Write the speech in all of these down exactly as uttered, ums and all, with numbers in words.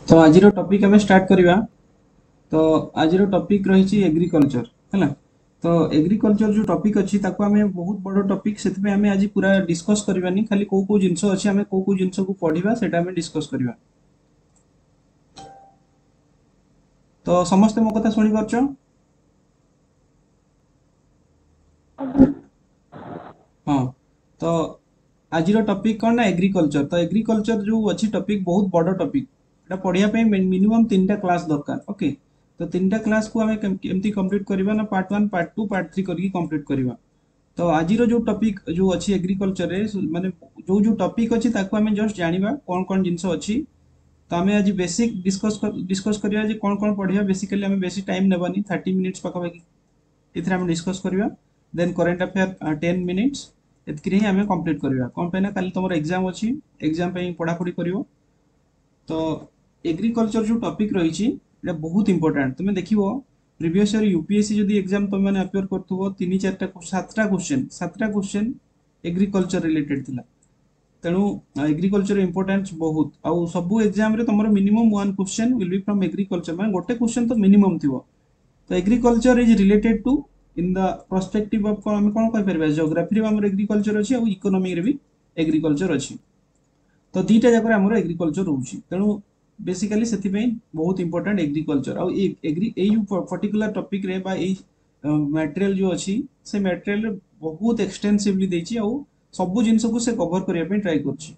ତ ଆଜିର ଟପିକ୍ ଆମେ ଷ୍ଟାର୍ଟ କରିବା। ତ ଆଜିର ଟପିକ୍ ରହିଛି ଏଗ୍ରିକଲଚର, ହେଲା। ତ ଏଗ୍ରିକଲଚର ଯୋଉ ଟପିକ୍ ଅଛି ତାକୁ ଆମେ ବହୁତ ବଡ଼ ଟପିକ୍, ସେଥିପାଇଁ ଆମେ ଆଜି ପୁରା ଡିସ୍କସ୍ କରିବାନି। ଖାଲି କୋଉ କୋଉ ଜିନିଷ ଅଛି, ଆମେ କୋଉ କୋଉ ଜିନିଷକୁ ପଢିବା ସେଇଟା ଆମେ ଡିସ୍କସ୍ କରିବା। ତ ସମସ୍ତେ ମୋ କଥା ଶୁଣିପାରୁଛ? ହଁ, ତ ଆଜିର ଟପିକ୍ କ'ଣ ନା ଏଗ୍ରିକଲଚର। ତ ଏଗ୍ରିକଲଚର ଯୋଉ ଅଛି ଟପିକ୍ ବହୁତ ବଡ଼ ଟପିକ୍, ଏଟା ପଢିବା ପାଇଁ ମିନିମମ୍ ତିନିଟା କ୍ଲାସ୍ ଦରକାର। ଓକେ, ତ ତିନିଟା କ୍ଲାସ୍କୁ ଆମେ କେମିତି କମ୍ପ୍ଲିଟ୍ କରିବା ନା part one, part two, part three କରିକି କମ୍ପ୍ଲିଟ୍ କରିବା। ତ ଆଜିର ଯୋଉ ଟପିକ୍ ଯୋଉ ଅଛି ଏଗ୍ରିକଲଚରରେ, ମାନେ ଯୋଉ ଯୋଉ ଟପିକ୍ ଅଛି ତାକୁ ଆମେ ଜଷ୍ଟ ଜାଣିବା କ'ଣ କ'ଣ ଜିନିଷ ଅଛି। ତ ଆମେ ଆଜି ବେସିକ୍ ଡିସ୍କସ୍ ଡିସ୍କସ୍ କରିବା ଯେ କ'ଣ କ'ଣ ପଢିବା। ବେସିକାଲି ଆମେ ବେଶୀ ଟାଇମ୍ ନେବାନି, ଥାର୍ଟି ମିନିଟ୍ସ ପାଖାପାଖି ଏଥିରେ ଆମେ ଡିସ୍କସ୍ କରିବା। ଦେନ୍ କରେଣ୍ଟ ଆଫେୟାର ଟେନ୍ ମିନିଟ୍ସ, ଏତିକିରେ ହିଁ ଆମେ କମ୍ପ୍ଲିଟ୍ କରିବା। କ'ଣ ପାଇଁ ନା କାଲି ତମର ଏକ୍ଜାମ୍ ଅଛି, ଏକ୍ଜାମ୍ ପାଇଁ ପଢ଼ାପଢ଼ି କରିବ। ତ ଏଗ୍ରିକଲଚର ଯୋଉ ଟପିକ୍ ରହିଛି ଏଇଟା ବହୁତ ଇମ୍ପୋର୍ଟାଣ୍ଟ। ତୁମେ ଦେଖିବ ପ୍ରିଭିୟସ୍ ଇୟର ୟୁପିଏସସି ଯଦି ଏକ୍ଜାମ୍ ତୁମେମାନେ ଆପିୟର କରୁଥିବ, ତିନି ଚାରିଟା ସାତଟା କ୍ୱେଶ୍ଚନ୍ ସାତଟା କ୍ୱେଶ୍ଚନ୍ ଏଗ୍ରିକଲଚର ରିଲେଟେଡ୍ ଥିଲା। ତେଣୁ ଏଗ୍ରିକଲଚର ଇମ୍ପୋର୍ଟାନ୍ସ ବହୁତ। ଆଉ ସବୁ ଏକ୍ଜାମ୍ରେ ତମର minimum one question will be from agriculture, ମାନେ ଗୋଟେ କ୍ୱେଶ୍ଚନ୍ ତ ମିନିମମ୍ ଥିବ। ତ agriculture is related to in the perspective of କ'ଣ ଆମେ କ'ଣ କହିପାରିବା, ଜିଓଗ୍ରାଫିରେ ଆମର ଏଗ୍ରିକଲଚର ଅଛି ଆଉ ଇକୋନୋମିରେ ବି ଏଗ୍ରିକଲଚର ଅଛି। ତ ଦୁଇଟା ଯାକରେ ଆମର ଏଗ୍ରିକଲଚର ରହୁଛି। ତେଣୁ ବେସିକାଲି ସେଥିପାଇଁ ବହୁତ ଇମ୍ପୋର୍ଟାଣ୍ଟ ଏଗ୍ରିକଲଚର। ଆଉ ଏଇ ଏଗ୍ରି ଏଇ ଯୋଉ ପର୍ଟିକୁଲାର ଟପିକ୍ରେ ବା ଏଇ ମ୍ୟାଟେରିଆଲ ଯୋଉ ଅଛି ସେ ମ୍ୟାଟେରିଆଲରେ ବହୁତ ଏକ୍ସଟେନ୍ସିଭଲି ଦେଇଛି ଆଉ ସବୁ ଜିନିଷକୁ ସେ କଭର କରିବା ପାଇଁ ଟ୍ରାଏ କରୁଛି।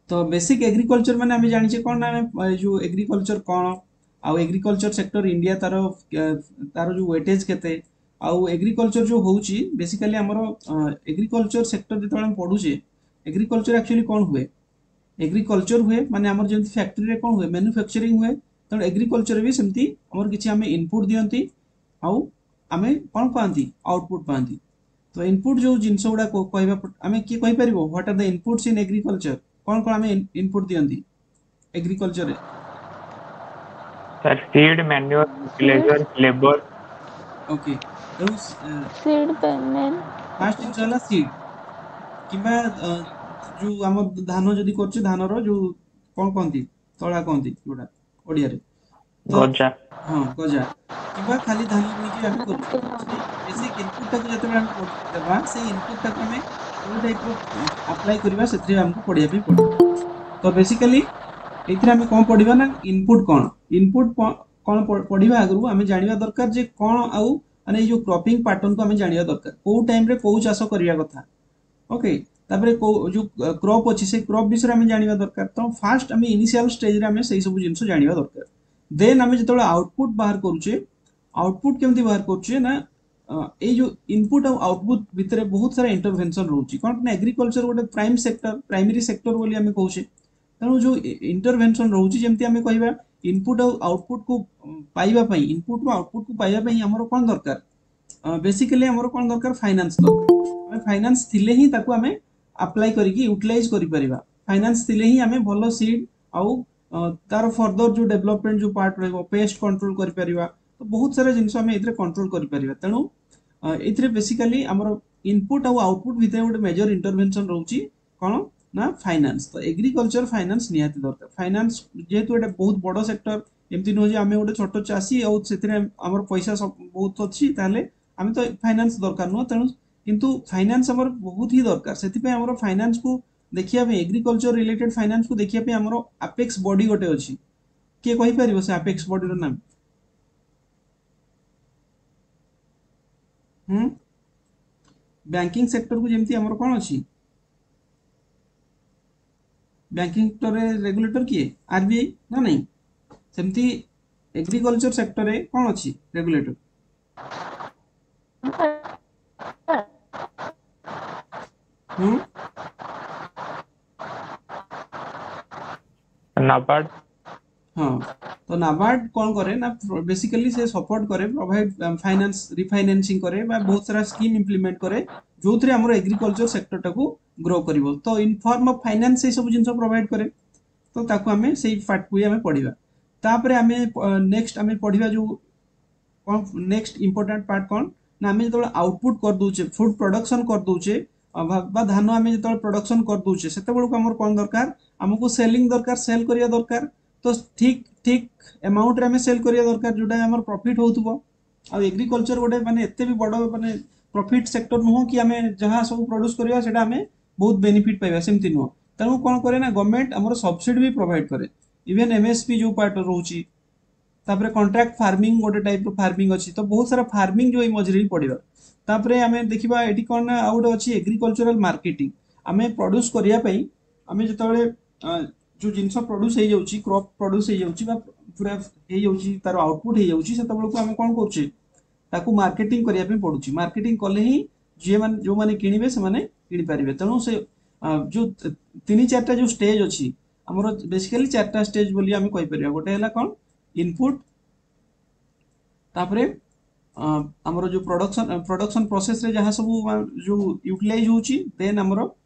ତ ବେସିକ୍ ଏଗ୍ରିକଲଚର ମାନେ ଆମେ ଜାଣିଛେ କ'ଣ ନା ଆମେ ଯୋଉ ଏଗ୍ରିକଲଚର କ'ଣ, ଆଉ ଏଗ୍ରିକଲଚର ସେକ୍ଟର ଇଣ୍ଡିଆ ତାର ତାର ଯୋଉ ୱେଟେଜ୍ କେତେ, ଆଉ ଏଗ୍ରିକଲଚର ଯୋଉ ହଉଛି ବେସିକାଲି ଆମର ଏଗ୍ରିକଲଚର ସେକ୍ଟର ଯେତେବେଳେ ଆମେ ପଢୁଛେ, ଏଗ୍ରିକଲଚର ଆକ୍ଚୁଆଲି କ'ଣ ହୁଏ, ଏଗ୍ରିକଲଚର ହୁଏ ମାନେ ଆମର ଯେମିତି ଫ୍ୟାକ୍ଟ୍ରିରେ କ'ଣ ହୁଏ ମ୍ୟାନୁଫ୍ୟାକ୍ଚରିଂ ହୁଏ, ତେଣୁ ଏଗ୍ରିକଲଚର ବି ସେମିତି ଆମର କିଛି ଆମେ ଇନପୁଟ୍ ଦିଅନ୍ତି ଆଉ ଆମେ କ'ଣ ପାଆନ୍ତି ଆଉଟପୁଟ୍ ପାଆନ୍ତି। ତ ଇନପୁଟ୍ ଯୋଉ ଜିନିଷ ଗୁଡ଼ା କହିବା ଆମେ କିଏ କହିପାରିବ what are the inputs in agriculture, କ'ଣ କ'ଣ ଆମେ ଇନପୁଟ୍ ଦିଅନ୍ତି ଏଗ୍ରିକଲଚରରେ? Sir, seed, manure, fertilizer, labor. Okay, ତେଣୁ ସିଡ୍ ପେମେଣ୍ଟ ଫାର୍ଷ୍ଟ ଜିନିଷ ହେଲା ସିଡ୍, କିମ୍ବା ଯୋଉ ଆମ ଧାନ ଯଦି କରୁଛେ ଧାନର ଯୋଉ କ'ଣ କହନ୍ତି ତଳା କହନ୍ତି ଯୋଉଟା ଓଡ଼ିଆରେ, ତ ଗଜା। ହଁ ଗଜା, କିମ୍ବା ଖାଲି ଧାନ ନେଇକି ଆମେ କରୁଛୁ। ସେଇ ବେସିକ୍ ଇନପୁଟଟାକୁ ଯେତେବେଳେ ଆମେ ଦେବା ସେଇ ଇନପୁଟଟାକୁ ଆମେ କୋଉ ଟାଇପ୍ର ଆପ୍ଲାଏ କରିବା ସେଥିରେ ଆମକୁ ପଢ଼ିବା ପାଇଁ ପଡ଼ିବ। ତ ବେସିକାଲି ଏଇଥିରେ ଆମେ କ'ଣ ପଢ଼ିବା ନା ଇନପୁଟ କ'ଣ, ଇନପୁଟ କ'ଣ ପଢ଼ିବା ଆଗରୁ ଆମେ ଜାଣିବା ଦରକାର ଯେ କ'ଣ ଆଉ ମାନେ ଏଇ ଯୋଉ କ୍ରପିଂ ପାଟର୍ନକୁ ଆମେ ଜାଣିବା ଦରକାର, କୋଉ ଟାଇମ୍ରେ କୋଉ ଚାଷ କରିବା କଥା। ଓକେ, ତାପରେ କୋଉ ଯୋଉ କ୍ରପ୍ ଅଛି ସେଇ କ୍ରପ୍ ବିଷୟରେ ଆମେ ଜାଣିବା ଦରକାର। ତ ଫାଷ୍ଟ ଆମେ ଇନିସିଆଲ ଷ୍ଟେଜରେ ଆମେ ସେଇ ସବୁ ଜିନିଷ ଜାଣିବା ଦରକାର। ଦେନ୍ ଆମେ ଯେତେବେଳେ ଆଉଟପୁଟ୍ ବାହାର କରୁଛେ, ଆଉଟପୁଟ୍ କେମିତି ବାହାର କରୁଛେ ନା ଏଇ ଯୋଉ ଇନପୁଟ୍ ଆଉ ଆଉଟପୁଟ୍ ଭିତରେ ବହୁତ ସାରା ଇଣ୍ଟରଭେନସନ୍ ରହୁଛି। କ'ଣ ନା ଏଗ୍ରିକଲଚର ଗୋଟେ ପ୍ରାଇମ୍ ସେକ୍ଟର, ପ୍ରାଇମେରୀ ସେକ୍ଟର ବୋଲି ଆମେ କହୁଛେ। ତେଣୁ ଯୋଉ ଇଣ୍ଟରଭେନସନ୍ ରହୁଛି, ଯେମିତି ଆମେ କହିବା ଇନପୁଟ୍ ଆଉ ଆଉଟପୁଟ୍କୁ ପାଇବା ପାଇଁ, ଇନପୁଟ୍ରୁ ଆଉଟପୁଟ୍କୁ ପାଇବା ପାଇଁ ଆମର କ'ଣ ଦରକାର, ବେସିକାଲି ଆମର କ'ଣ ଦରକାର ଫାଇନାନ୍ସ ଦରକାର। ଆମେ ଫାଇନାନ୍ସ ଥିଲେ ହିଁ ତାକୁ ଆମେ ଆପ୍ଲାଏ କରିକି ୟୁଟିଲାଇଜ୍ କରିପାରିବା। ଫାଇନାନ୍ସ ଥିଲେ ହିଁ ଆମେ ଭଲ ସିଡ୍ ଆଉ ତାର ଫର୍ଦର ଯୋଉ ଡେଭଲପମେଣ୍ଟ ଯୋଉ ପାର୍ଟ ରହିବ, ପେଷ୍ଟ କଣ୍ଟ୍ରୋଲ କରିପାରିବା। ତ ବହୁତ ସାରା ଜିନିଷ ଆମେ ଏଥିରେ କଣ୍ଟ୍ରୋଲ କରିପାରିବା। ତେଣୁ ଏଥିରେ ବେସିକାଲି ଆମର ଇନପୁଟ୍ ଆଉ ଆଉଟପୁଟ୍ ଭିତରେ ଗୋଟେ ମେଜର ଇଣ୍ଟରଭେନସନ୍ ରହୁଛି କ'ଣ ନା ଫାଇନାନ୍ସ। ତ ଏଗ୍ରିକଲଚର ଫାଇନାନ୍ସ ନିହାତି ଦରକାର। ଫାଇନାନ୍ସ ଯେହେତୁ ଏଇଟା ବହୁତ ବଡ଼ ସେକ୍ଟର, ଏମିତି ନୁହଁ ଯେ ଆମେ ଗୋଟେ ଛୋଟ ଚାଷୀ ଆଉ ସେଥିରେ ଆମର ପଇସା ବହୁତ ଅଛି ତାହେଲେ ଆମେ ତ ଫାଇନାନ୍ସ ଦରକାର ନୁହଁ। ତେଣୁ କିନ୍ତୁ ଫାଇନାନ୍ସ ଆମର ବହୁତ ହିଁ ଦରକାର। ସେଥିପାଇଁ ଆମର ଫାଇନାନ୍ସକୁ ଦେଖିବା ପାଇଁ, ଏଗ୍ରିକଲଚର ରିଲେଟେଡ୍ ଫାଇନାନ୍ସକୁ ଦେଖିବା ପାଇଁ ଆମର ଆପେକ୍ସ ବଡି ଗୋଟେ ଅଛି। କିଏ କହିପାରିବ ସେ ଆପେକ୍ସ ବଡିର ନାମ? ହୁଁ, ବ୍ୟାଙ୍କିଂ ସେକ୍ଟରକୁ ଯେମିତି ଆମର କ'ଣ ଅଛି, ବ୍ୟାଙ୍କିଂ ସେକ୍ଟରରେ ରେଗୁଲେଟର କିଏ, ଆରବିଆଇ ନା ନାଇଁ? ସେମିତି ଏଗ୍ରିକଲଚର ସେକ୍ଟରରେ କ'ଣ ଅଛି ରେଗୁଲେଟର? ହୁଁ, ନାବାର୍ଡ। ହଁ, ତ ନାବାର୍ଡ କ'ଣ କରେ ନା ବେସିକାଲି ସେ ସପୋର୍ଟ କରେ, ପ୍ରୋଭାଇଡ ଫାଇନାନ୍ସ ରିଫାଇନାନ୍ସିଂ କରେ ବା ବହୁତ ସାରା ସ୍କିମ୍ ଇମ୍ପ୍ଲିମେଣ୍ଟ କରେ ଯୋଉଥିରେ ଆମର ଏଗ୍ରିକଲଚର ସେକ୍ଟରଟାକୁ ଗ୍ରୋ କରିବ। ତ ଇନ୍ ଫର୍ମ ଅଫ୍ ଫାଇନାନ୍ସ ସେଇ ସବୁ ଜିନିଷ ପ୍ରୋଭାଇଡ କରେ। ତ ତାକୁ ଆମେ ସେଇ ପାର୍ଟକୁ ହିଁ ଆମେ ପଢିବା। ତାପରେ ଆମେ ନେକ୍ସଟ ଆମେ ପଢିବା ଯୋଉ କ'ଣ ନେକ୍ସଟ ଇମ୍ପୋର୍ଟାଣ୍ଟ ପାର୍ଟ କ'ଣ ନା ଆମେ ଯେତେବେଳେ ଆଉଟପୁଟ୍ କରିଦେଉଛେ, ଫୁଡ୍ ପ୍ରଡକ୍ସନ୍ କରିଦେଉଛେ ବା ଧାନ ଆମେ ଯେତେବେଳେ ପ୍ରଡକ୍ସନ୍ କରିଦେଉଛେ, ସେତେବେଳକୁ ଆମର କ'ଣ ଦରକାର, ଆମକୁ ସେଲିଂ ଦରକାର, ସେଲ୍ କରିବା ଦରକାର। ତ ଠିକ୍ ଠିକ୍ ଆମାଉଣ୍ଟରେ ଆମେ ସେଲ୍ କରିବା ଦରକାର ଯେଉଁଟା ଆମର ପ୍ରଫିଟ୍ ହେଉଥିବ। ଆଉ ଏଗ୍ରିକଲଚର ଗୋଟେ ମାନେ ଏତେ ବି ବଡ଼ ମାନେ ପ୍ରଫିଟ୍ ସେକ୍ଟର ନୁହଁ କି ଆମେ ଯାହା ସବୁ ପ୍ରଡ୍ୟୁସ୍ କରିବା ସେଇଟା ଆମେ ବହୁତ ବେନିଫିଟ୍ ପାଇବା, ସେମିତି ନୁହଁ। ତେଣୁ କ'ଣ କରେ ନା ଗଭର୍ଣ୍ଣମେଣ୍ଟ ଆମର ସବସିଡି ବି ପ୍ରୋଭାଇଡ଼ କରେ, ଇଭେନ୍ ଏମ୍ଏସ୍ପି ଯେଉଁ ପାର୍ଟ ରହୁଛି। ତାପରେ କଣ୍ଟ୍ରାକ୍ଟ ଫାର୍ମିଂ ଗୋଟେ ଟାଇପ୍ର ଫାର୍ମିଂ ଅଛି, ତ ବହୁତ ସାରା ଫାର୍ମିଂ ଯେଉଁ ଏଇ ମଝିରେ ବି ପଡ଼ିବା। ତାପରେ ଆମେ ଦେଖିବା ଏଠି କ'ଣ ନା ଆଉ ଗୋଟେ ଅଛି ଏଗ୍ରିକଲଚରାଲ ମାର୍କେଟିଂ। ଆମେ ପ୍ରଡ୍ୟୁସ୍ କରିବା ପାଇଁ ଆମେ ଯେତେବେଳେ ଯେଉଁ ଜିନିଷ ପ୍ରଡ୍ୟୁସ୍ ହେଇଯାଉଛି, କ୍ରପ୍ ପ୍ରଡ୍ୟୁସ୍ ହେଇଯାଉଛି ବା ପୁରା ହେଇଯାଉଛି, ତାର ଆଉଟପୁଟ୍ ହେଇଯାଉଛି, ସେତେବେଳକୁ ଆମେ କ'ଣ କରୁଛେ ତାକୁ ମାର୍କେଟିଂ କରିବା ପାଇଁ ପଡୁଛି। ମାର୍କେଟିଂ କଲେ ହିଁ ଯିଏମାନେ ଯେଉଁମାନେ କିଣିବେ ସେମାନେ କିଣିପାରିବେ। ତେଣୁ ସେ ଯେଉଁ ତିନି ଚାରିଟା ଯେଉଁ ଷ୍ଟେଜ୍ ଅଛି ଆମର, ବେସିକାଲି ଚାରିଟା ଷ୍ଟେଜ୍ ବୋଲି ଆମେ କହିପାରିବା। ଗୋଟେ ହେଲା କ'ଣ ଇନପୁଟ୍, ତାପରେ ଆମର ଯେଉଁ ପ୍ରଡକ୍ସନ୍ ପ୍ରଡକ୍ସନ୍ ପ୍ରୋସେସ୍ରେ ଯାହା ସବୁ ଯେଉଁ ୟୁଟିଲାଇଜ୍ ହେଉଛି, ଦେନ୍ ଆମର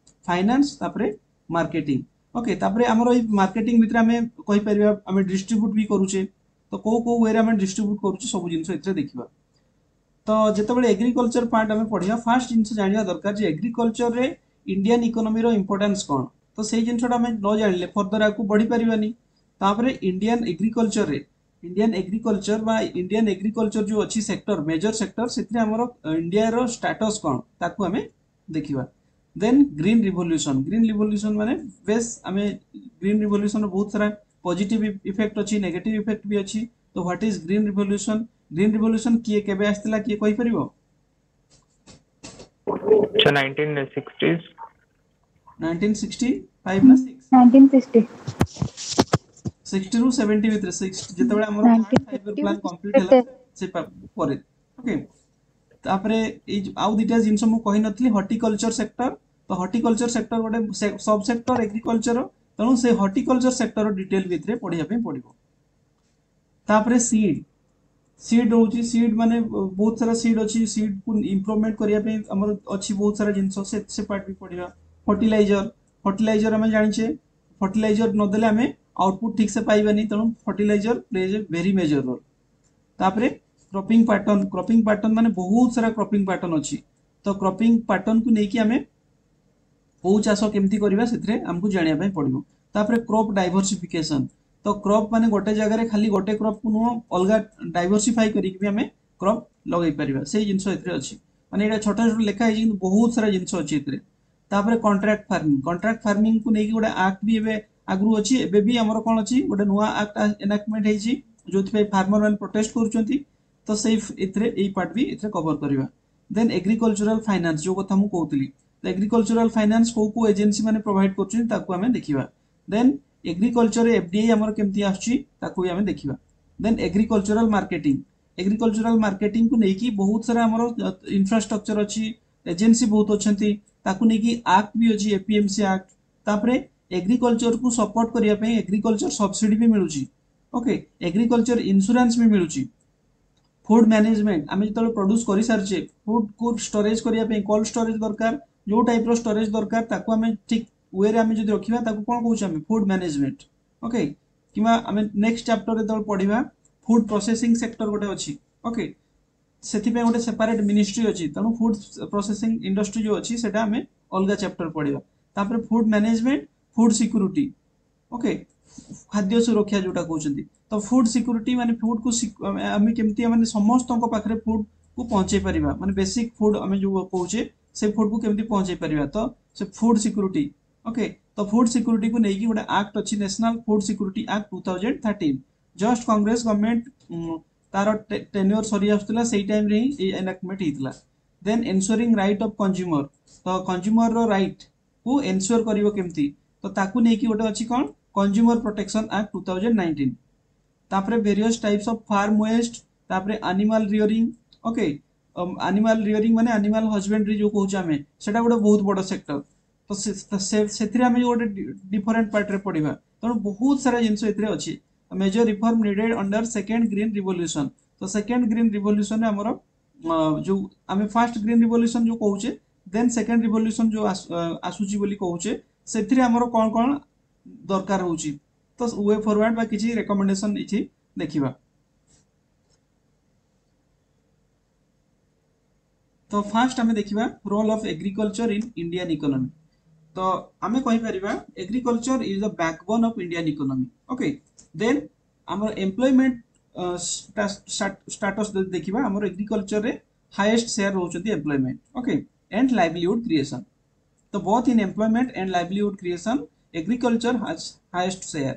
ଫାଇନାନ୍ସ, ତାପରେ ମାର୍କେଟିଂ। ଓକେ, ତାପରେ ଆମର ଏଇ ମାର୍କେଟିଂ ଭିତରେ ଆମେ କହିପାରିବା ଆମେ ଡିଷ୍ଟ୍ରିବ୍ୟୁଟ୍ ବି କରୁଛେ, ତ କେଉଁ କେଉଁ ୱେରେ ଆମେ ଡିଷ୍ଟ୍ରିବ୍ୟୁଟ୍ କରୁଛେ ସବୁ ଜିନିଷ ଏଥିରେ ଦେଖିବା। ତ ଯେତେବେଳେ ଏଗ୍ରିକଲଚର ପାର୍ଟ ଆମେ ପଢ଼ିବା, ଫାର୍ଷ୍ଟ ଜିନିଷ ଜାଣିବା ଦରକାର ଯେ ଏଗ୍ରିକଲଚରରେ ଇଣ୍ଡିଆନ୍ ଇକୋନୋମିର ଇମ୍ପୋର୍ଟାନ୍ସ କ'ଣ। ତ ସେଇ ଜିନିଷଟା ଆମେ ନ ଜାଣିଲେ ଫର୍ଦର ଆଗକୁ ବଢ଼ିପାରିବାନି। ତାପରେ ଇଣ୍ଡିଆନ୍ ଏଗ୍ରିକଲଚରରେ ଇଣ୍ଡିଆନ୍ ଏଗ୍ରିକଲଚର ବା ଇଣ୍ଡିଆନ୍ ଏଗ୍ରିକଲଚର ଯେଉଁ ଅଛି ସେକ୍ଟର, ମେଜର ସେକ୍ଟର, ସେଥିରେ ଆମର ଇଣ୍ଡିଆର ଷ୍ଟାଟସ୍ କ'ଣ ତାକୁ ଆମେ ଦେଖିବା। ଦେନ୍ ଗ୍ରୀନ୍ ରିଭଲ୍ୟୁସନ୍। ଗ୍ରୀନ୍ ରିଭଲ୍ୟୁସନ୍ ମାନେ ବେଶ ଆମେ ଗ୍ରୀନ୍ ରିଭଲ୍ୟୁସନ୍ର ବହୁତ ସାରା ପଜିଟିଭ୍ ଇଫେକ୍ଟ ଅଛି, ନେଗେଟିଭ୍ ଇଫେକ୍ଟ ବି ଅଛି। ତ what is green revolution? Green revolution କିଏ କେବେ ଆସିଥିଲା କିଏ କହିପାରିବ? Nineteen sixties. Nineteen sixty five ନା ସିକ୍ସ? Nineteen sixty. ସିକ୍ସଟିରୁ ସେଭେଣ୍ଟି ଭିତରେ, ଯେତେବେଳେ ଆମର third five year plan complete ହେଲା ସେ ପରେ। ଓକେ, ତାପରେ ଏଇ ଆଉ ଦୁଇଟା ଜିନିଷ ମୁଁ କହିନଥିଲି, ହର୍ଟିକଲଚର ସେକ୍ଟର। ତ ହର୍ଟିକଲଚର ସେକ୍ଟର ଗୋଟେ ସବ୍ ସେକ୍ଟର ଏଗ୍ରିକଲଚର, ତେଣୁ ସେ ହର୍ଟିକଲଚର ସେକ୍ଟର ଡିଟେଲ ଭିତରେ ପଢିବା ପାଇଁ ପଡିବ। ତାପରେ ସିଡ୍, ସିଡ୍ ରହୁଛି। ସିଡ୍ ମାନେ ବହୁତ ସାରା ସିଡ୍ ଅଛି, ସିଡ୍କୁ ଇମ୍ପ୍ରୁଭମେଣ୍ଟ କରିବା ପାଇଁ ଆମର ଅଛି ବହୁତ ସାରା ଜିନିଷ, ସେ ସେ ପାର୍ଟ ବି ପଢିବା। ଫର୍ଟିଲାଇଜର, ଫର୍ଟିଲାଇଜର ଆମେ ଜାଣିଛେ ଫର୍ଟିଲାଇଜର ନଦେଲେ ଆମେ ଆଉଟପୁଟ୍ ଠିକ୍ ସେ ପାଇବାନି, ତେଣୁ fertiliser plays a very major role. ତାପରେ କ୍ରପିଂ ପାଟର୍ନ, କ୍ରପିଂ ପାଟର୍ନ ମାନେ ବହୁତ ସାରା କ୍ରପିଂ ପାଟର୍ନ ଅଛି, ତ କ୍ରପିଂ ପାଟର୍ନକୁ ନେଇକି ଆମେ କେଉଁ ଚାଷ କେମିତି କରିବା ସେଥିରେ ଆମକୁ ଜାଣିବା ପାଇଁ ପଡ଼ିବ। ତାପରେ କ୍ରପ୍ ଡାଇଭର୍ସିଫିକେସନ୍, ତ କ୍ରପ୍ ମାନେ ଗୋଟେ ଜାଗାରେ ଖାଲି ଗୋଟେ କ୍ରପ୍କୁ ନୁହଁ, ଅଲଗା ଡାଇଭର୍ସିଫାଇ କରିକି ବି ଆମେ କ୍ରପ୍ ଲଗେଇ ପାରିବା, ସେଇ ଜିନିଷ ଏଥିରେ ଅଛି। ମାନେ ଏଇଟା ଛୋଟ ଛୋଟ ଲେଖା ହେଇଛି କିନ୍ତୁ ବହୁତ ସାରା ଜିନିଷ ଅଛି ଏଥିରେ। ତାପରେ କଣ୍ଟ୍ରାକ୍ଟ ଫାର୍ମିଂ, କଣ୍ଟ୍ରାକ୍ଟ ଫାର୍ମିଂକୁ ନେଇକି ଗୋଟେ ଆକ୍ଟ ବି ଏବେ ଆଗରୁ ଅଛି, ଏବେ ବି ଆମର କ'ଣ ଅଛି ଗୋଟେ ନୂଆ ଆକ୍ଟ ଏନାକ୍ଟମେଣ୍ଟ ହେଇଛି ଯେଉଁଥିପାଇଁ ଫାର୍ମର ମାନେ ପ୍ରୋଟେଷ୍ଟ କରୁଛନ୍ତି, ତ ସେଇ ଏଥିରେ ଏଇ ପାର୍ଟ ବି ଏଥିରେ କଭର କରିବା। ଦେନ୍ ଏଗ୍ରିକଲଚରାଲ ଫାଇନାନ୍ସ ଯେଉଁ କଥା ମୁଁ କହୁଥିଲି, ତ ଏଗ୍ରିକଲଚରାଲ ଫାଇନାନ୍ସ କେଉଁ କେଉଁ ଏଜେନ୍ସି ମାନେ ପ୍ରୋଭାଇଡ଼ କରୁଛନ୍ତି ତାକୁ ଆମେ ଦେଖିବା। ଦେନ୍ ଏଗ୍ରିକଲଚର ଏଫ୍ଡିଆଇ ଆମର କେମିତି ଆସୁଛି ତାକୁ ବି ଆମେ ଦେଖିବା। ଦେନ୍ ଏଗ୍ରିକଲଚରାଲ ମାର୍କେଟିଂ, ଏଗ୍ରିକଲଚରାଲ ମାର୍କେଟିଂକୁ ନେଇକି ବହୁତ ସାରା ଆମର ଇନଫ୍ରାଷ୍ଟ୍ରକ୍ଚର ଅଛି, ଏଜେନ୍ସି ବହୁତ ଅଛନ୍ତି, ତାକୁ ନେଇକି ଆକ୍ଟ ବି ଅଛି, ଏପିଏମସି ଆକ୍ଟ। ତାପରେ ଏଗ୍ରିକଲଚରକୁ ସପୋର୍ଟ କରିବା ପାଇଁ ଏଗ୍ରିକଲଚର ସବସିଡି ବି ମିଳୁଛି, ଓକେ, ଏଗ୍ରିକଲଚର ଇନ୍ସୁରାନ୍ସ ବି ମିଳୁଛି। ଫୁଡ୍ ମ୍ୟାନେଜମେଣ୍ଟ, ଆମେ ଯେତେବେଳେ ପ୍ରଡ୍ୟୁସ୍ କରିସାରିଛେ ଫୁଡ୍କୁ ଷ୍ଟୋରେଜ୍ କରିବା ପାଇଁ କୋଲ୍ଡ ଷ୍ଟୋରେଜ୍ ଦରକାର, ଯେଉଁ ଟାଇପ୍ର ଷ୍ଟୋରେଜ୍ ଦରକାର ତାକୁ ଆମେ ଠିକ୍ ୱେରେ ଆମେ ଯଦି ରଖିବା ତାକୁ କ'ଣ କହୁଛେ ଆମେ ଫୁଡ୍ ମ୍ୟାନେଜମେଣ୍ଟ। ଓକେ, କିମ୍ବା ଆମେ ନେକ୍ସଟ ଚାପ୍ଟର ଯେତେବେଳେ ପଢ଼ିବା ଫୁଡ୍ ପ୍ରୋସେସିଂ ସେକ୍ଟର ଗୋଟେ ଅଛି, ଓକେ, ସେଥିପାଇଁ ଗୋଟେ ସେପାରେଟ୍ ମିନିଷ୍ଟ୍ରି ଅଛି, ତେଣୁ ଫୁଡ୍ ପ୍ରୋସେସିଂ ଇଣ୍ଡଷ୍ଟ୍ରି ଯେଉଁ ଅଛି ସେଟା ଆମେ ଅଲଗା ଚାପ୍ଟର ପଢ଼ିବା। ତାପରେ food management, food security, okay, ଖାଦ୍ୟ ସୁରକ୍ଷା ଯେଉଁଟା କହୁଛନ୍ତି, ତ ଫୁଡ୍ ସିକ୍ୟୁରିଟି ମାନେ ଫୁଡ୍କୁ ଆମେ କେମିତି ମାନେ ସମସ୍ତଙ୍କ ପାଖରେ ଫୁଡ୍କୁ ପହଞ୍ଚେଇ ପାରିବା, ମାନେ ବେସିକ୍ ଫୁଡ୍ ଆମେ ଯେଉଁ କହୁଛେ ସେ ଫୁଡ୍କୁ କେମିତି ପହଞ୍ଚେଇ ପାରିବା, ତ ସେ ଫୁଡ୍ ସିକ୍ୟୁରିଟି। ଓକେ, ତ ଫୁଡ୍ ସିକ୍ୟୁରିଟିକୁ ନେଇକି ଗୋଟେ ଆକ୍ଟ ଅଛି, national food security act two thousand thirteen. Just Congress government ତାର ଟେନ୍ୟୁଅର ସରି ଆସୁଥିଲା ସେଇ ଟାଇମ୍ରେ ହିଁ ଏଇ ଏନାକ୍ଟମେଣ୍ଟ ହେଇଥିଲା। Then ensuring right of consumer, ତ କନଜ୍ୟୁମରର ରାଇଟ୍କୁ ଏନସ୍યોର କରିବ କେମିତି, ତ ତାକୁ ନେଇକି ଗୋଟେ ଅଛି କ'ଣ consumer protection act two thousand nineteen. ତାପରେ various types of farm waste, ତାପରେ animal rearing, okay, animal rearing ମାନେ ଆନିମାଲ ହଜବେଣ୍ଡ୍ରି ଯେଉଁ କହୁଛେ ଆମେ, ସେଟା ଗୋଟେ ବହୁତ ବଡ଼ ସେକ୍ଟର, ତ ସେଥିରେ ଆମେ ଗୋଟେ ଡିଫରେଣ୍ଟ ପାର୍ଟରେ ପଢ଼ିବା। ତେଣୁ ବହୁତ ସାରା ଜିନିଷ ଏଥିରେ ଅଛି। Major reform needed under second green revolution, ତ ସେକେଣ୍ଡ ଗ୍ରୀନ୍ ରିଭଲ୍ୟୁସନରେ ଆମର ଯେଉଁ ଆମେ ଫାର୍ଷ୍ଟ ଗ୍ରୀନ୍ ରିଭଲ୍ୟୁସନ୍ ଯେଉଁ କହୁଛେ, ଦେନ୍ ସେକେଣ୍ଡ ରିଭଲ୍ୟୁସନ୍ ଯେଉଁ ଆସୁଛି ବୋଲି କହୁଛେ, ସେଥିରେ ଆମର କ'ଣ କ'ଣ ଦରକାର ହେଉଛି, ତ we forward ବା କିଛି ରେକମେଣ୍ଡେସନ୍ ଏଠି ଦେଖିବା। ତ ଫାର୍ଷ୍ଟ ଆମେ ଦେଖିବା role of agriculture in Indian economy. ତ ଆମେ କହିପାରିବା agriculture is the backbone of Indian economy. Okay, ଦେନ୍ ଆମର ଏମ୍ପ୍ଲୟମେଣ୍ଟ ଷ୍ଟାଟସ୍ ଯଦି ଦେଖିବା ଆମର ଏଗ୍ରିକଲଚରରେ ହାଏଷ୍ଟ ସେୟାର ରହୁଛନ୍ତି employment okay and livelihood creation ତ both in employment and livelihood creation agriculture has highest share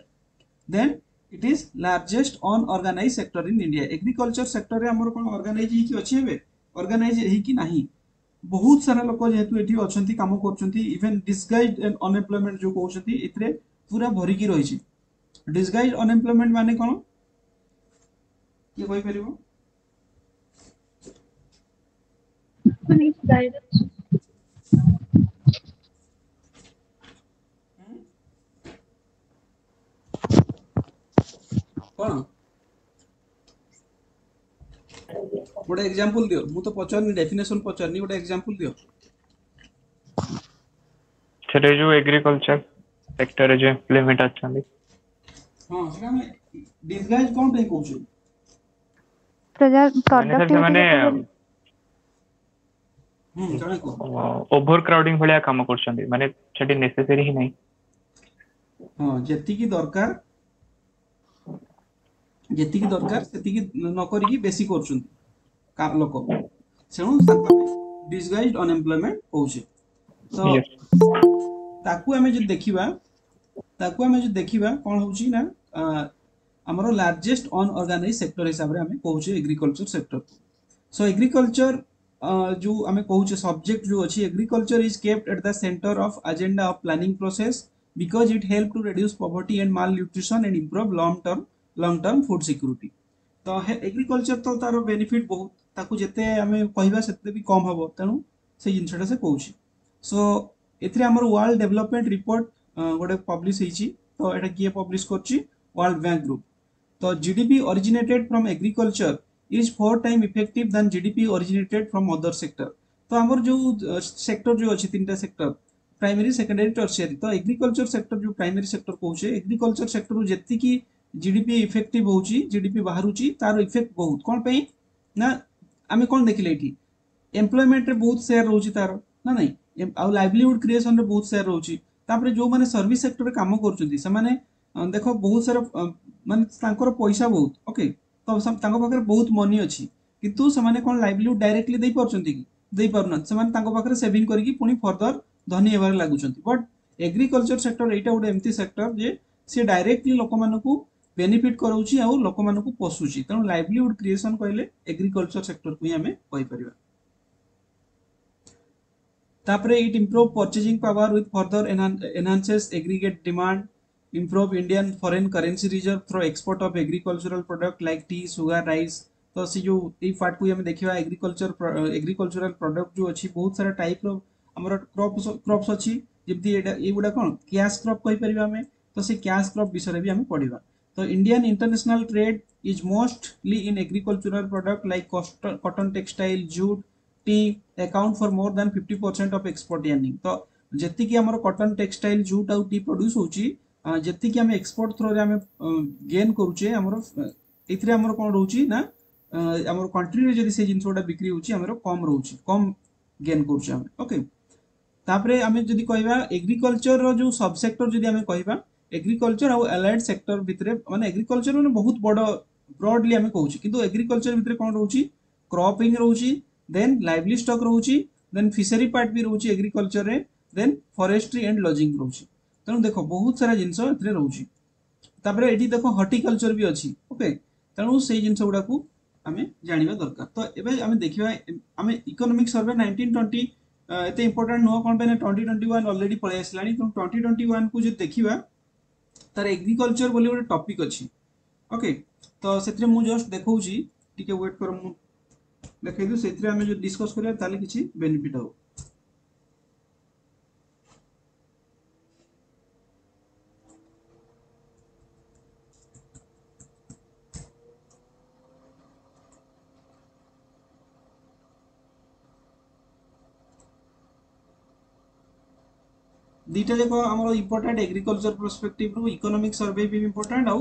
then it is largest unorganized sector in India agriculture sector ରେ ଆମର କ'ଣ organise ହେଇକି ଅଛି ଏବେ ଅର୍ଗାନାଇଜ ହେଇକି ନାହିଁ ବହୁତ ସାରା ଲୋକ ଯେହେତୁ ଏଠି ଅଛନ୍ତି କାମ କରୁଛନ୍ତି ଇଭେନ୍ ଡିସଗାଇଜ ଅନଏମ୍ପ୍ଲୟମେଣ୍ଟ ଯୋଉ କହୁଛନ୍ତି ଏଥିରେ ପୁରା ଭରିକି ରହିଛି ଡିସଗାଇଜ ଅନଏମ୍ପ୍ଲୟମେଣ୍ଟ ମାନେ କ'ଣ କିଏ କହିପାରିବ ମାନେ guidance କ'ଣ ଗୋଟେ ଏକ୍ଜାମ୍ପଲ ଦିଅ ମୁଁ ତ ପଚାରୁନି ଡେଫିନେସନ ପଚାରୁନି ଗୋଟେ ଏକ୍ଜାମ୍ପଲ ଦିଅ ସେଟା ଯୋଉ ଏଗ୍ରିକଲଚର ସେକ୍ଟରରେ ଯୋଉ ଏମ୍ପ୍ଲୟମେଣ୍ଟ ଅଛନ୍ତି ହଁ ସେଟା ଆମେ ଡିସଗାଇଜ କ'ଣ ପାଇଁ କହୁଛୁ ମାନେ ସାର୍ ପ୍ରଡକ୍ଟିଭିଟି ସେମାନେ ହୁଁ ଜଣେ କୁହ ଓଭର କ୍ରାଉଡିଂ ଭଳିଆ କାମ କରୁଛନ୍ତି ମାନେ ସେଠି ନେସେସରି ହିଁ ନାହିଁ ହଁ ଯେତିକି ଦରକାର ଯେତିକି ଦରକାର ସେତିକି ନ କରିକି ବେଶୀ କରୁଛନ୍ତି କା- ଲୋକ ତେଣୁ ତାକୁ ଆମେ ଡିସଗାଇଜ ଅନଏମ୍ପ୍ଲୟମେଣ୍ଟ କହୁଛେ ତ Yes. ତାକୁ ଆମେ ଯଦି ଦେଖିବା ତାକୁ ଆମେ ଯଦି ଦେଖିବା କ'ଣ ହଉଛି ନା ଆ, ଆମର ଲାର୍ଜେଷ୍ଟ ଅନଅର୍ଗାନାଇଜ ସେକ୍ଟର ହିସାବରେ ଆମେ କହୁଛେ ଏଗ୍ରିକଲଚର ସେକ୍ଟରକୁ ସୋ ଏଗ୍ରିକଲଚର ଯୋଉ ଆମେ କହୁଛେ ସବଜେକ୍ଟ ଯୋଉ ଅଛି agriculture is kept at the center of agenda of planning process because it help to reduce poverty and malnutrition and improve long term long term food security ତ agriculture ତ ତାର benefit ବହୁତ ତାକୁ ଯେତେ ଆମେ କହିବା ସେତେ ବି କମ୍ ହବ ତେଣୁ ସେଇ ଜିନିଷଟା ସେ କହୁଛି ସୋ ଏଥିରେ ଆମର ୱାର୍ଲଡ ଡେଭଲପମେଣ୍ଟ ରିପୋର୍ଟ ଗୋଟେ ପବ୍ଲିଶ ହେଇଛି ତ ଏଇଟା କିଏ ପବ୍ଲିଶ କରୁଛି ୱାର୍ଲଡ ବ୍ୟାଙ୍କ ଗ୍ରୁପ ତ GDP originated from agriculture is four time effective than GDP originated from other sector ତ ଆମର ଯୋଉ ସେକ୍ଟର ଯୋଉ ଅଛି ତିନିଟା ସେକ୍ଟର ପ୍ରାଇମେରୀ ସେକେଣ୍ଡାରୀ ଟର୍ସିଆରୀ ତ ଏଗ୍ରିକଲଚର ସେକ୍ଟର ଯୋଉ ପ୍ରାଇମେରୀ ସେକ୍ଟର କହୁଛେ ଏଗ୍ରିକଲଚର ସେକ୍ଟରରୁ ଯେତିକି ଜିଡିପି ଇଫେକ୍ଟିଭ ହଉଛି ଜିଡିପି ବାହାରୁଛି ତାର ଇଫେକ୍ଟ ବହୁତ କ'ଣ ପାଇଁ ନା ଆମେ କ'ଣ ଦେଖିଲେ ଏଇଠି ଏମ୍ପ୍ଲୟମେଣ୍ଟରେ ବହୁତ ସେୟାର ରହୁଛି ତାର ନା ନାଇଁ ଏମ୍- ଆଉ ଲାଇଭଲିହୁଡ କ୍ରିଏସନରେ ବହୁତ ସେୟାର ରହୁଛି ତାପରେ ଯୋଉମାନେ ସର୍ଭିସ ସେକ୍ଟରରେ କାମ କରୁଛନ୍ତି ସେମାନେ ଅ, ଦେଖ ବହୁତ ସାରା ଅ, ମାନେ ତାଙ୍କର ପଇସା ବହୁତ ଓକେ ତ ସେ- ତାଙ୍କ ପାଖରେ ବହୁତ ମନି ଅଛି କିନ୍ତୁ ସେମାନେ କ'ଣ ଲାଇଭଲିହୁଡ ଡାଇରେକ୍ଟଲି ଦେଇପାରୁଛନ୍ତି କି ଦେଇପାରୁନାହାନ୍ତି ସେମାନେ ତାଙ୍କ ପାଖରେ ସେଭିଂ କରିକି ପୁଣି ଫର୍ଦର ଧନୀ ହେବାରେ ଲାଗୁଛନ୍ତି ବଟ୍ ଏଗ୍ରିକଲଚର ସେକ୍ଟର ଏଇଟା ଗୋଟେ ଏମିତି ସେକ୍ଟର ଯେ ସେ ଡାଇରେକ୍ଟଲି ଲୋକମାନଙ୍କୁ ବେନିଫିଟ କରାଉଛି ଆଉ ଲୋକମାନଙ୍କୁ ପୋଷୁଛି ତେଣୁ ଲାଇଭଲିହୁଡ କ୍ରିଏସନ କହିଲେ ଏଗ୍ରିକଲଚର ସେକ୍ଟରକୁ ହିଁ ଆମେ କହିପାରିବା ତାପରେ it improve purchasing power with further enhances aggregate demand improve Indian foreign currency reserve through export of agricultural product like tea sugar rice ତ ସେ ଯୋଉ ଏଇ ପାର୍ଟକୁ ଆମେ ଦେଖିବା ଏଗ୍ରିକଲଚର ଏଗ୍ରିକଲଚରାଲ ପ୍ରଡକ୍ଟ ଯୋଉ ଅଛି ବହୁତ ସାରା ଟାଇପର ଆମର କ୍ରପ୍ କ୍ରପ୍ସ ଅଛି ଯେମିତି ଏଇଟା ଏଇଗୁଡ଼ା କ'ଣ କ୍ୟାସ୍ କ୍ରପ୍ କହିପାରିବା ଆମେ ତ ସେ କ୍ୟାସ୍ କ୍ରପ୍ ବିଷୟରେ ବି ଆମେ ପଢିବା ତ Indian international trade is mostly in agricultural product like cotton textile jute tea account for more than fifty percent of export earning ତ ଯେତିକି ଆମର କଟନ ଟେକ୍ସଟାଇଲ ଜୁଟ୍ ଆଉ ଟି ପ୍ରଡ୍ୟୁସ୍ ହେଉଛି ଯେତିକି ଆମେ ଏକ୍ସପୋର୍ଟ ଥ୍ରୋରେ ଆମେ ଗେନ୍ କରୁଛେ ଆମର ଏଥିରେ ଆମର କ'ଣ ରହୁଛି ନା ଅ, ଆମର କଣ୍ଟ୍ରିରେ ଯଦି ସେଇ ଜିନିଷ ଗୁଡ଼ା ବିକ୍ରି ହେଉଛି ଆମର କମ୍ ରହୁଛି କମ୍ ଗେନ୍ କରୁଛେ ଆମେ ଓକେ ତାପରେ ଆମେ ଯଦି କହିବା ଏଗ୍ରିକଲଚରର ଯୋଉ ସବ୍ ସେକ୍ଟର ଯଦି ଆମେ କହିବା ଏଗ୍ରିକଲଚର ଆଉ ଆଲାଇଡ୍ ସେକ୍ଟର ଭିତରେ ମାନେ ଏଗ୍ରିକଲଚର ମାନେ ବହୁତ ବଡ଼ ବ୍ରଡଲି ଆମେ କହୁଛେ କିନ୍ତୁ ଏଗ୍ରିକଲଚର ଭିତରେ କ'ଣ ରହୁଛି କ୍ରପିଂ ରହୁଛି ଦେନ୍ ଲାଇଭଲି ଷ୍ଟକ୍ ରହୁଛି ଦେନ୍ ଫିସରୀ ପାର୍ଟ ବି ରହୁଛି ଏଗ୍ରିକଲଚରରେ ଦେନ୍ ଫରେଷ୍ଟ୍ରି ଆଣ୍ଡ ଲଜିଂ ରହୁଛି ତେଣୁ ଦେଖ ବହୁତ ସାରା ଜିନିଷ ଏଥିରେ ରହୁଛି ତାପରେ ଏଠି ଦେଖ ହର୍ଟିକଲଚର ବି ଅଛି ଓକେ ତେଣୁ ସେଇ ଜିନିଷ ଗୁଡାକୁ ଆମେ ଜାଣିବା ଦରକାର ତ ଏବେ ଆମେ ଦେଖିବା ଆମେ ଇକୋନୋମିକ ସର୍ଭେ ନାଇନଟିନ୍ ଟ୍ୱେଣ୍ଟି ଏତେ ଇମ୍ପୋର୍ଟାଣ୍ଟ ନୁହଁ କ'ଣ ପାଇଁ ନା ଟ୍ୱେଣ୍ଟି ଟ୍ୱେଣ୍ଟି ୱାନ୍ ଅଲରେଡି ପଳେଇ ଆସିଲାଣି ତେଣୁ ଟ୍ୱେଣ୍ଟି ଟ୍ୱେଣ୍ଟି ୱାନ୍କୁ ଯଦି ଦେଖିବା ତାର ଏଗ୍ରିକଲଚର ବୋଲି ଗୋଟେ ଟପିକ୍ ଅଛି ଓକେ ତ ସେଥିରେ ମୁଁ ଜଷ୍ଟ ଦେଖଉଛି ଟିକେ ୱେଟ୍ କର ମୁଁ ଦେଖେଇଦେବି ସେଥିରେ ଆମେ ଯଦି ଡିସ୍କସ୍ କରିବା ତାହେଲେ କିଛି ବେନିଫିଟ୍ ହବ ଦୁଇଟା ଯାକ ଆମର ଇମ୍ପୋର୍ଟାଣ୍ଟ ଏଗ୍ରିକଲଚର ପର୍ସପେକ୍ଟିଭରୁ ଇକୋନୋମିକ ସର୍ଭେ ବି ଇମ୍ପୋର୍ଟାଣ୍ଟ ଆଉ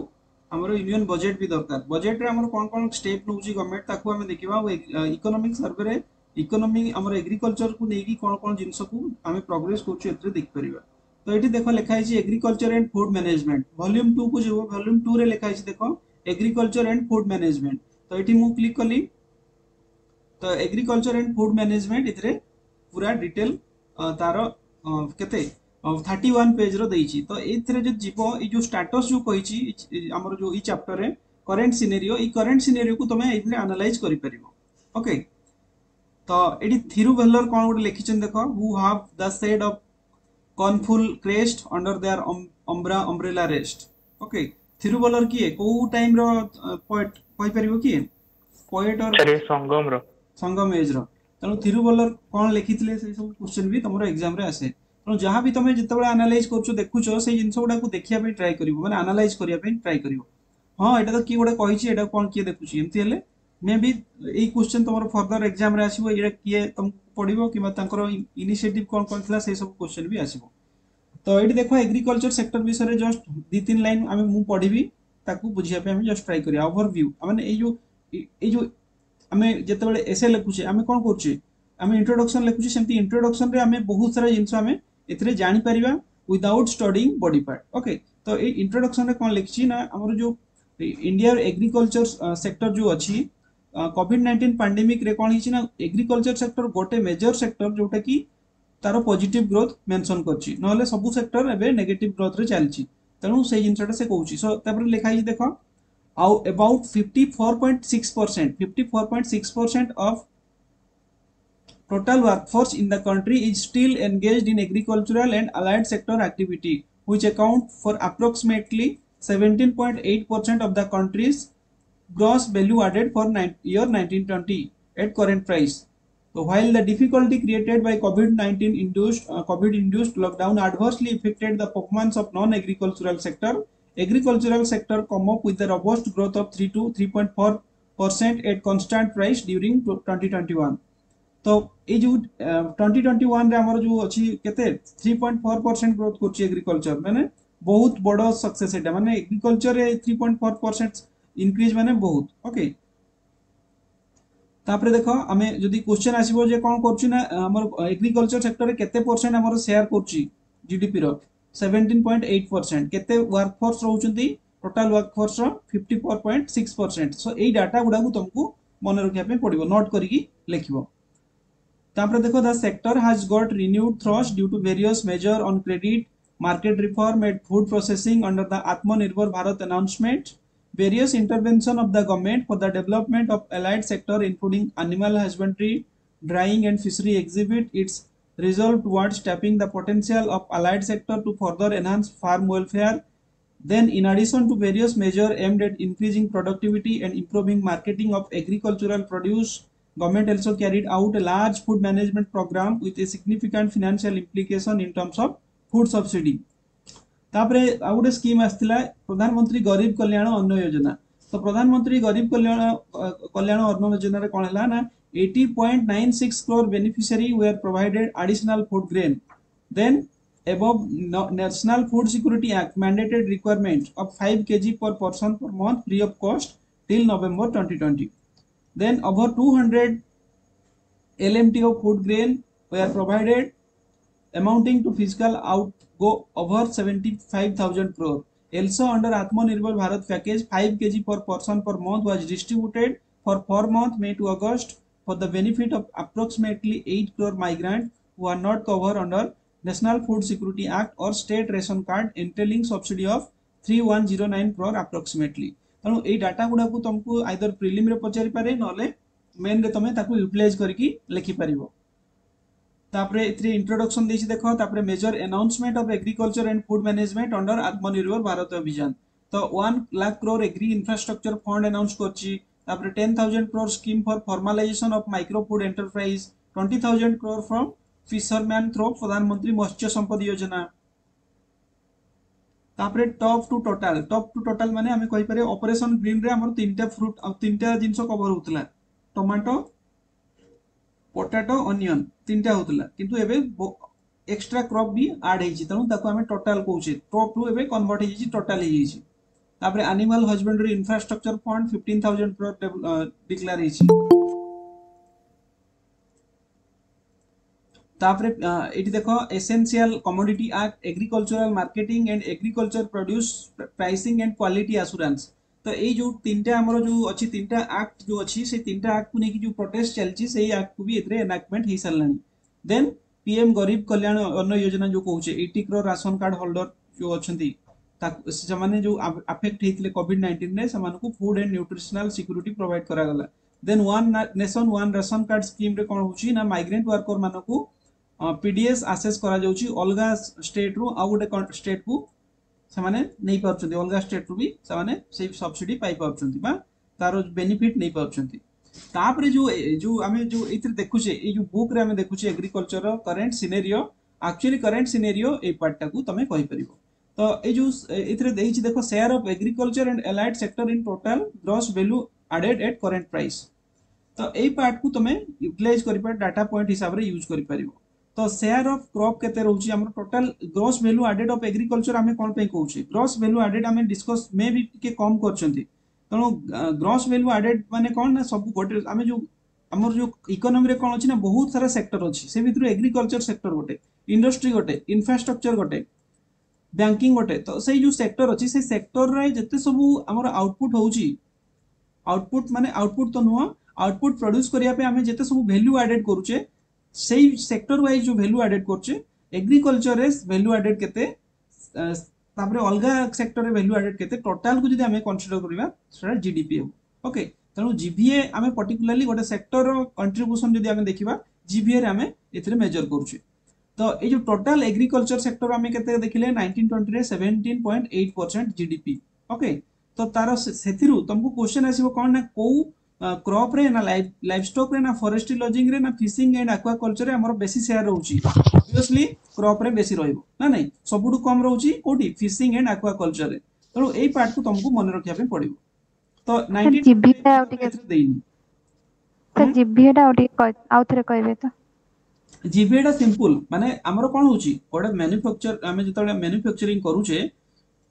ଆମର ୟୁନିୟନ ବଜେଟ୍ ବି ଦରକାର ବଜେଟ୍ରେ ଆମର କ'ଣ କ'ଣ ଷ୍ଟେପ୍ ନେଉଛି ଗଭର୍ଣ୍ଣମେଣ୍ଟ ତାକୁ ଆମେ ଦେଖିବା ଆଉ ଇକୋନୋମିକ ସର୍ଭେରେ ଇକୋନୋମି ଆମର ଏଗ୍ରିକଲଚରକୁ ନେଇକି କ'ଣ କ'ଣ ଜିନିଷକୁ ଆମେ ପ୍ରୋଗ୍ରେସ କରୁଛୁ ଏଥିରେ ଦେଖିପାରିବା ତ ଏଠି ଦେଖ ଲେଖା ହେଇଛି agriculture and food management volume two କୁ ଯିବ ଭଲ୍ୟୁମ୍ ଟୁ ରେ ଲେଖା ହେଇଛି ଦେଖ ଏଗ୍ରିକଲଚର ଆଣ୍ଡ ଫୁଡ ମ୍ୟାନେଜମେଣ୍ଟ ତ ଏଠି ମୁଁ କ୍ଲିକ୍ କଲି ତ ଏଗ୍ରିକଲଚର ଆଣ୍ଡ ଫୁଡ ମ୍ୟାନେଜମେଣ୍ଟ ଏଥିରେ ପୁରା ଡିଟେଲ ତାର ଅ, କେତେ ଥାର୍ଟି ୱାନ୍ ପେଜ୍ର ଦେଇଛି ତ ଏଇଥିରେ ଯଦି ଯିବ ଏଇ ଯୋଉ ଷ୍ଟାଟସ୍ ଯୋଉ କହିଛି ଏଇ ଆମର ଯୋଉ ଏଇ ଚାପ୍ଟରରେ କରେଣ୍ଟ ସିନେରିଓ ଏଇ କରେଣ୍ଟ ସିନେରିଓକୁ ତମେ ଏଇଥିରେ ଆନାଲାଇଜ କରିପାରିବ ଓକେ ତ ଏଠି ଥିରୁଭେଲର କ'ଣ ଗୋଟେ ଲେଖିଛନ୍ତି ଦେଖ who have the shade of Kanful crest under their umbra umbrella rest okay ଥିରୁଭେଲର କିଏ କୋଉ ଟାଇମର ପଏଟ କହିପାରିବ କିଏ ପଏଟ ଅର୍ ସାର୍ ଏ ସଙ୍ଗମର ସଙ୍ଗମ ଏଜ୍ର ତେଣୁ ଥିରୁଭେଲର କ'ଣ ଲେଖିଥିଲେ ସେଇ ସବୁ କ୍ୱେଶ୍ଚନ ବି ତମର ଏକ୍ଜାମରେ ଆସେ ତେଣୁ ଯାହା ବି ତମେ ଯେତେବେଳେ ଆନାଲାଇଜ କରୁଛ ଦେଖୁଛ ସେଇ ଜିନିଷ ଗୁଡାକୁ ଦେଖିବା ପାଇଁ ଟ୍ରାଏ କରିବ ମାନେ ଆନାଲାଇଜ କରିବା ପାଇଁ ଟ୍ରାଏ କରିବ ହଁ ଏଇଟା ତ କିଏ ଗୋଟେ କହିଛି ଏଇଟା କ'ଣ କିଏ ଦେଖୁଛି ଏମିତି ହେଲେ ମେ ବି ଏଇ କ୍ୱେଶ୍ଚନ ତମର ଫର୍ଦର ଏକ୍ଜାମରେ ଆସିବ ଏଇଟା କିଏ ତମକୁ ପଢିବ କିମ୍ବା ତାଙ୍କର ଇନିସିଏଟିଭ କ'ଣ କ'ଣ ଥିଲା ସେଇ ସବୁ କ୍ୱେଶ୍ଚନ ବି ଆସିବ ତ ଏଇଠି ଦେଖ ଏଗ୍ରିକଲଚର ସେକ୍ଟର ବିଷୟରେ ଜଷ୍ଟ ଦି ତିନି ଲାଇନ ଆମେ ମୁଁ ପଢିବି ତାକୁ ବୁଝିବା ପାଇଁ ଆମେ ଜଷ୍ଟ ଟ୍ରାଏ କରିବା ଓଭରଭ୍ୟୁ ମାନେ ଏଇ ଯୋଉ ଏଇ ଯୋଉ ଆମେ ଯେତେବେଳେ ଏସେ ଲେଖୁଛେ ଆମେ କ'ଣ କରୁଛେ ଆମେ ଇଣ୍ଟ୍ରୋଡକ୍ସନ ଲେଖୁଛେ ସେମିତି ଇଣ୍ଟ୍ରୋଡକ୍ସନରେ ଆମେ ବହୁତ ସାରା ଜିନିଷ ଆମେ ଏଥିରେ ଜାଣିପାରିବା without studying body part okay ତ ଏଇ ଇଣ୍ଟ୍ରୋଡକ୍ସନରେ କ'ଣ ଲେଖିଛି ନା ଆମର ଯୋଉ ଇଣ୍ଡିଆର ଏଗ୍ରିକଲଚର ସେକ୍ଟର ଯୋଉ ଅଛି କୋଭିଡ ନାଇଣ୍ଟିନ୍ ପାଣ୍ଡେମିକରେ କ'ଣ ହେଇଛି ନା ଏଗ୍ରିକଲଚର ସେକ୍ଟର ଗୋଟେ ମେଜର ସେକ୍ଟର ଯୋଉଟା କି ତାର ପଜିଟିଭ ଗ୍ରୋଥ ମେନସନ କରିଛି ନହେଲେ ସବୁ ସେକ୍ଟର ଏବେ ନେଗେଟିଭ ଗ୍ରୋଥରେ ଚାଲିଛି ତେଣୁ ସେଇ ଜିନିଷଟା ସେ କହୁଛି ସୋ ତାପରେ ଲେଖା ହେଇଛି ଦେଖ ଆଉ about fifty four point six percent fifty four point six percent of total workforce in the country is still engaged in agricultural and allied sector activity which account for approximately seventeen point eight percent of the country's gross value added for year nineteen twenty at current price. So while the difficulty created by COVID nineteen induced uh, COVID induced lockdown adversely affected the performance of non-agricultural sector, agricultural sector come up with a robust growth of three to three point four percent at constant price during twenty twenty-one. ତ ଏଇ ଯୋଉ twenty twenty ୱାନରେ ଆମର ଯୋଉ ଅଛି କେତେ three point four percent growth କରୁଛି agriculture ମାନେ ବହୁତ ବଡ ସକ୍ସେସ୍ ଏଇଟା ମାନେ ଏଗ୍ରିକଲଚରରେ three point four percent increase ମାନେ ବହୁତ ଓକେ ତାପରେ ଦେଖ ଆମେ ଯଦି କ୍ୱେଶ୍ଚନ ଆସିବ ଯେ କ'ଣ କରୁଛି ନା ଆମର ଏଗ୍ରିକଲଚର ସେକ୍ଟରରେ କେତେ ପରସେଣ୍ଟ ଆମର ସେୟାର କରୁଛି ଜିଡିପି ର ସେଭେଣ୍ଟିନ୍ ପଏଣ୍ଟ ଏଇଟ୍ ପରସେଣ୍ଟ କେତେ ୱାର୍କ ଫୋର୍ସ ରହୁଛନ୍ତି ଟୋଟାଲ ୱାର୍କ ଫୋର୍ସର fifty four point six percent so ଏଇ ଡାଟା ଗୁଡାକୁ ତମକୁ ମନେ ରଖିବା ପାଇଁ ପଡିବ ନୋଟ୍ କରିକି ଲେଖିବ ତାପରେ ଦେଖ the sector has got renewed thrust due to various measure on credit market reform and food processing under the Atmanirbhar Bharat announcement, various intervention of the government for the development of allied sector including animal husbandry, drying and fishery exhibit its resolve towards tapping the potential of allied sector to further enhance farm welfare. Then, in addition to various measures aimed at increasing productivity and improving marketing of agricultural produce, government also carried out a large food management program with a significant financial implication in terms of food subsidy. ତାପରେ ଆଉ ଗୋଟେ scheme ଆସିଥିଲା ପ୍ରଧାନମନ୍ତ୍ରୀ ଗରିବ କଲ୍ୟାଣ ଅନ୍ନ ଯୋଜନା ତ ପ୍ରଧାନମନ୍ତ୍ରୀ ଗରିବ କଲ୍ୟାଣ କଲ୍ୟାଣ ଅନ୍ନ ଯୋଜନାରେ କ'ଣ ହେଲା ନା eighty point nine six crore beneficiary were provided additional food grain then above National Food Security Act mandated requirement of five kilograms per person per month free of cost till November twenty twenty. Then over two hundred L M T of food grain were provided, amounting to fiscal outgo over seventy-five thousand crore. Also under Atmanirbhar Bharat package, five kilograms per person per month was distributed for four months, May to August, for the benefit of approximately eight crore migrants who are not covered under National Food Security Act or state ration card, entailing subsidy of three thousand one hundred nine crore approximately. ତେଣୁ ଏଇ ଡାଟା ଗୁଡାକୁ ତମକୁ either ପ୍ରିଲିମରେ ପଚାରିପାରେ ନହେଲେ ମେନରେ ତମେ ତାକୁ utilise କରିକି ଲେଖିପାରିବ ତାପରେ ଏଥିରେ ଇଣ୍ଟ୍ରୋଡକ୍ସନ ଦେଇଛି ଦେଖ ତାପରେ major announcement of agriculture and food management under Atmanirbhar Bharat Abhiyan ତ one lakh crore agri infrastructure fund announce କରିଛି ତାପରେ ten thousand crore scheme for formalization of micro food enterprise twenty thousand crore from fisherman through ପ୍ରଧାନମନ୍ତ୍ରୀ ମତ୍ସ୍ୟ ସମ୍ପଦ ଯୋଜନା ତାପରେ top to total top to total ମାନେ ଆମେ କହିପାରିବା ଅପରେସନ ଗ୍ରୀନରେ ଆମର ତିନିଟା ଫ୍ରୁଟ ଆଉ ତିନିଟା ଜିନିଷ କଭର ହଉଥିଲା ଟମାଟୋ ପଟାଟୋ ଅନିଅନ ତିନିଟା ହଉଥିଲା କିନ୍ତୁ ଏବେ ଏକ୍ସଟ୍ରା କ୍ରପ୍ ବି ଆଡ୍ ହେଇଛି ତେଣୁ ତାକୁ ଆମେ ଟୋଟାଲ କହୁଛେ ଟପ୍ ଟୁ ଏବେ କନଭର୍ଟ ହେଇଯାଇଛି ଟୋଟାଲ ହେଇଯାଇଛି ତାପରେ animal husbandry infrastructure fund fifteen thousand crore declare ହେଇଛି ତାପରେ ଏଠି ଦେଖ Essential Commodity Act Agricultural Marketing and Agriculture Produce Pricing and Quality Assurance ତ ଏଇ ଯୋଉ ତିନିଟା ଆମର ଯୋଉ ଅଛି ତିନିଟା ଆକ୍ଟ ଯୋଉ ଅଛି ସେଇ ତିନିଟା ଆକ୍ଟକୁ ନେଇକି ଯୋଉ ପ୍ରୋଟେଷ୍ଟ ଚାଲିଛି ସେଇ ଆକ୍ଟକୁ ବି ଏଥିରେ ଏନାକ୍ଟମେଣ୍ଟ ହେଇସାରିଲାଣି ଦେନ୍ ପିଏମ୍ ଗରିବ କଲ୍ୟାଣ ଅନ୍ନ ଯୋଜନା ଯୋଉ କହୁଛେ eighty crore ration card holder ଯୋଉ ଅଛନ୍ତି ତାକୁ ସେମାନେ ଯୋଉ ଆଫେକ୍ଟ ହେଇଥିଲେ କୋଭିଡ ନାଇଣ୍ଟିନରେ ସେମାନଙ୍କୁ food and nutritional security provide କରାଗଲା then One Nation One Ration Card ସ୍କିମ୍ରେ କ'ଣ ହଉଛି ନା ମାଇଗ୍ରେଣ୍ଟ ୱାର୍କର ମାନଙ୍କୁ ପିଡିଏସ୍ ଆସେସ୍ କରାଯାଉଛି ଅଲଗା ଷ୍ଟେଟ୍ରୁ ଆଉ ଗୋଟେ ଷ୍ଟେଟ୍କୁ ସେମାନେ ନେଇପାରୁଛନ୍ତି ଅଲଗା ଷ୍ଟେଟ୍ରୁ ବି ସେମାନେ ସେଇ ସବସିଡି ପାଇପାରୁଛନ୍ତି ବା ତାର ବେନିଫିଟ୍ ନେଇପାରୁଛନ୍ତି ତାପରେ ଯୋଉ ଯୋଉ ଆମେ ଯୋଉ ଏଇଥିରେ ଦେଖୁଛେ ଏଇ ଯୋଉ ବୁକ୍ରେ ଆମେ ଦେଖୁଛେ agriculture current scenario actually current scenario ଏଇ ପାର୍ଟଟାକୁ ତମେ କହିପାରିବ ତ ଏଇ ଯୋଉ ଏଇଥିରେ ଦେଇଛି ଦେଖ share of agriculture and allied sector in total gross value added at current price ତ ଏଇ ପାର୍ଟକୁ ତମେ ୟୁଟିଲାଇଜ କରିପାରିବ ଡାଟା ପଏଣ୍ଟ ହିସାବରେ ୟୁଜ୍ କରିପାରିବ ତ ସେୟାର ଅଫ୍ କ୍ରପ୍ କେତେ ରହୁଛି ଆମର total gross value added of agriculture ଆମେ କ'ଣ ପାଇଁ କହୁଛେ ଗ୍ରସ୍ ଭ୍ୟାଲୁ ଆଡେଡ୍ ଆମେ ଡିସ୍କସ୍ ମେ ବି ଟିକେ କମ୍ କରିଛନ୍ତି ତେଣୁ ଗ୍ରସ୍ ଭ୍ୟାଲୁ ଆଡେଡ୍ ମାନେ କ'ଣ ନା ସବୁ ଗୋଟେ ଆମେ ଯୋଉ ଆମର ଯୋଉ ଇକୋନୋମିରେ କ'ଣ ଅଛି ନା ବହୁତ ସାରା ସେକ୍ଟର ଅଛି ସେ ଭିତରୁ ଏଗ୍ରିକଲଚର ସେକ୍ଟର ଗୋଟେ ଇଣ୍ଡଷ୍ଟ୍ରି ଗୋଟେ ଇନଫ୍ରାଷ୍ଟ୍ରକ୍ଚର ଗୋଟେ ବ୍ୟାଙ୍କିଂ ଗୋଟେ ତ ସେଇ ଯୋଉ ସେକ୍ଟର ଅଛି ସେଇ ସେକ୍ଟରରେ ଯେତେ ସବୁ ଆମର ଆଉଟପୁଟ୍ ହଉଛି ଆଉଟପୁଟ୍ ମାନେ ଆଉଟପୁଟ୍ ତ ନୁହଁ ଆଉଟପୁଟ୍ ପ୍ରଡ୍ୟୁସ୍ କରିବା ପାଇଁ ଆମେ ଯେତେ ସବୁ ଭ୍ୟାଲୁ ଆଡେଡ୍ କରୁଛେ ସେଇ ସେକ୍ଟର ୱାଇଜ୍ ଯୋଉ ଭ୍ୟାଲୁ ଆଡେଡ୍ କରୁଛେ ଏଗ୍ରିକଲଚରରେ ଭ୍ୟାଲୁ ଆଡେଡ୍ କେତେ ତାପରେ ଅଲଗା ସେକ୍ଟରରେ ଭ୍ୟାଲୁ ଆଡେଡ୍ କେତେ ଟୋଟାଲକୁ ଯଦି ଆମେ କନସିଡର କରିବା ସେଟା ଜିଡିପି ହେବ ଓକେ ତେଣୁ ଜିଭିଏ ଆମେ ପର୍ଟିକୁଲାରଲି ଗୋଟେ ସେକ୍ଟରର କଣ୍ଟ୍ରିବ୍ୟୁସନ ଯଦି ଆମେ ଦେଖିବା ଜିଭିଏରେ ଆମେ ଏଥିରେ ମେଜର କରୁଛେ ତ ଏଇ ଯୋଉ ଟୋଟାଲ ଏଗ୍ରିକଲଚର ସେକ୍ଟର ଆମେ କେତେ ଦେଖିଲେ nineteen ଟ୍ୱେଣ୍ଟିରେ seventeen point eight percent GDP okay ତ ତାର ସେଥିରୁ ତମକୁ କ୍ୱେଶ୍ଚନ ଆସିବ କ'ଣ ନା କୋଉ କ୍ରପ୍ରେ ନା ଲାଇଫ୍ ଷ୍ଟକ୍ରେ ନା ଫରେଷ୍ଟ୍ରି ଲଜିଂରେ ନା ଫିସିଂ ଆଣ୍ଡ ଆକ୍ୱାକଲଚରରେ ଆମର ବେଶୀ ସେୟାର ରହୁଛି ଅବଭିୟସଲି କ୍ରପ୍ରେ ବେଶୀ ରହିବ ନା ନାଇଁ ସବୁଠୁ କମ୍ ରହୁଛି କୋଉଠି ଫିସିଂ ଆଣ୍ଡ ଆକ୍ୱାକଲଚରରେ ତେଣୁ ଏଇ ପାର୍ଟକୁ ତମକୁ ମନେ ରଖିବା ପାଇଁ ପଡିବ ତ ସାର୍ ଜିଭିଏ ଆଉ ଟିକେ ନାଇନଟିନ୍ ଦେଇନି ସାର୍ ଜିଭିଏ ଟା ଆଉ ଟିକେ ଆଉ ଥରେ କହିବେ ତ ଜିଭିଏ ଟା ସିମ୍ପଲ ମାନେ ଆମର କ'ଣ ହଉଛି ଗୋଟେ ମ୍ୟାନୁଫ୍ୟାକ୍ଚର ଆମେ ଯେତେବେଳେ ମ୍ୟାନୁଫ୍ୟାକ୍ଚରିଂ କରୁଛେ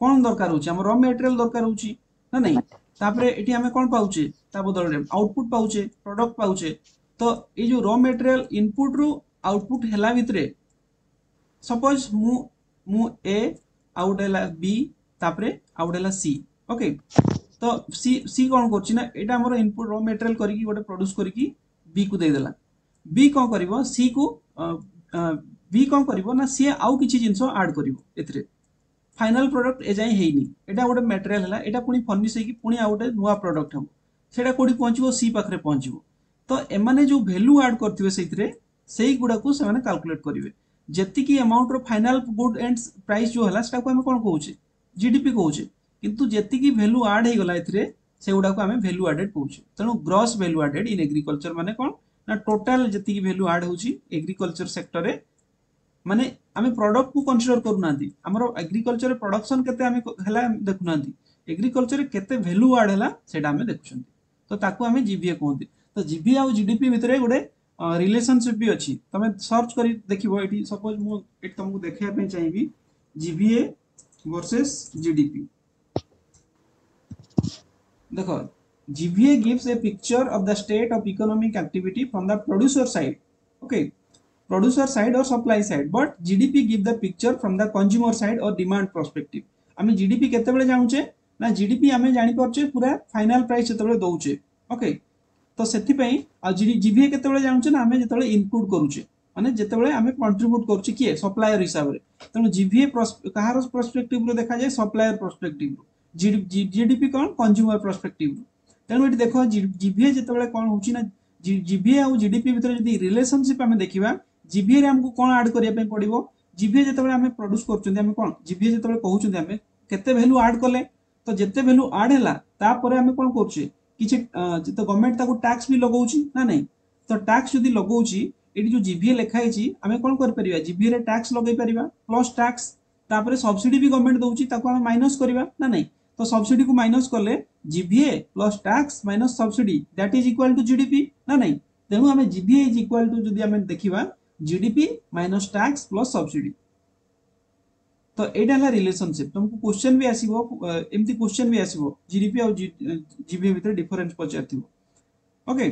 କ'ଣ ଦରକାର ହଉଛି ଆମର ର ମେଟେରିଆଲ ଦରକାର ହଉଛି ନା ନାଇଁ ତାପରେ ଏଠି ଆମେ କ'ଣ ପାଉଛେ ତା ବଦଳରେ ଆଉଟପୁଟ୍ ପାଉଛେ ପ୍ରଡକ୍ଟ ପାଉଛେ ତ ଏଇ ଯୋଉ ର ମେଟେରିଆଲ ଇନପୁଟରୁ ଆଉଟପୁଟ୍ ହେଲା ଭିତରେ ସପୋଜ ମୁଁ ମୁଁ ଏ ଆଉ ଗୋଟେ ହେଲା ବି ତାପରେ ଆଉ ଗୋଟେ ହେଲା ସି ଓକେ ତ ସି ସି କ'ଣ କରୁଛି ନା ଏଇଟା ଆମର ଇନପୁଟ ର ମେଟେରିଆଲ କରିକି ଗୋଟେ ପ୍ରଡ୍ୟୁସ୍ କରିକି ବି କୁ ଦେଇଦେଲା ବି କ'ଣ କରିବ ସି କୁ ବି କ'ଣ କରିବ ନା ସିଏ ଆଉ କିଛି ଜିନିଷ ଆଡ୍ କରିବ ଏଥିରେ ଫାଇନାଲ ପ୍ରଡକ୍ଟ ଏଯାଏଁ ହେଇନି ଏଇଟା ଗୋଟେ ମେଟେରିଆଲ ହେଲା ଏଇଟା ପୁଣି ଫର୍ନିଶ ହେଇକି ପୁଣି ଆଉ ଗୋଟେ ନୂଆ ପ୍ରଡକ୍ଟ ହେବ ସେଇଟା କୋଉଠି ପହଞ୍ଚିବ ସି ପାଖରେ ପହଞ୍ଚିବ ତ ଏମାନେ ଯୋଉ ଭ୍ୟାଲୁ ଆଡ୍ କରିଥିବେ ସେଇଥିରେ ସେଇଗୁଡ଼ାକୁ ସେମାନେ କାଲକୁଲେଟ୍ କରିବେ ଯେତିକି ଆମାଉଣ୍ଟର ଫାଇନାଲ ଗୁଡ୍ ଆଣ୍ଡ ପ୍ରାଇସ୍ ଯୋଉ ହେଲା ସେଟାକୁ ଆମେ କ'ଣ କହୁଛେ ଜିଡିପି କହୁଛେ କିନ୍ତୁ ଯେତିକି ଭ୍ୟାଲୁ ଆଡ୍ ହେଇଗଲା ଏଥିରେ ସେଗୁଡ଼ାକୁ ଆମେ ଭ୍ୟାଲୁ ଆଡେଡ୍ କହୁଛେ ତେଣୁ gross value added in agriculture ମାନେ କ'ଣ ନା ଟୋଟାଲ ଯେତିକି ଭ୍ୟାଲୁ ଆଡ୍ ହେଉଛି ଏଗ୍ରିକଲଚର ସେକ୍ଟରରେ ମାନେ ଆମେ ପ୍ରଡକ୍ଟକୁ କନସିଡର କରୁନାହାନ୍ତି ଆମର ଏଗ୍ରିକଲଚର ପ୍ରଡକ୍ସନ କେତେ ଆମେ ହେଲା ଦେଖୁନାହାନ୍ତି ଏଗ୍ରିକଲଚରରେ କେତେ ଭ୍ୟାଲୁ ଆଡ୍ ହେଲା ସେଇଟା ଆମେ ଦେଖୁଛନ୍ତି ତ ତାକୁ ଆମେ ଜିଭିଏ କୁହନ୍ତି ତ ଜିଭିଏ ଆଉ ଜିଡିପି ଭିତରେ ଗୋଟେ ରିଲେସନସିପ୍ ବି ଅଛି ତମେ ସର୍ଚ୍ଚ କରି ଦେଖିବ ଏଠି ସପୋଜ ମୁଁ ଏଠି ତମକୁ ଦେଖେଇବା ପାଇଁ ଚାହିଁବି ଜିଭିଏ ଭର୍ସେସ୍ ଜିଡିପି ଦେଖ GVA gives a picture of the state of economic activity from the producer side okay producer side or supply side but GDP give the picture from the consumer side or demand perspective ଆମେ GDP କେତେବେଳେ ଜାଣୁଛେ ନା GDP ଆମେ ଜାଣିପାରୁଛେ ପୁରା final price ଯେତେବେଳେ ଦଉଛେ okay ତ ସେଥିପାଇଁ ଆଉ ଜିଭିଏ କେତେବେଳେ ଜାଣୁଛେ ନା ଆମେ ଯେତେବେଳେ ଇନପୁଟ କରୁଛେ ମାନେ ଯେତେବେଳେ ଆମେ କଣ୍ଟ୍ରିବ୍ୟୁଟ କରୁଛେ କିଏ ସପ୍ଲାୟର ହିସାବରେ ତେଣୁ ଜିଭିଏ କାହାର ପର୍ସପେକ୍ଟିଭରୁ ଦେଖାଯାଏ ସପ୍ଲାୟର ପର୍ସପେକ୍ଟିଭରୁ ଜିଡିପି କ'ଣ କନଜ୍ୟୁମର ପର୍ସପେକ୍ଟିଭରୁ ତେଣୁ ଏଠି ଦେଖ ଜିଭିଏ ଯେତେବେଳେ କ'ଣ ହଉଛି ନା ଜିଭିଏ ଆଉ ଜିଡିପି ଭିତରେ ଯଦି ରିଲେସନସିପ୍ ଆମେ ଦେଖିବା ଜିଭିଏରେ ଆମକୁ କ'ଣ ଆଡ୍ କରିବା ପାଇଁ ପଡିବ ଜିଭିଏ ଯେତେବେଳେ ଆମେ ପ୍ରଡ୍ୟୁସ୍ କରୁଛନ୍ତି ଆମେ କ'ଣ ଜିଭିଏ ଯେତେବେଳେ କହୁଛନ୍ତି ଆମେ କେତେ ଭ୍ୟାଲୁ ଆଡ୍ କଲେ ତ ଯେତେ ଭ୍ୟାଲୁ ଆଡ୍ ହେଲା ତାପରେ ଆମେ କ'ଣ କରୁଛେ କିଛି ତ ଗଭର୍ଣ୍ଣମେଣ୍ଟ ତାକୁ ଟ୍ୟାକ୍ସ ବି ଲଗାଉଛି ନା ନାଇଁ ତ ଟ୍ୟାକ୍ସ ଯଦି ଲଗାଉଛି ଏଠି ଯୋଉ ଜିଭିଏ ଲେଖା ହେଇଛି ଆମେ କ'ଣ କରିପାରିବା ଜିଭିଏରେ ଟ୍ୟାକ୍ସ ଲଗେଇ ପାରିବା ପ୍ଲସ୍ ଟ୍ୟାକ୍ସ ତାପରେ ସବସିଡି ବି ଗଭର୍ଣ୍ଣମେଣ୍ଟ ଦଉଛି ତାକୁ ଆମେ ମାଇନସ୍ କରିବା ନା ନାଇଁ ତ ସବସିଡିକୁ ମାଇନସ୍ କଲେ GVA plus tax minus subsidy that is equal to GDP ନା ନାଇଁ ତେଣୁ ଆମେ ଜିଭିଏ is equal to ଯଦି ଆମେ ଦେଖିବା GDP minus tax plus subsidy ତ ଏଇଟା ହେଲା ରିଲେସନସିପ୍ ତମକୁ କ୍ୱେଶ୍ଚନ ବି ଆସିବ ଏମିତି କ୍ୱେଶ୍ଚନ ବି ଆସିବ ଜିଡିପି ଆଉ ଜିଭିଏ ଭିତରେ ଡିଫରେନ୍ସ ପଚାରିଥିବ ଓକେ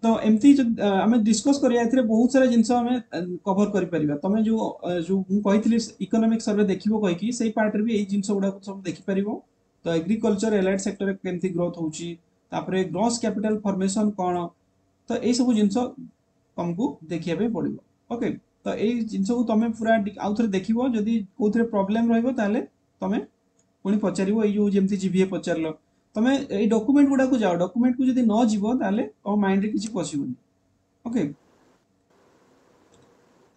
ତ ତ ଏମିତି ଯଦି ଅ, ଆମେ ଡିସ୍କସ୍ କରିବା ଏଥିରେ ବହୁତ ସାରା ଜିନିଷ ଆମେ କଭର କରିପାରିବା ତମେ ଯୋଉ ଅ, ଯୋଉ ମୁଁ କହିଥିଲି ଇକୋନୋମିକ ସର୍ଭେ ଦେଖିବ କହିକି ସେଇ ପାର୍ଟରେ ବି ଏଇ ଜିନିଷ ଗୁଡାକୁ ସବୁ ଦେଖିପାରିବ ତ ଏଗ୍ରିକଲଚର ଏଲାଇଡ୍ ସେକ୍ଟରରେ କେମିତି ଗ୍ରୋଥ ହଉଛି ତାପରେ ଗ୍ରସ୍ କ୍ୟାପିଟାଲ ଫର୍ମେସନ କ'ଣ ତ ଏଇ ସବୁ ଜିନିଷ ତମକୁ ଦେଖିବା ପାଇଁ ପଡିବ ଓକେ ତ ଏଇ ଜିନିଷକୁ ତମେ ପୁରା ଆଉ ଥରେ ଦେଖିବ ଯଦି କୋଉଥିରେ ପ୍ରୋବ୍ଲେମ ରହିବ ତାହେଲେ ତମେ ପୁଣି ପଚାରିବ ଏଇ ଯୋଉ ଯେମିତି ଜିଭିଏ ପଚାରିଲ ତମେ ଏଇ ଡକୁମେଣ୍ଟ ଗୁଡାକୁ ଯାଅ ଡକୁମେଣ୍ଟକୁ ଯଦି ନ ଯିବ ତାହେଲେ ତମ ମାଇଣ୍ଡରେ କିଛି ପଶିବନି ଓକେ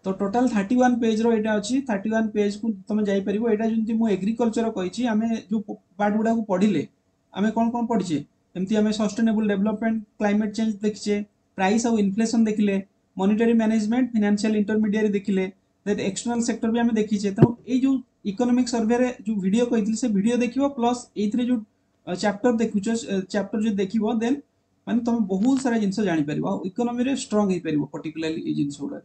ତ ଟୋଟାଲ ଥାର୍ଟି ୱାନ୍ ପେଜ୍ର ଏଇଟା ଅଛି ଥାର୍ଟି ୱାନ୍ ପେଜ୍କୁ ତମେ ଯାଇପାରିବ ଏଇଟା ଯେମିତି ମୁଁ ଏଗ୍ରିକଲଚର କହିଛି ଆମେ ଯୋଉ ପାର୍ଟ ଗୁଡାକୁ ପଢିଲେ ଆମେ କ'ଣ କ'ଣ ପଢିଛେ ଏମିତି ଆମେ ସଷ୍ଟେନେବଲ ଡେଭଲପମେଣ୍ଟ କ୍ଲାଇମେଟ ଚେଞ୍ଜ ଦେଖିଛେ ପ୍ରାଇସ୍ ଆଉ ଇନଫ୍ଲେସନ ଦେଖିଲେ ମନିଟାରୀ ମ୍ୟାନେଜମେଣ୍ଟ ଫିନାନ୍ସିଆଲ ଇଣ୍ଟରମିଡିଆରୀ ଦେଖିଲେ ଦେନ୍ ଏକ୍ସଟର୍ନାଲ ସେକ୍ଟର ବି ଆମେ ଦେଖିଛେ ତେଣୁ ଏଇ ଯୋଉ ଇକୋନୋମିକ ସର୍ଭେରେ ଯୋଉ ଭିଡ଼ିଓ କହିଥିଲି ସେ ଭିଡ଼ିଓ ଦେଖିବ ପ୍ଲସ୍ ଏଇଥିରେ ଯୋଉ ଚାପ୍ଟର ଦେଖୁଛ ଚାପ୍ଟର ଯଦି ଦେଖିବ ଦେନ୍ ମାନେ ତମେ ବହୁତ ସାରା ଜିନିଷ ଜାଣିପାରିବ ଆଉ ଇକୋନୋମିରେ ଷ୍ଟ୍ରଙ୍ଗ ହେଇପାରିବ ପର୍ଟିକୁଲାରଲି ଏଇ ଜିନିଷ ଗୁଡାକ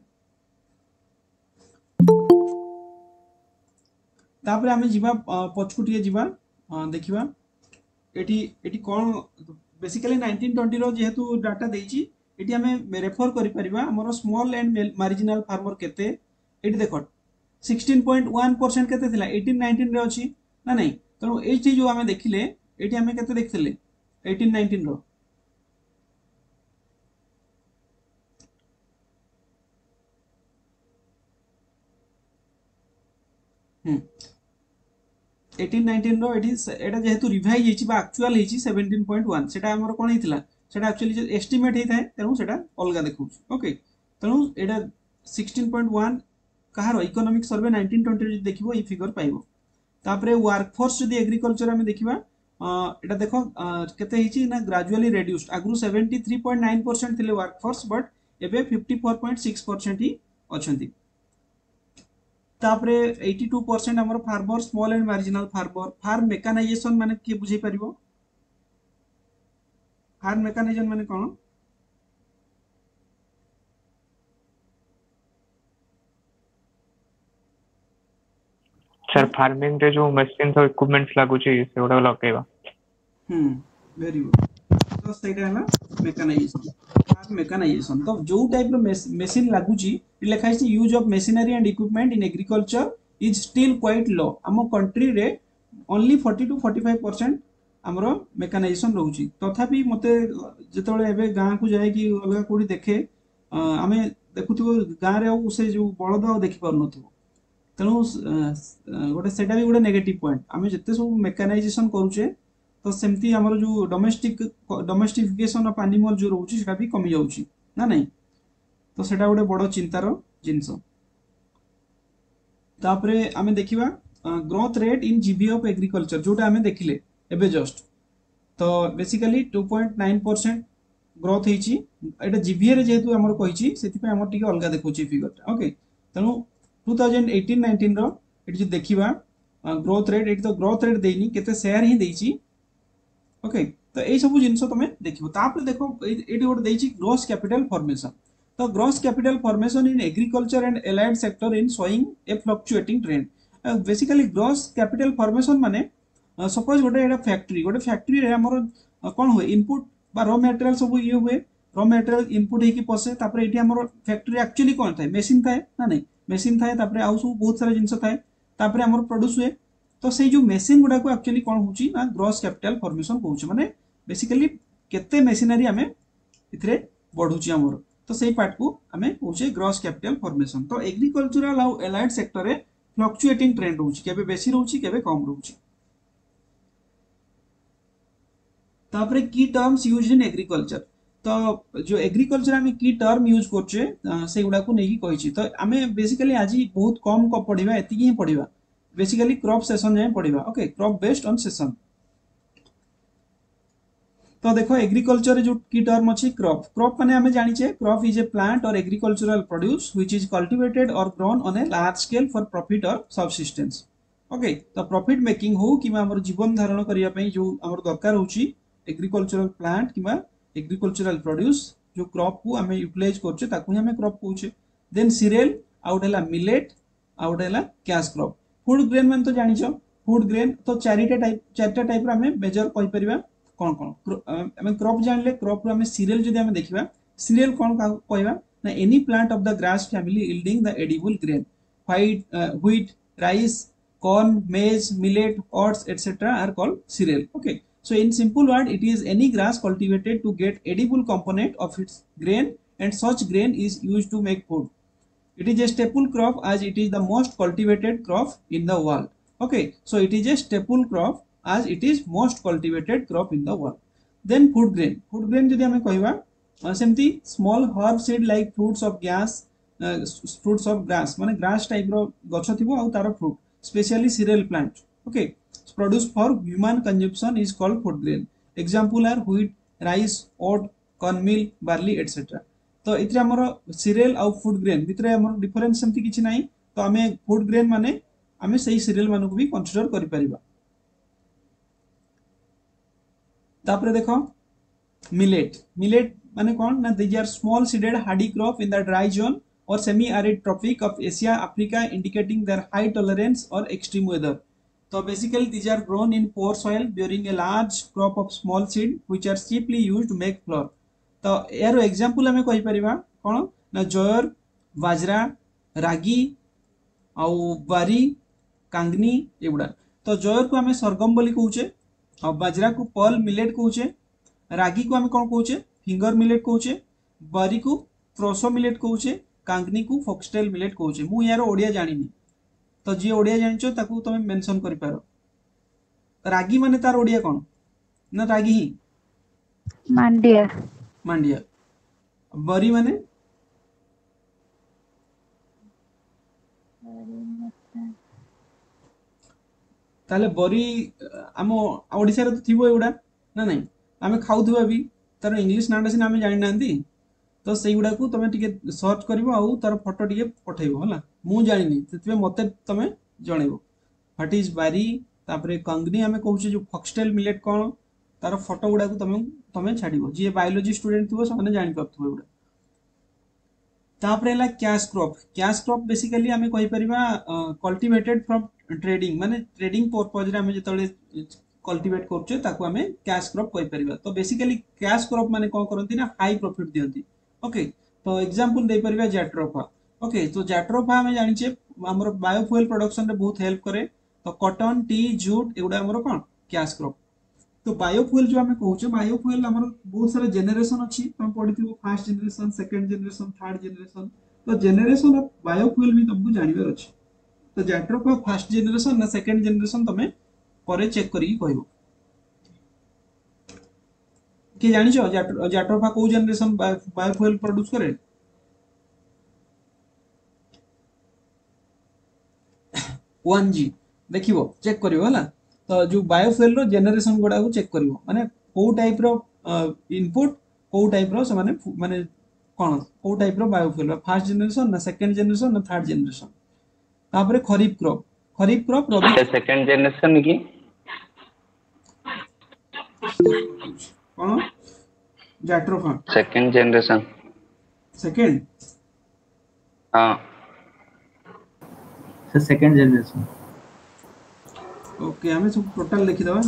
ତାପରେ ଆମେ ଯିବା ଅ, ପଛକୁ ଟିକେ ଯିବା ଅ, ଦେଖିବା ଏଠି ଏଠି କ'ଣ ବେସିକାଲି ନାଇନଟିନ୍ ଟ୍ୱେଣ୍ଟିର ଯେହେତୁ ଡାଟା ଦେଇଛି ଏଠି ଆମେ ରେଫର କରିପାରିବା ଆମର ସ୍ମଲ୍ ଆଣ୍ଡ ମାର୍ଜିନାଲ ଫାର୍ମର କେତେ ଏଠି ଦେଖ ସିକ୍ସଟିନ୍ ପଏଣ୍ଟ ୱାନ୍ ପରସେଣ୍ଟ କେତେ ଥିଲା ଏଇଟିନ୍ ନାଇନଟିନ୍ରେ ଅଛି ନା ନାଇଁ ତେଣୁ ଏଇଠି ଯୋଉ ଆମେ ଦେଖିଲେ ଏଇଠି ଆମେ କେତେ ଦେଖିଥିଲେ ଏଇଟିନ୍ ନାଇନଟିନ୍ର ହୁଁ ଏଇଟିନ୍ ନାଇନଟିନ୍ର ଏଠି ଏଇଟା ଯେହେତୁ ରିଭାଇଜ୍ ହେଇଛି ବା ଆକ୍ଚୁଆଲ ହେଇଛି ସେଭେଣ୍ଟିନ୍ ପଏଣ୍ଟ ୱାନ୍ ସେଟା ଆମର କ'ଣ ହେଇଥିଲା ସେଟା ଆକ୍ଚୁଆଲି ଏଷ୍ଟିମେଟ୍ ହେଇଥାଏ ତେଣୁ ସେଟା ଅଲଗା ଦେଖାଉଛି ଓକେ ତେଣୁ ଏଇଟା ସିକ୍ସଟିନ୍ ପଏଣ୍ଟ ୱାନ୍ କାହାର ଇକୋନୋମିକ୍ ସର୍ଭେ ନାଇନଟିନ୍ ଟ୍ୱେଣ୍ଟିରେ ଯଦି ଦେଖିବ ଏଇ ଫିଗର ପାଇବ ତାପରେ ୱାର୍କଫୋର୍ସ ଯଦି ଏଗ୍ରିକଲଚର ଆମେ ଦେଖିବା ଅ, ଏଇଟା ଦେଖ ଅ, କେତେ ହେଇଛି ନା ଗ୍ରାଜୁଆଲି ରେଡ୍ୟୁସ୍ଡ ଆଗରୁ seventy three point nine percent ଥିଲେ ୱାର୍କଫୋର୍ସ ବଟ୍ ଏବେ fifty four point six percent ହିଁ ଅଛନ୍ତି ତାପରେ ଏଇଟି ଟୁ ପରସେଣ୍ଟ ଆମର farmer small and marginal farmer farm mechanization ମାନେ କିଏ ବୁଝେଇ ପାରିବ ଫାର୍ମ ମେକାନାଇଜେସନ ମାନେ କ'ଣ ସାର୍ ଫାର୍ମିଂ ରେ ଯୋଉ ମେସିନ୍ସ ଆଉ ଇକ୍ୱିପମେଣ୍ଟସ ଲାଗୁଛି ସେଗୁଡାକ ଲଗେଇବା ହୁଁ ଭେରି ଗୁଡ୍ ତ ସେଇଟା ହେଲା ମେକାନାଇଜେସନ ଫାର୍ମ ମେକାନାଇଜେସନ ତ ଯୋଉ ଟାଇପର ମେସିନ୍ ଲାଗୁଛି ଏଠି ଲେଖା ହେଇଛି use of machinery and equipment in agriculture is still quite low ଆମ କଣ୍ଟ୍ରିରେ only forty to forty five percent ଆମର ମେକାନାଇଜେସନ ରହୁଛି ତଥାପି ମୋତେ ଯେତେବେଳେ ଏବେ ଗାଁକୁ ଯାଏ କି ଅଲଗା କୋଉଠି ଦେଖେ ଅ, ଆମେ ଦେଖୁଥିବ ଗାଁରେ ଆଉ ସେ ଯୋଉ ବଳଦ ଆଉ ଦେଖିପାରୁନଥିବ ତେଣୁ ଅ, ଗୋଟେ ସେଇଟା ବି ଗୋଟେ ନେଗେଟିଭ ପଏଣ୍ଟ ଆମେ ଯେତେ ସବୁ ମେକାନାଇଜେସନ କରୁଛେ ତ ସେମିତି ଆମର ଯୋଉ ଡୋମେଷ୍ଟିକ ଡୋମେଷ୍ଟିଫିକେସନ ଅଫ ଆନିମଲ ଯୋଉ ରହୁଛି ସେଟା ବି କମି ଯାଉଛି ନା ନାଇଁ ତ ସେଟା ଗୋଟେ ବଡ ଚିନ୍ତାର ଜିନିଷ ତାପରେ ଆମେ ଦେଖିବା growth rate in GVA of agriculture ଯୋଉଟା ଆମେ ଦେଖିଲେ ଏବେ ଜଷ୍ଟ ତ basically two point nine percent growth ହେଇଛି ଏଇଟା ଜିଭିଏରେ ଯେହେତୁ ଆମର କହିଛି ସେଥିପାଇଁ ଆମର ଟିକେ ଅଲଗା ଦେଖାଉଛି ଫିଗରଟା ଓକେ ତେଣୁ ଟୁ ଥାଉଜେଣ୍ଡ ଏଇଟିନ୍ ନାଇନଟିନ୍ର ଏଠି ଯଦି ଦେଖିବା ଗ୍ରୋଥ ରେଟ୍ ଏଠି ତ ଗ୍ରୋଥ ରେଟ୍ ଦେଇନି କେତେ ସେୟାର ହିଁ ଦେଇଛି ଓକେ ତ ଏଇ ସବୁ ଜିନିଷ ତମେ ଦେଖିବ ତାପରେ ଦେଖ ଏଇ- ଏଇଠି ଗୋଟେ ଦେଇଛି ଗ୍ରସ୍ କ୍ୟାପିଟାଲ ଫର୍ମେସନ ତ gross capital formation in agriculture and allied sector in showing a fluctuating trend basically gross capital formation ମାନେ ସପୋଜ ଗୋଟେ ଏଇଟା ଫ୍ୟାକ୍ଟ୍ରି ଗୋଟେ ଫ୍ୟାକ୍ଟ୍ରିରେ ଆମର ଅ, କ'ଣ ହୁଏ ଇନପୁଟ ବା ର ମ୍ୟାଟେରିଆଲ ସବୁ ଇଏ ହୁଏ ର ମ୍ୟାଟେରିଆଲ ଇନପୁଟ ହେଇକି ପଶେ ତାପରେ ଏଇଠି ଆମର ଫ୍ୟାକ୍ଟ୍ରି ଆକ୍ଚୁଆଲି କ'ଣ ଥାଏ ମେସିନ୍ ଥାଏ ନା ନାଇଁ ମେସିନ୍ ଥାଏ ତାପରେ ଆଉ ସବୁ ବହୁତ ସାରା ଜିନିଷ ଥାଏ ତାପରେ ଆମର ପ୍ରଡ୍ୟୁସ୍ ହୁଏ ତ ସେଇ ଯୋଉ ମେସିନ୍ ଗୁଡାକୁ ଆକ୍ଚୁଆଲି କ'ଣ ହଉଛି ନା ଗ୍ରସ୍ କ୍ୟାପିଟାଲ ଫର୍ମେସନ କହୁଛେ ମାନେ ବେସିକାଲି କେତେ ମେସିନାରୀ ଆମେ ଏଥିରେ ବଢୁଛି ଆମର ତ ସେଇ ପାର୍ଟକୁ ଆମେ କହୁଛେ ଗ୍ରସ୍ କ୍ୟାପିଟାଲ ଫର୍ମେସନ ତ ଏଗ୍ରିକଲଚରାଲ ଆଉ ଏଲାଇଡ୍ ସେକ୍ଟରରେ ଫ୍ଲକ୍ଚୁଏଟିଂ ଟ୍ରେଣ୍ଡ ରହୁଛି କେବେ ବେଶୀ ରହୁଛି କେବେ କମ୍ ରହୁଛି ତାପରେ key terms use in agriculture ତ ଯୋଉ ଏଗ୍ରିକଲଚର ଆମେ କି ଟର୍ମ ୟୁଜ୍ କରୁଛେ ଅ, ସେଇଗୁଡାକୁ ନେଇକି କହିଛି ତ ଆମେ ବେସିକାଲି ଆଜି ବହୁତ କମ୍ ପଢିବା ଏତିକି ହିଁ ପଢିବା ବେସିକାଲି କ୍ରପ୍ ସେସନ ଯାଏଁ ପଢିବା okay crop based on session ତ ଦେଖ ଏଗ୍ରିକଲଚର ଯୋଉ କି ଟର୍ମ ଅଛି କ୍ରପ୍ କ୍ରପ୍ ମାନେ ଆମେ ଜାଣିଛେ crop is a plant or agricultural produce which is cultivated or grown on a large scale for profit or subsistence okay ତ ପ୍ରଫିଟ୍ ମେକିଂ ହଉ କିମ୍ବା ଆମର ଜୀବନ ଧାରଣ କରିବା ପାଇଁ ଯୋଉ ଆମର ଦରକାର ହଉଛି ଏଗ୍ରିକଲଚରାଲ ପ୍ଲାଣ୍ଟ କିମ୍ବା ଏଗ୍ରିକଲଚରାଲ ପ୍ରଡ୍ୟୁସ୍ ଯୋଉ କ୍ରପ୍ କୁ ଆମେ ୟୁଟିଲାଇଜ କରୁଛେ ତାକୁ ହିଁ ଆମେ କ୍ରପ୍ କହୁଛେ ଦେନ୍ ସିରିଏଲ ଆଉ ଗୋଟେ ହେଲା ମିଲେଟ୍ ଆଉ ଗୋଟେ ହେଲା କ୍ୟାଶ କ୍ରପ୍ ଫୁଡ ଗ୍ରେନ୍ ମାନେ ତ ଜାଣିଛ ଫୁଡ ଗ୍ରେନ୍ ତ ଚାରିଟା ଟାଇପ ଚାରିଟା ଟାଇପର ଆମେ ମେଜର କହିପାରିବା କ'ଣ କ'ଣ ଆମେ କ୍ରପ୍ ଜାଣିଲେ କ୍ରପ୍ରୁ ଆମେ ସିରିଏଲ ଯଦି ଆମେ ଦେଖିବା ସିରିଏଲ କ'ଣ କାହାକୁ କହିବା ନା any plant of the grass family yielding the edible grain white wheat rice corn maize millet oats etc are called cereal okay so in simple word it is any grass cultivated to get edible component of its grain and such grain is used to make food it is a staple crop as it is the most cultivated crop in the world okay so it is a staple crop as it is most cultivated crop in the world then food grain food grain ଯଦି ଆମେ କହିବା ସେମିତି small herb seed like fruits of gas fruits of grass ମାନେ grass ଟାଇପ୍ର ଗଛ ଥିବ ଆଉ ତାର fruit specially cereal plant okay produced for human consumption is called food grain example are wheat rice oat cornmeal barley etc ତ ଏଥିରେ ଆମର serial ଆଉ ଫୁଡ ଗ୍ରେନ୍ ଭିତରେ ଆମର ଡିଫରେନ୍ସ ସେମିତି କିଛି ନାହିଁ ତ ଆମେ ଫୁଡ ଗ୍ରେନ୍ ମାନେ ଆମେ ସେଇ ସିରିଏଲ ମାନଙ୍କୁ ବି କନସିଡର କରିପାରିବା ତାପରେ ଦେଖ ମିଲେଟ୍ ମିଲେଟ୍ ମାନେ କ'ଣ ନା these are small seeded hardy crop in the dry zone or semi-arid tropic of Asia, Africa, indicating their high tolerance or extreme weather. So basically these are grown in poor soil bearing a large crop of small seed which are cheaply used to make flour. ତ ଏହାର example ଆମେ କହିପାରିବା କ'ଣ ନା ଜୟର ବାଜରା ରାଗି ଆଉ ବାରି କାଙ୍ଗନି ଏଗୁଡ଼ା ତ ଜୟରକୁ ଆମେ ସରଗମ ବୋଲି କହୁଛେ ଆଉ ବାଜରାକୁ ପର୍ଲ ମିଲେଟ୍ କହୁଛେ ରାଗିକୁ ଆମେ କ'ଣ କହୁଛେ ଫିଙ୍ଗର ମିଲେଟ୍ କହୁଛେ ବାରିକୁ ପ୍ରୋସୋ ମିଲେଟ୍ କହୁଛେ କାଙ୍ଗନିକୁ ଫକ୍ସଟେଲ୍ ମିଲେଟ୍ କହୁଛେ ମୁଁ ୟାର ଓଡ଼ିଆ ଜାଣିନି ତ ଯିଏ ଓଡ଼ିଆ ଜାଣିଛ ତାକୁ ତମେ ମେନସନ୍ କରିପାର ରାଗି ମାନେ ତାର ଓଡ଼ିଆ କ'ଣ ନା ରାଗି ହିଁ ମାଣ୍ଡିଆ ମାଣ୍ଡିଆ ବରି ମାନେ ତାହେଲେ ବରି ଆମ ଓଡ଼ିଶାରେ ତ ଥିବ ଏଗୁଡ଼ା ନା ନାଇଁ ଆମେ ଖାଉଥିବା ବି ତାର ଇଂଲିଶ ନାଁଟା ସିନା ଆମେ ଜାଣିନାହାନ୍ତି ତ ସେଇଗୁଡ଼ାକୁ ତମେ ଟିକେ ସର୍ଚ୍ଚ କରିବ ଆଉ ତାର ଫଟୋ ଟିକେ ପଠେଇବ ହେଲା ମୁଁ ଜାଣିନି ସେଥିପାଇଁ ମୋତେ ତମେ ଜଣେଇବ what is ବାରି ତାପରେ କଙ୍ଗନି ଆମେ କହୁଛେ ଯୋଉ ଫକ୍ସଟେଲ୍ ମିଲେଟ୍ କ'ଣ ତାର ଫଟୋ ଗୁଡ଼ାକୁ ତମେ ତମେ ଛାଡ଼ିବ ଯିଏ ବାୟୋଲୋଜି ଷ୍ଟୁଡେଣ୍ଟ ଥିବ ସେମାନେ ଜାଣିପାରୁଥିବ ଏଗୁଡ଼ା ତାପରେ ହେଲା cash crop cash crop basically ଆମେ କହିପାରିବା କଲ୍ଟିଭେଟେଡ୍ ଫ୍ରମ୍ ଟ୍ରେଡିଂ ମାନେ ଟ୍ରେଡିଂ ପର୍ପଜରେ ଆମେ ଯେତେବେଳେ କଲ୍ଟିଭେଟ୍ କରୁଛେ ତାକୁ ଆମେ କ୍ୟାଶ କ୍ରପ୍ କହିପାରିବା ତ ବେସିକାଲି କ୍ୟାଶ କ୍ରପ୍ ମାନେ କ'ଣ କରନ୍ତି ନା ହାଇ ପ୍ରଫିଟ୍ ଦିଅନ୍ତି ଓକେ ତ ଏକ୍ଜାମ୍ପଲ ଦେଇପାରିବା ଜାଟ୍ରୋଫା ଓକେ ତ ଜାଟ୍ରୋଫା ଆମେ ଜାଣିଛେ ଆମର ବାୟୋଫୁଏଲ ପ୍ରଡକ୍ସନରେ ବହୁତ ହେଲ୍ପ କରେ ତ କଟନ ଟି ଜୁଟ୍ ଏଗୁଡ଼ା ଆମର କ'ଣ କ୍ୟାଶ କ୍ରପ୍ ତ ବାୟୋଫୁଏଲ ଯୋଉ ଆମେ କହୁଛେ ବାୟୋଫୁଏଲ ଆମର ବହୁତ ସାରା ଜେନେରେସନ ଅଛି ତମେ ପଢିଥିବ first generation second generation third generation ତ ଜେନେରେସନ ଅଫ ବାୟୋଫୁଏଲ ବି ତମକୁ ଜାଣିବାର ଅଛି ତ ଜାଟ୍ରୋଫା ଫାର୍ଷ୍ଟ ଜେନେରେସନ ନା ସେକେଣ୍ଡ ଜେନେରେସନ ତମେ ପରେ ଚେକ୍ କରିକି କହିବ କିଏ ଜାଣିଛ ଜାଟ୍ରୋଫା କୋଉ ଜେନେରେସନ ବାୟୋଫୁଏଲ ପ୍ରଡ୍ୟୁସ କରେ ୱାନ୍ ଜି ଦେଖିବ ଚେକ୍ କରିବ ହେଲା ତ ଯୋଉ ବାୟୋଫୁଏଲର ଜେନେରେସନ ଗୁଡାକୁ ଚେକ୍ କରିବ ମାନେ କୋଉ ଟାଇପର ଇନପୁଟ କୋଉ ଟାଇପର ସେମାନେ ମାନେ କ'ଣ କୋଉ ଟାଇପର ବାୟୋଫୁଏଲ ଫାର୍ଷ୍ଟ ଜେନେରେସନ ନା ସେକେଣ୍ଡ ଜେନେରେସନ ନା ଥାର୍ଡ ଜେନେରେସନ ତାପରେ ଖରିଫ କ୍ରପ୍ ଖରିଫ କ୍ରପ୍ ରବି ସେକେଣ୍ଡ ଜେନେରେସନ କି କ'ଣ ଜାଟ୍ରୋଫା ସେକେଣ୍ଡ ଜେନେରେସନ ସେକେଣ୍ଡ ହଁ ସେ ସେକେଣ୍ଡ ଜେନେରେସନ ଓକେ ଆମେ ସବୁ ଟୋଟାଲ ଦେଖିଦେବା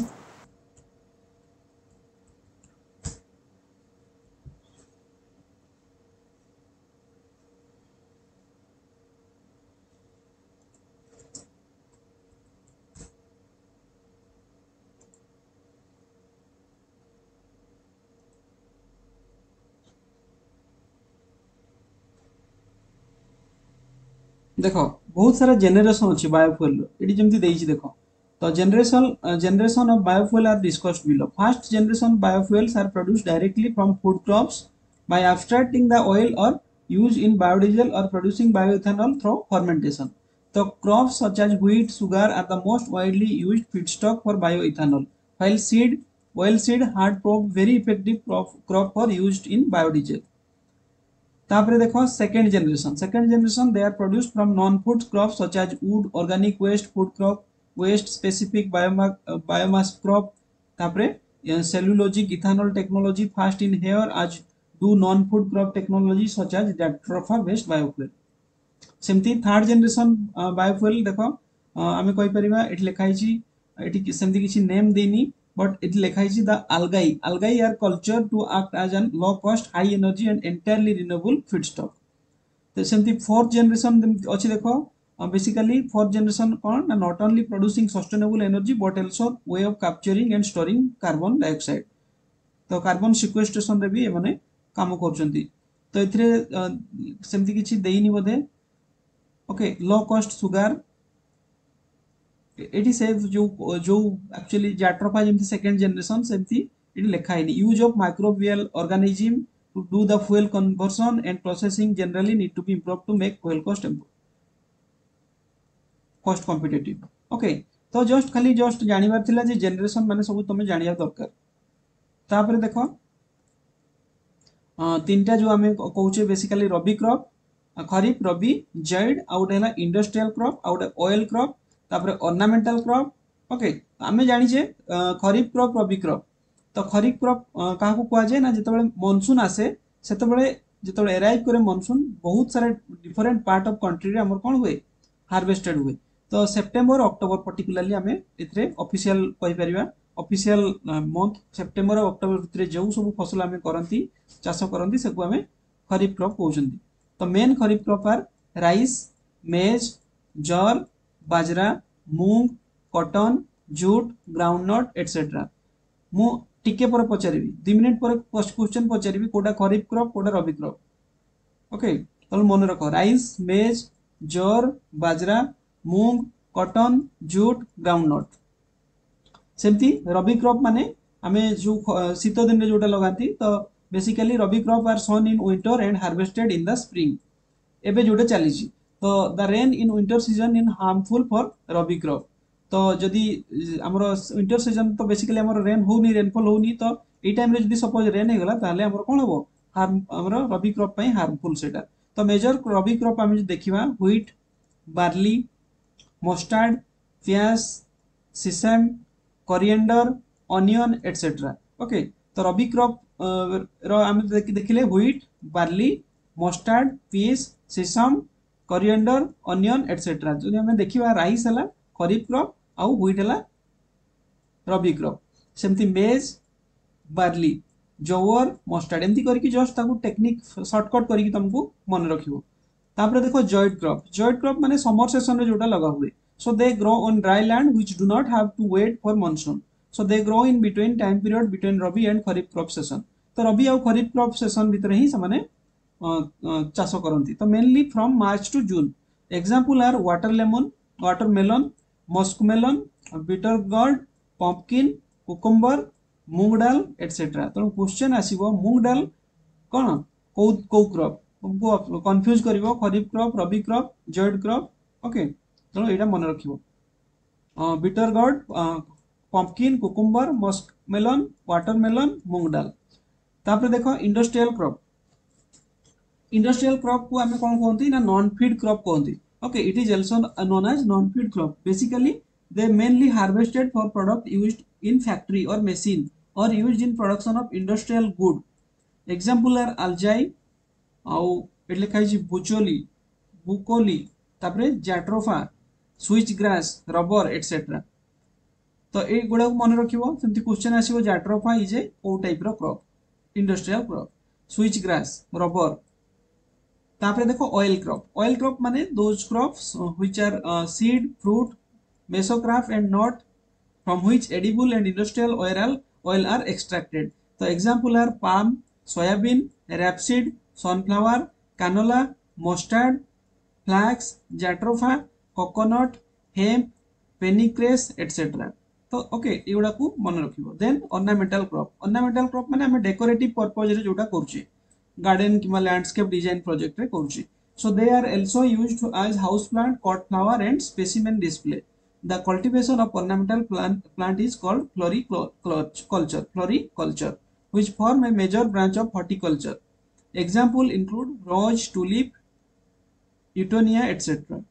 ଦେଖ ବହୁତ ସାରା ଜେନେରେସନ ଅଛି ବାୟୋଫୁଏଲର ଏଠି ଯେମିତି ଦେଇଛି ଦେଖ ତ generation generation of biofuel are discussed below first generation biofuels are produced directly from food crops by abstracting the oil or use in biodiesel or producing bioethanol through fermentation. The crops such as wheat, sugar are the most widely used feedstock for bioethanol, while seed, oil seed hard proved very effective crop, crop for used in biodiesel. ତାପରେ ଦେଖ second generation second generation they are produced from non food crop such as wood organic waste food crop waste specific biomass crop ତାପରେ cellulosic ethanol technology first in here as do non food crop technology such as jatropha based biofuel ସେମିତି third generation biofuel ଦେଖ ଆମେ କହିପାରିବା ଏଠି ଲେଖା ହେଇଛି ଏଠି ସେମିତି କିଛି ନେମ୍ ଦେଇନି ବଟ୍ ଏଠି ଲେଖା ହେଇଛି the algae algae are culture to act as an low cost high energy and entirely renewable feedstock ତ ସେମିତି ଫୋର୍ଥ ଜେନେରେସନ୍ ଅଛି ଦେଖ ବେସିକାଲି ଫୋର୍ଥ ଜେନେରେସନ୍ କ'ଣ ନା not only producing sustainable energy but also way of capturing and storing carbon dioxide ତ carbon ସିକ୍ୱେଷ୍ଟ୍ରେସନରେ ବି ଏମାନେ କାମ କରୁଛନ୍ତି ତ ଏଥିରେ ସେମିତି କିଛି ଦେଇନି ବୋଧେ ଓକେ ଲୋ କଷ୍ଟ ସୁଗାର ଏଠି ସେ ଯୋଉ ଯୋଉ ଆକ୍ଚୁଆଲି ଜାଟ୍ରୋଫା ଯେମିତି ସେକେଣ୍ଡ ଜେନେରେସନ୍ ସେମିତି ଏଠି ଲେଖା ହେଇନି use of microbial organism to do the fuel conversion and processing generally need to be improved to make fuel cost cost competitive okay ତ ଜଷ୍ଟ ଖାଲି ଜଷ୍ଟ ଜାଣିବାର ଥିଲା ଯେ ଜେନେରେସନ୍ ମାନେ ସବୁ ତମେ ଜାଣିବା ଦରକାର ତାପରେ ଦେଖ ତିନିଟା ଯୋଉ ଆମେ କହୁଛେ ବେସିକାଲି ରବି କ୍ରପ୍ ଖରିଫ ରବି ଜୈଡ୍ ଆଉ ଗୋଟେ ହେଲା ଇଣ୍ଡଷ୍ଟ୍ରିଆଲ କ୍ରପ୍ ଆଉ ଗୋଟେ ଅଏଲ କ୍ରପ୍ ତାପରେ ଅର୍ଣ୍ଣାମେଣ୍ଟାଲ କ୍ରପ୍ ଓକେ ଆମେ ଜାଣିଛେ ଖରିଫ କ୍ରପ୍ ରବି କ୍ରପ୍ ତ ଖରିଫ କ୍ରପ୍ କାହାକୁ କୁହାଯାଏ ନା ଯେତେବେଳେ ମନସୁନ୍ ଆସେ ସେତେବେଳେ ଯେତେବେଳେ ଏରାଇଭ୍ କରେ ମନସୁନ୍ ବହୁତ ସାରା ଡିଫରେଣ୍ଟ ପାର୍ଟ ଅଫ୍ କଣ୍ଟ୍ରିରେ ଆମର କ'ଣ ହୁଏ ହାରଭେଷ୍ଟେଡ୍ ହୁଏ ତ ସେପ୍ଟେମ୍ବର ଅକ୍ଟୋବର ପର୍ଟିକୁଲାରଲି ଆମେ ଏଥିରେ ଅଫିସିଆଲ କହିପାରିବା ଅଫିସିଆଲ ମନ୍ଥ ସେପ୍ଟେମ୍ବର ଅକ୍ଟୋବର ଭିତରେ ଯେଉଁ ସବୁ ଫସଲ ଆମେ କରନ୍ତି ଚାଷ କରନ୍ତି ସେକୁ ଆମେ ଖରିଫ କ୍ରପ୍ କହୁଛନ୍ତି ତ main kharif crop are rice maize jowar bajra moong cotton jute groundnut etcetera ମୁଁ ଟିକେ ପରେ ପଚାରିବି ଦୁଇ ମିନିଟ୍ ପରେ କ୍ୱେଶ୍ଚନ୍ ପଚାରିବି କୋଉଟା ଖରିଫ କ୍ରପ୍ କୋଉଟା ରବି କ୍ରପ୍ ଓକେ ତାହେଲେ ମନେ ରଖ rice maize jowar bajra moong cotton jute groundnut ସେମିତି ରବି କ୍ରପ୍ ମାନେ ଆମେ ଯୋଉ ଶୀତ ଦିନରେ ଯୋଉଟା ଲଗାନ୍ତି ତ basically rabi crop are sown in winter and harvested in the spring ଏବେ ଯୋଉଟା ଚାଲିଛି ତ the rain in winter season in harmful for rabi crop ତ ଯଦି ଆମର ୱିଣ୍ଟର ସିଜନ୍ ତ ବେସିକାଲି ଆମର ରେନ୍ ହଉନି ରେନଫଲ୍ ହଉନି ତ ଏଇ ଟାଇମ୍ରେ ଯଦି ସପୋଜ ରେନ୍ ହେଇଗଲା ତାହେଲେ ଆମର କ'ଣ ହବ ହାର୍ମ ଆମର ରବି କ୍ରପ୍ ପାଇଁ ହାର୍ମଫୁଲ୍ ସେଇଟା ତ ମେଜର ରବି କ୍ରପ୍ ଆମେ ଯଦି ଦେଖିବା wheat barley mustard peas sesame coriander onion etcetera okay ତ ରବି କ୍ରପ୍ ର ଆମେ ଦେଖିଲେ wheat barley mustard peas sesame coriander onion etcetera ଯଦି ଆମେ ଦେଖିବା ରାଇସ୍ ହେଲା ଖରିଫ କ୍ରପ୍ ଆଉ ହ୍ୱିଟ୍ ହେଲା ରବି କ୍ରପ୍ ସେମିତି ମେଜ୍ ବାର୍ଲି ଜୱର ମଷ୍ଟାର୍ଡ ଏମିତି କରିକି ଜଷ୍ଟ ତାକୁ ଟେକ୍ନିକ୍ ସର୍ଟକଟ୍ କରିକି ତମକୁ ମନେ ରଖିବ ତାପରେ ଦେଖ ଜଏଡ୍ କ୍ରପ୍ ଜଏଡ୍ କ୍ରପ୍ ମାନେ ସମର ସେସନରେ ଯୋଉଟା ଲଗା ହୁଏ so they grow on dry land which do not have to wait for monsoon so they grow in between time period between rabi and kharif crop season ତ ରବି ଆଉ ଖରିଫ କ୍ରପ୍ ସେସନ୍ ଭିତରେ ହିଁ ସେମାନେ ଚାଷ କରନ୍ତି ତ mainly from March to June example are water lemon water melon musk melon bitter gourd pumpkin cucumber moong dal etcetera ତେଣୁ question ଆସିବ ମୁଙ୍ଗ ଡାଲ କ'ଣ କୋଉ କୋଉ କ୍ରପ୍ ତୁମକୁ କନଫ୍ୟୁଜ କରିବ kharif crop rabi crop zaid crop okay ତେଣୁ ଏଇଟା ମନେ ରଖିବ bitter gourd pumpkin cucumber musk melon water melon moong dal ତାପରେ ଦେଖ ଇଣ୍ଡଷ୍ଟ୍ରିଆଲ କ୍ରପ୍ ଇଣ୍ଡଷ୍ଟ୍ରିଆଲ କ୍ରପ୍ କୁ ଆମେ କ'ଣ କୁହନ୍ତି ନା ନନ୍ ଫିଡ୍ କ୍ରପ୍ କୁହନ୍ତି okay it is also known as non feed crop basically they mainly harvested for product used in factory or machine or used in production of industrial good example are algae ଆଉ ଏଠି ଲେଖା ହେଇଛି ବୁଚୋଲି ବୁକୋଲି ତାପରେ jatropha switch grass rubber etcetera ତ ଏଇଗୁଡ଼ାକୁ ମନେ ରଖିବ ସେମିତି question ଆସିବ jatropha is a କୋଉ ଟାଇପ୍ର crop industrial crop switch grass rubber ତାପରେ ଦେଖ ଅଏଲ କ୍ରପ୍ ଅଏଲ କ୍ରପ୍ ମାନେ those crops which are seed fruit mesocarp and nut from which edible and industrial oil oil are extracted the example are palm soybean rapeseed sunflower canola mustard flax jatropha coconut hemp pennycress etc ତ okay ଏଗୁଡ଼ାକୁ ମନେ ରଖିବ ଦେନ୍ ornamental crop ornamental crop ମାନେ ଆମେ decorative ପର୍ପଜରେ ଯୋଉଟା କରୁଛେ garden କିମ୍ବା landscape design ପ୍ରୋଜେକ୍ଟରେ କରୁଛେ so they are also used as house plant cut flower and specimen display the cultivation of ornamental plant, plant is called floriculture floriculture which form a major branch of horticulture example include rose tulip houttuynia etc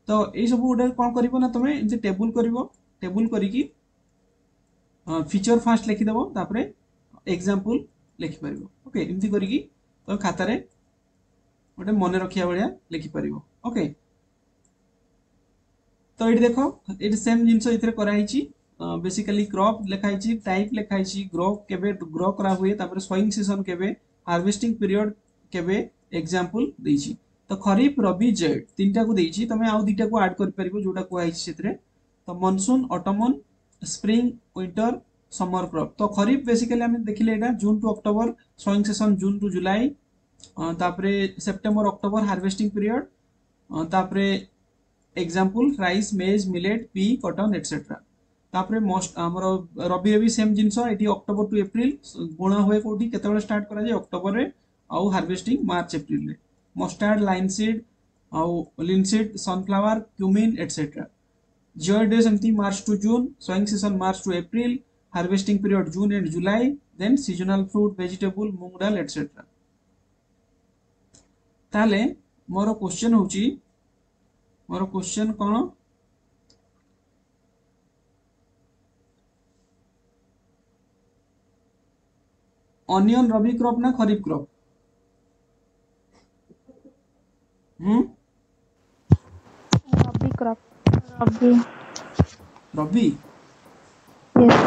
ତ ଏଇ ସବୁ ଗୋଟେ କ'ଣ କରିବ ନା ତମେ ଏମିତି table କରିବ ଟେବୁଲ କରିକି ଫିଚର ଫାଷ୍ଟ ଲେଖିଦେବ ତାପରେ ଏକ୍ଜାମ୍ପଲ ଲେଖିପାରିବ ଓକେ ଏମିତି କରିକି ତମେ ଖାତାରେ ଗୋଟେ ମନେ ରଖିବା ଭଳିଆ ଲେଖିପାରିବ ଓକେ ତ ଏଇଠି ଦେଖ ଏଇଠି ସେମ୍ ଜିନିଷ ଏଥିରେ କରାହେଇଛି ବେସିକାଲି କ୍ରପ୍ ଲେଖା ହେଇଛି ଟାଇପ୍ ଲେଖା ହେଇଛି ଗ୍ରୋ କେବେ ଗ୍ରୋ କରା ହୁଏ ତାପରେ ସୋଇଂ ସିଜନ୍ କେବେ ହାର୍ଭେଷ୍ଟିଂ ପିରିୟଡ଼ କେବେ ଏକ୍ଜାମ୍ପଲ୍ ଦେଇଛି ତ ଖରିଫ ରବି ଜେଡ୍ ତିନିଟାକୁ ଦେଇଛି ତମେ ଆଉ ଦୁଇଟାକୁ ଆଡ୍ କରିପାରିବ ଯୋଉଟା କୁହାହେଇଛି ସେଥିରେ ତ monsoon autumn spring winter summer crop ତ ଖରିଫ ବେସିକାଲି ଆମେ ଦେଖିଲେ ଏଇଟା June to October sowing season June to July ତାପରେ ସେପ୍ଟେମ୍ବର ଅକ୍ଟୋବର ହାର୍ଭେଷ୍ଟିଂ ପିରିୟଡ଼ ତାପରେ example rice maize millet pea cotton etcetera ତାପରେ ମଷ୍ଟ ଆମର ରବିରେ ବି ସେମ୍ ଜିନିଷ ଏଠି ଅକ୍ଟୋବର ଟୁ ଏପ୍ରିଲ ବୁଣା ହୁଏ କୋଉଠି କେତେବେଳେ ଷ୍ଟାର୍ଟ କରାଯାଏ ଅକ୍ଟୋବରରେ ଆଉ ହାର୍ଭେଷ୍ଟିଂ ମାର୍ଚ୍ଚ ଏପ୍ରିଲରେ ମଷ୍ଟାର୍ଡ ଲାଇନ୍ ସିଡ୍ ଆଉ linseed sunflower cumin etcetera ଜଏଡ୍ ସେମିତି March to June sowing season March to April harvesting period June and July then seasonal fruit vegetable moong dal etcetera ତାହେଲେ ମୋର କ୍ୱେଶ୍ଚନ୍ ହେଉଛି ମୋର କ୍ୱେଶ୍ଚନ୍ କ'ଣ onion ରବି crop ନା kharif crop ହୁଁ ରବି crop ରବି ରବି Yes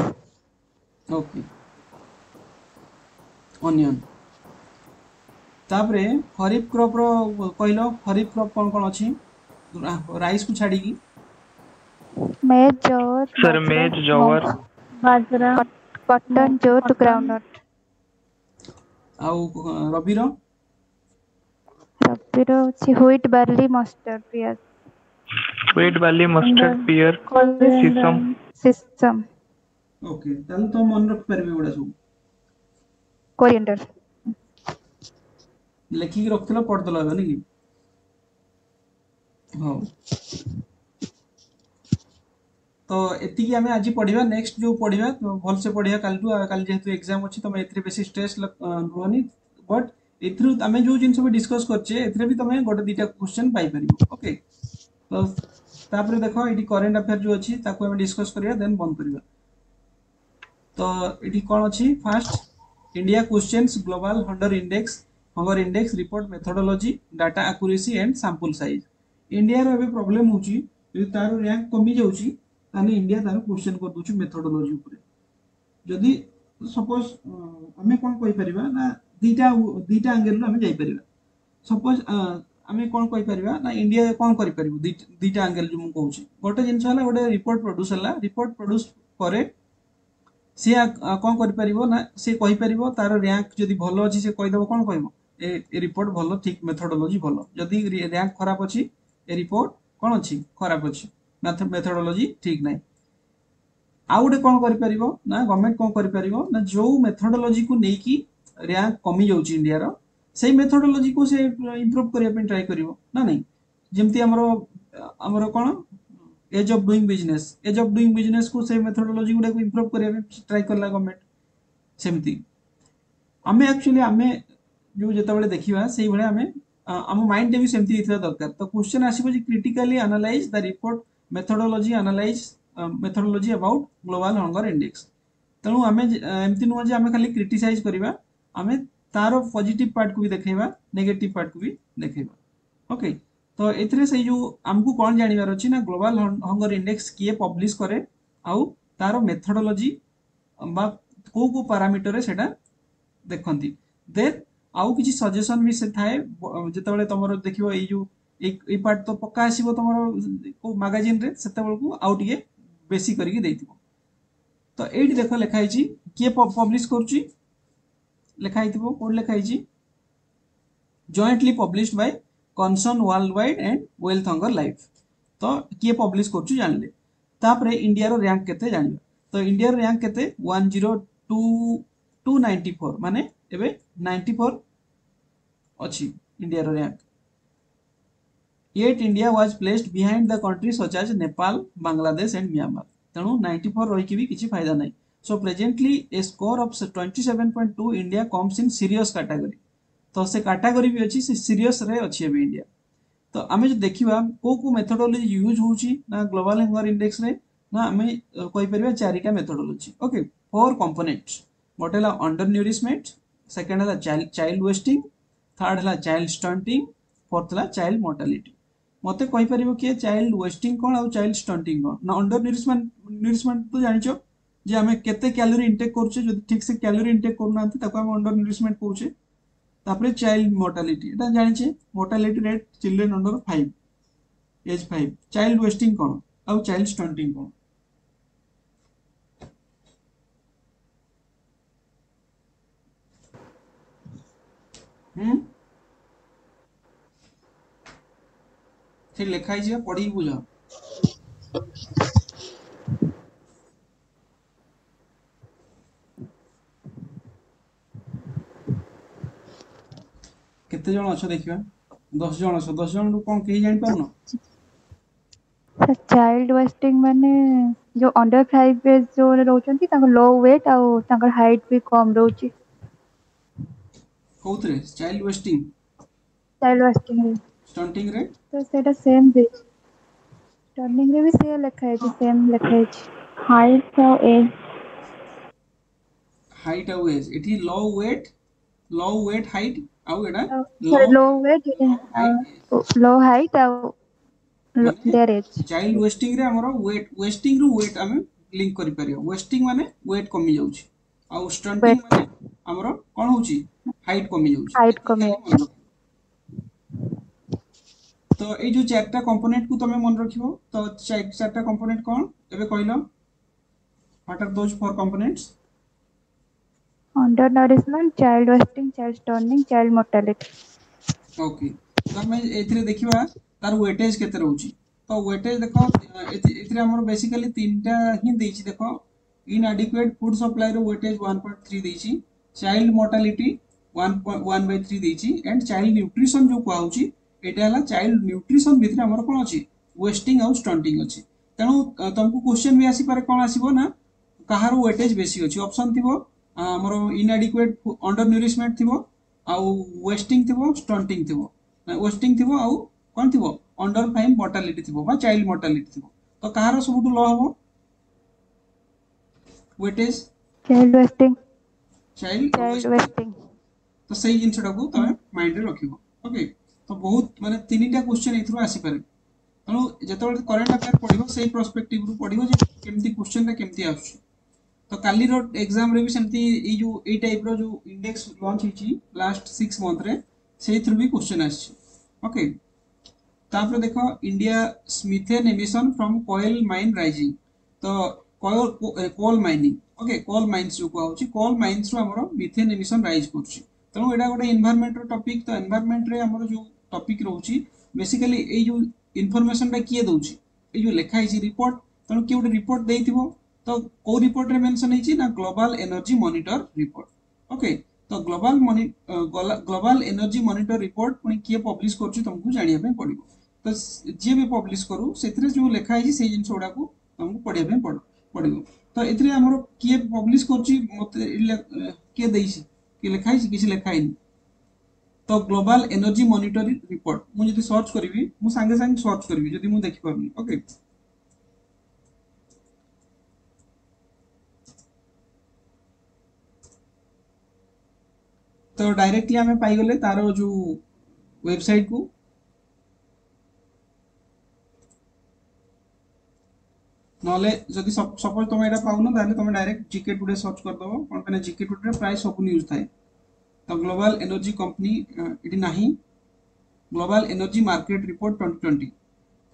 okay onion ତାପରେ kharif crop ର କହିଲ ଖରିଫ କ୍ରପ୍ କ'ଣ କ'ଣ ଅଛି ରାଇସ୍ କୁ ଛାଡ଼ିକି ମେଜ୍ ଜୋୱାର सर ବାଜରା मेज jowar bajra cotton jute cotton groundnut ଆଉ ରବିର ରବିର ଅଛି ହ୍ୱିଟ୍ ବାର୍ଲି ମଷ୍ଟାର୍ଡ ପିଆଜ wheat barley mustard pear coriander sesame sesame okay ତାହେଲେ ତ ମନେ ରଖିପାରିବେ ଏଗୁଡ଼ା ସବୁ କୋରିଏଣ୍ଡର ଲେଖିକି ରଖିଥିଲ ପଢିଦେଲ ଏବେ ନାଇଁ କି ହଉ ତ ଏତିକି ଆମେ ଆଜି ପଢିବା ନେକ୍ସଟ ଯୋଉ ପଢିବା ତ ଭଲସେ ପଢିବା କାଲିଠୁ ଆଉ କାଲି ଯେହେତୁ ଏକ୍ଜାମ ଅଛି ତମେ ଏଥିରେ ବେଶୀ ଷ୍ଟ୍ରେସ୍ ରୁହନି ବଟ୍ ଏଥିରୁ ଆମେ ଯୋଉ ଜିନିଷ ବି ଡିସ୍କସ୍ କରିଛେ ଏଥିରେ ବି ତମେ ଗୋଟେ ଦିଟା କ୍ୱେଶ୍ଚନ ପାଇପାରିବ ଓକେ ତ ତାପରେ ଦେଖ ଏଇଠି କରେଣ୍ଟ ଆଫେୟାର ଯୋଉ ଅଛି ତାକୁ ଆମେ ଡିସ୍କସ୍ କରିବା ଦେନ୍ ବନ୍ଦ କରିବା ତ ଏଠି କ'ଣ ଅଛି first India questions Global Hunger Index Hunger Index report methodology data accuracy and sample size ଇଣ୍ଡିଆର ଏବେ ପ୍ରୋବ୍ଲେମ ହେଉଛି ଯଦି ତାର ର୍ୟାଙ୍କ କମି ଯାଉଛି ତାହେଲେ ଇଣ୍ଡିଆ ତାର କ୍ୱେଶ୍ଚନ କରିଦେଉଛି ମେଥଡୋଲୋଜି ଉପରେ ଯଦି ସପୋଜ ଆମେ କ'ଣ କହିପାରିବା ନା ଦିଟା ଦିଟା ଆଙ୍ଗେଲରୁ ଆମେ ଯାଇପାରିବା ସପୋଜ ଆମେ କ'ଣ କହିପାରିବା ନା ଇଣ୍ଡିଆ କ'ଣ କରିପାରିବ ଦିଟା ଆଙ୍ଗେଲ ଯୋଉ ମୁଁ କହୁଛି ଗୋଟେ ଜିନିଷ ହେଲା ଗୋଟେ ରିପୋର୍ଟ ପ୍ରଡ୍ୟୁସ୍ ହେଲା ରିପୋର୍ଟ ପ୍ରଡ୍ୟୁସ୍ ପରେ ସିଏ କ'ଣ କରିପାରିବ ନା ସେ କହିପାରିବ ତାର ର୍ୟାଙ୍କ ଯଦି ଭଲ ଅଛି ସେ କହିଦେବ କ'ଣ କହିବ ଏ ଏ ରିପୋର୍ଟ ଭଲ ଠିକ ମେଥଡୋଲୋଜି ଭଲ ଯଦି ର୍ୟାଙ୍କ ଖରାପ ଅଛି ଏ ରିପୋର୍ଟ କ'ଣ ଅଛି ଖରାପ ଅଛି ମେଥଡୋଲୋଜି ଠିକ ନାହିଁ ଆଉ ଗୋଟେ କ'ଣ କରିପାରିବ ନା ଗଭର୍ଣ୍ଣମେଣ୍ଟ କ'ଣ କରିପାରିବ ନା ଯୋଉ ମେଥଡୋଲୋଜିକୁ ନେଇକି ର୍ୟାଙ୍କ କମି ଯାଉଛି ଇଣ୍ଡିଆର ସେଇ ମେଥଡୋଲୋଜିକୁ ସେ ଇମ୍ପ୍ରୁଭ କରିବା ପାଇଁ ଟ୍ରାଏ କରିବ ନା ନାଇଁ ଯେମିତି ଆମର ଆମର କ'ଣ ease of doing business ease of doing ବିଜନେସକୁ ସେଇ ମେଥଡୋଲୋଜି ଗୁଡ଼ାକୁ ଇମ୍ପ୍ରୁଭ କରିବା ପାଇଁ ଟ୍ରାଏ କଲା ଗଭର୍ଣ୍ଣମେଣ୍ଟ ସେମିତି ଆମେ ଆକ୍ଚୁଆଲି ଆମେ ଯୋଉ ଯେତେବେଳେ ଦେଖିବା ସେଇଭଳିଆ ଆମେ ଆମ ମାଇଣ୍ଡଟା ବି ସେମିତି ହେଇଥିବା ଦରକାର ତ କ୍ୱେଶ୍ଚନ ଆସିବ ଯେ critically analyze the report methodology analyze methodology about Global Hunger Index ତେଣୁ ଆମେ ଏମିତି ନୁହଁ ଯେ ଆମେ ଖାଲି କ୍ରିଟିସାଇଜ କରିବା ଆମେ ତାର ପଜିଟିଭ ପାର୍ଟକୁ ବି ଦେଖେଇବା ନେଗେଟିଭ ପାର୍ଟକୁ ବି ଦେଖେଇବା ଓକେ ତ ଏଥିରେ ସେଇ ଯୋଉ ଆମକୁ କ'ଣ ଜାଣିବାର ଅଛି ନା ଗ୍ଲୋବାଲ ହଙ୍ଗର ଇଣ୍ଡେକ୍ସ କିଏ ପବ୍ଲିଶ କରେ ଆଉ ତାର ମେଥଡୋଲୋଜି ବା କୋଉ କୋଉ ପାରାମିଟରରେ ସେଇଟା ଦେଖନ୍ତି ଦେନ୍ ଆଉ କିଛି ସଜେସନ ବି ସେ ଥାଏ ଯେତେବେଳେ ତମର ଦେଖିବ ଏଇ ଯୋଉ ଏଇ ଏଇ ପାର୍ଟ ତ ପକ୍କା ଆସିବ ତମର କୋଉ ମାଗାଜିନରେ ସେତେବେଳକୁ ଆଉ ଟିକେ ବେଶୀ କରିକି ଦେଇଥିବ ତ ଏଇଠି ଦେଖ ଲେଖା ହେଇଛି କିଏ ପବ୍ଲିଶ କରୁଛି ଲେଖା ହେଇଥିବ କୋଉଠି ଲେଖା ହେଇଛି jointly published by Concern Worldwide and Wealth Hunger Life ତ କିଏ ପବ୍ଲିଶ କରୁଛି ଜାଣିଲେ ତାପରେ ଇଣ୍ଡିଆର ର୍ୟାଙ୍କ କେତେ ଜାଣିବା ତ ଇଣ୍ଡିଆର ର୍ୟାଙ୍କ କେତେ one zero two two ninety four ମାନେ ଏବେ ନାଇଣ୍ଟି ଫୋର୍ ଅଛି ଇଣ୍ଡିଆର rank Yet India was placed behind the countries such as Nepal, Bangladesh and Myanmar. ତେଣୁ ନାଇଣ୍ଟି ଫୋର୍ ରହିକି ବି କିଛି ଫାଇଦା ନାହିଁ so presently a score of twenty seven point two India comes in serious category ତ ସେ category ବି ଅଛି ସେ ସିରିୟସରେ ଅଛି ଏବେ ଇଣ୍ଡିଆ ତ ଆମେ ଯଦି ଦେଖିବା କୋଉ କୋଉ ମେଥଡୋଲୋଜି ୟୁଜ୍ ହେଉଛି ନା ଗ୍ଲୋବାଲ ହଙ୍ଗର ଇଣ୍ଡେକ୍ସରେ ନା ଆମେ କହିପାରିବା ଚାରିଟା ମେଥଡୋଲୋଜି ଓକେ ଫୋର୍ କମ୍ପୋନେଣ୍ଟ ଗୋଟେ ହେଲା ଅଣ୍ଡର ନ୍ୟୁରିଶମେଣ୍ଟ ସେକେଣ୍ଡ ହେଲା ଚାଇଲ୍ଡ ୱେଷ୍ଟିଂ ଥାର୍ଡ ହେଲା ଚାଇଲ୍ଡ ଷ୍ଟଣ୍ଟିଂ ଫୋର୍ଥ ହେଲା ଚାଇଲ୍ଡ ମୋର୍ଟାଲିଟି ମତେ କହିପାରିବ କିଏ ଚାଇଲ୍ଡ ୱେଷ୍ଟିଂ କ'ଣ ଆଉ ଚାଇଲ୍ଡ ଷ୍ଟଣ୍ଟିଂ କ'ଣ ନା ଅଣ୍ଡର ନ୍ୟୁରିଶମେଣ୍ଟ ନ୍ୟୁରିଶମେଣ୍ଟ ତ ଜାଣିଛ ଯେ ଆମେ କେତେ କ୍ୟାଲୋରି ଇନଟେକ୍ କରୁଛେ ଯଦି ଠିକ୍ ସେ କ୍ୟାଲୋରି ଇନଟେକ୍ କରୁନାହାନ୍ତି ତାକୁ ଆମେ ଅଣ୍ଡର ନ୍ୟୁରିଶମେଣ୍ଟ କହୁଛେ ତାପରେ ଚାଇଲ୍ଡ ମୋର୍ଟାଲିଟି ଏଟା ଜାଣିଛେ mortality rate children under five age five child wasting କ'ଣ ଆଉ ଚାଇଲ୍ଡ ଷ୍ଟଣ୍ଟିଂ କ'ଣ ହୁଁ ସେ ଲେଖା ହେଇଛି ପଢିକି ବୁଝ କେତେ ଜଣ ଅଛ ଦେଖିବା ଦଶ ଜଣ ଅଛ ଦଶ ଜଣରୁ କ'ଣ କେହି ଜାଣିପାରୁନ ସାର୍ ଚାଇଲ୍ଡ ୱେଷ୍ଟିଂ ମାନେ ଯୋଉ ଅଣ୍ଡର ଫାଇଭ ଏଜ୍ ଯୋଉ ରହୁଛନ୍ତି ତାଙ୍କ ଲୋ ୱେଟ୍ ଆଉ ତାଙ୍କର ହାଇଟ୍ ବି କମ୍ ରହୁଛି କୋଉଥିରେ child wasting child wasting stunting ରେ ତ ସେଇଟା ସେମ୍ ଦେଇଛି ଷ୍ଟଣ୍ଟିଂ ରେ ବି ସେଇଆ ଲେଖା ହେଇଛି ସେମ୍ ଲେଖା ହେଇଛି ହାଇଟ୍ ଆଉ ଏଜ୍ ହାଇଟ୍ ଆଉ ଏଜ୍ ଏଠି low weight low weight height ଆଉ ଏଟା ସରି ଲୋ ଲୋ ୱେଟ୍ ହାଇଟ୍ ଲୋ ହାଇଟ୍ ଆଉ ମାନେ there age child wasting ରେ ଆମର ୱେଟ୍ ୱେଷ୍ଟିଂ ରୁ ୱେଟ୍ ଆମେ ଲିଙ୍କ କରିପାରିବା ୱେଷ୍ଟିଂ ମାନେ ୱେଟ୍ କମି ଯାଉଛି ଆଉ ଷ୍ଟଣ୍ଟିଂ ୱେଟ୍ ମାନେ ଆମର କ'ଣ ହଉଛି ହାଇଟ୍ କମି ଯାଉଛି ହାଇଟ୍ ଏତିକି କମି ଖାଲି ଯାଉଛି ମନେ ରଖିବ ତ ଏଇ ଯୋଉ ଚାରିଟା କମ୍ପୋନେଣ୍ଟ କୁ ତମେ ମନେ ରଖିବ ତ ଚାରିଟା କମ୍ପୋନେଣ୍ଟ କ'ଣ ଏବେ କହିଲ what are those four components under nourishment child wasting child stunting child mortality okay ତ ଆମେ ଏଥିରେ ଦେଖିବା ତାର ୱେଟେଜ କେତେ ରହୁଛି ତ ୱେଟେଜ ଦେଖ ଏଥିରେ ଆମର ବେସିକାଲି ତିନିଟା ହିଁ ଦେଇଛି ଦେଖ ଇନଆଡିକୁଏଟ୍ ଫୁଡ ସପ୍ଲାଇର ୱେଟେଜ ୱାନ୍ ପଏଣ୍ଟ ଥ୍ରୀ ଦେଇଛି child mortality one one by three ଦେଇଛି ଆଣ୍ଡ ଚାଇଲ୍ଡ ନ୍ୟୁଟ୍ରିସନ୍ ଯୋଉ କୁହାହଉଛି ଏଇଟା ହେଲା ଚାଇଲ୍ଡ ନ୍ୟୁଟ୍ରିସନ୍ ଭିତରେ ଆମର କ'ଣ ଅଛି ୱେଷ୍ଟିଂ ଆଉ ଷ୍ଟଣ୍ଟିଂ ଅଛି ତେଣୁ ତମକୁ କ୍ୱେଶ୍ଚନ ବି ଆସିପାରେ କ'ଣ ଆସିବ ନା କାହାର ୱେଟେଜ ବେଶୀ ଅଛି ଅପସନ୍ ଥିବ ଆମର ଇନଆଡିକୁଏଟ୍ ଅଣ୍ଡର ନ୍ୟୁରିଶମେଣ୍ଟ ଥିବ ଆଉ ୱେଷ୍ଟିଂ ଥିବ ଷ୍ଟଣ୍ଟିଂ ଥିବ ୱେଷ୍ଟିଂ ଥିବ ଆଉ କ'ଣ ଥିବ ଅଣ୍ଡର ଫାଇଭ୍ ମର୍ଟାଲିଟି ଥିବ ବା ଚାଇଲ୍ଡ ମର୍ଟାଲିଟି ଥିବ ତ କାହାର ସବୁଠୁ ଲୋ ହବ weightage child wasting child child wasting wasting ତ ସେଇ ଜିନିଷଟାକୁ ତମେ ମାଇଣ୍ଡରେ ରଖିବ ଓକେ ତ ବହୁତ ମାନେ ତିନିଟା କ୍ୱେଶ୍ଚନ ଏଥିରୁ ଆସିପାରେ ତେଣୁ ଯେତେବେଳେ କରେଣ୍ଟ ଆଫେୟାର ପଢିବ ସେଇ ପର୍ସପେକ୍ଟିଭରୁ ପଢିବ ଯେ କେମିତି କ୍ୱେଶ୍ଚନଟା କେମିତି ଆସୁଛି ତ କାଲିର ଏକ୍ଜାମରେ ବି ସେମିତି ଏଇ ଯୋଉ ଏଇ ଟାଇପର ଯୋଉ ଇଣ୍ଡେକ୍ସ ଲଞ୍ଚ ହେଇଛି ଲାଷ୍ଟ ସିକ୍ସ ମନ୍ଥରେ ସେଇଥିରୁ ବି କ୍ୱେଶ୍ଚନ ଆସିଛି ଓକେ ତାପରେ ଦେଖ India methane emission from coal mine rising ତ coal mining okay coal mines ଯୋଉ କୁହାହଉଛି କୋଲ୍ ମାଇନ୍ସରୁ ଆମର ମିଥେନ୍ ଏମିସନ ରାଇଜ୍ କରୁଛି ତେଣୁ ଏଇଟା ଗୋଟେ ଏନଭାରମେଣ୍ଟର ଟପିକ୍ ତ ଏନଭାରମେଣ୍ଟରେ ଆମର ଯୋଉ ଟପିକ୍ ରହୁଛି ବେସିକାଲି ଏଇ ଯୋଉ ଇନଫର୍ମେସନଟା କିଏ ଦଉଛି ଏଇ ଯୋଉ ଲେଖା ହେଇଛି ରିପୋର୍ଟ ତେଣୁ କିଏ ଗୋଟେ ରିପୋର୍ଟ ଦେଇଥିବ ତ କୋଉ ରିପୋର୍ଟରେ ମେନସନ ହେଇଛି ନା global energy monitor report okay ତ global moni global energy monitor report ପୁଣି କିଏ ପବ୍ଲିଶ କରୁଛି ତମକୁ ଜାଣିବା ପାଇଁ ପଡିବ ତ ଯିଏ ବି ପବ୍ଲିଶ କରୁ ସେଥିରେ ଯୋଉ ଲେଖା ହେଇଛି ସେଇ ଜିନିଷ ଗୁଡାକୁ ତମକୁ ପଢିବା ପାଇଁ ପଡିବ ତ ଏଥିରେ ଆମର କିଏ ପବ୍ଲିଶ କରୁଛି ମତେ କିଏ ଦେଇଛି କିଏ ଲେଖା ହେଇଛି କିଛି ଲେଖା ହେଇନି ତ ଗ୍ଲୋବାଲ ଏନର୍ଜି ମନିଟର ରିପୋର୍ଟ ମୁଁ ଯଦି ସର୍ଚ୍ଚ କରିବି ମୁଁ ସାଙ୍ଗେ ସାଙ୍ଗେ ସର୍ଚ୍ଚ କରିବି ଯଦି ମୁଁ ଦେଖିପାରୁନି ଓକେ ତ ଡାଇରେକ୍ଟଲି ଆମେ ପାଇଗଲେ ତାର ଯୋଉ ୱେବସାଇଟ କୁ ନହେଲେ ଯଦି ସପୋଜ ତମେ ଏଇଟା ପାଉନ ତାହେଲେ ତମେ ଡାଇରେକ୍ଟ ଜିକେ ଟୁଡେ ସର୍ଚ୍ଚ କରିଦବ କ'ଣ ପାଇଁ ନା ଜିକେ ଟୁଡେରେ ପ୍ରାୟ ସବୁ ନ୍ୟୁଜ୍ ଥାଏ ତ ଗ୍ଲୋବାଲ ଏନର୍ଜି କମ୍ପାନୀ ଏଠି ନାହିଁ global energy market report twenty twenty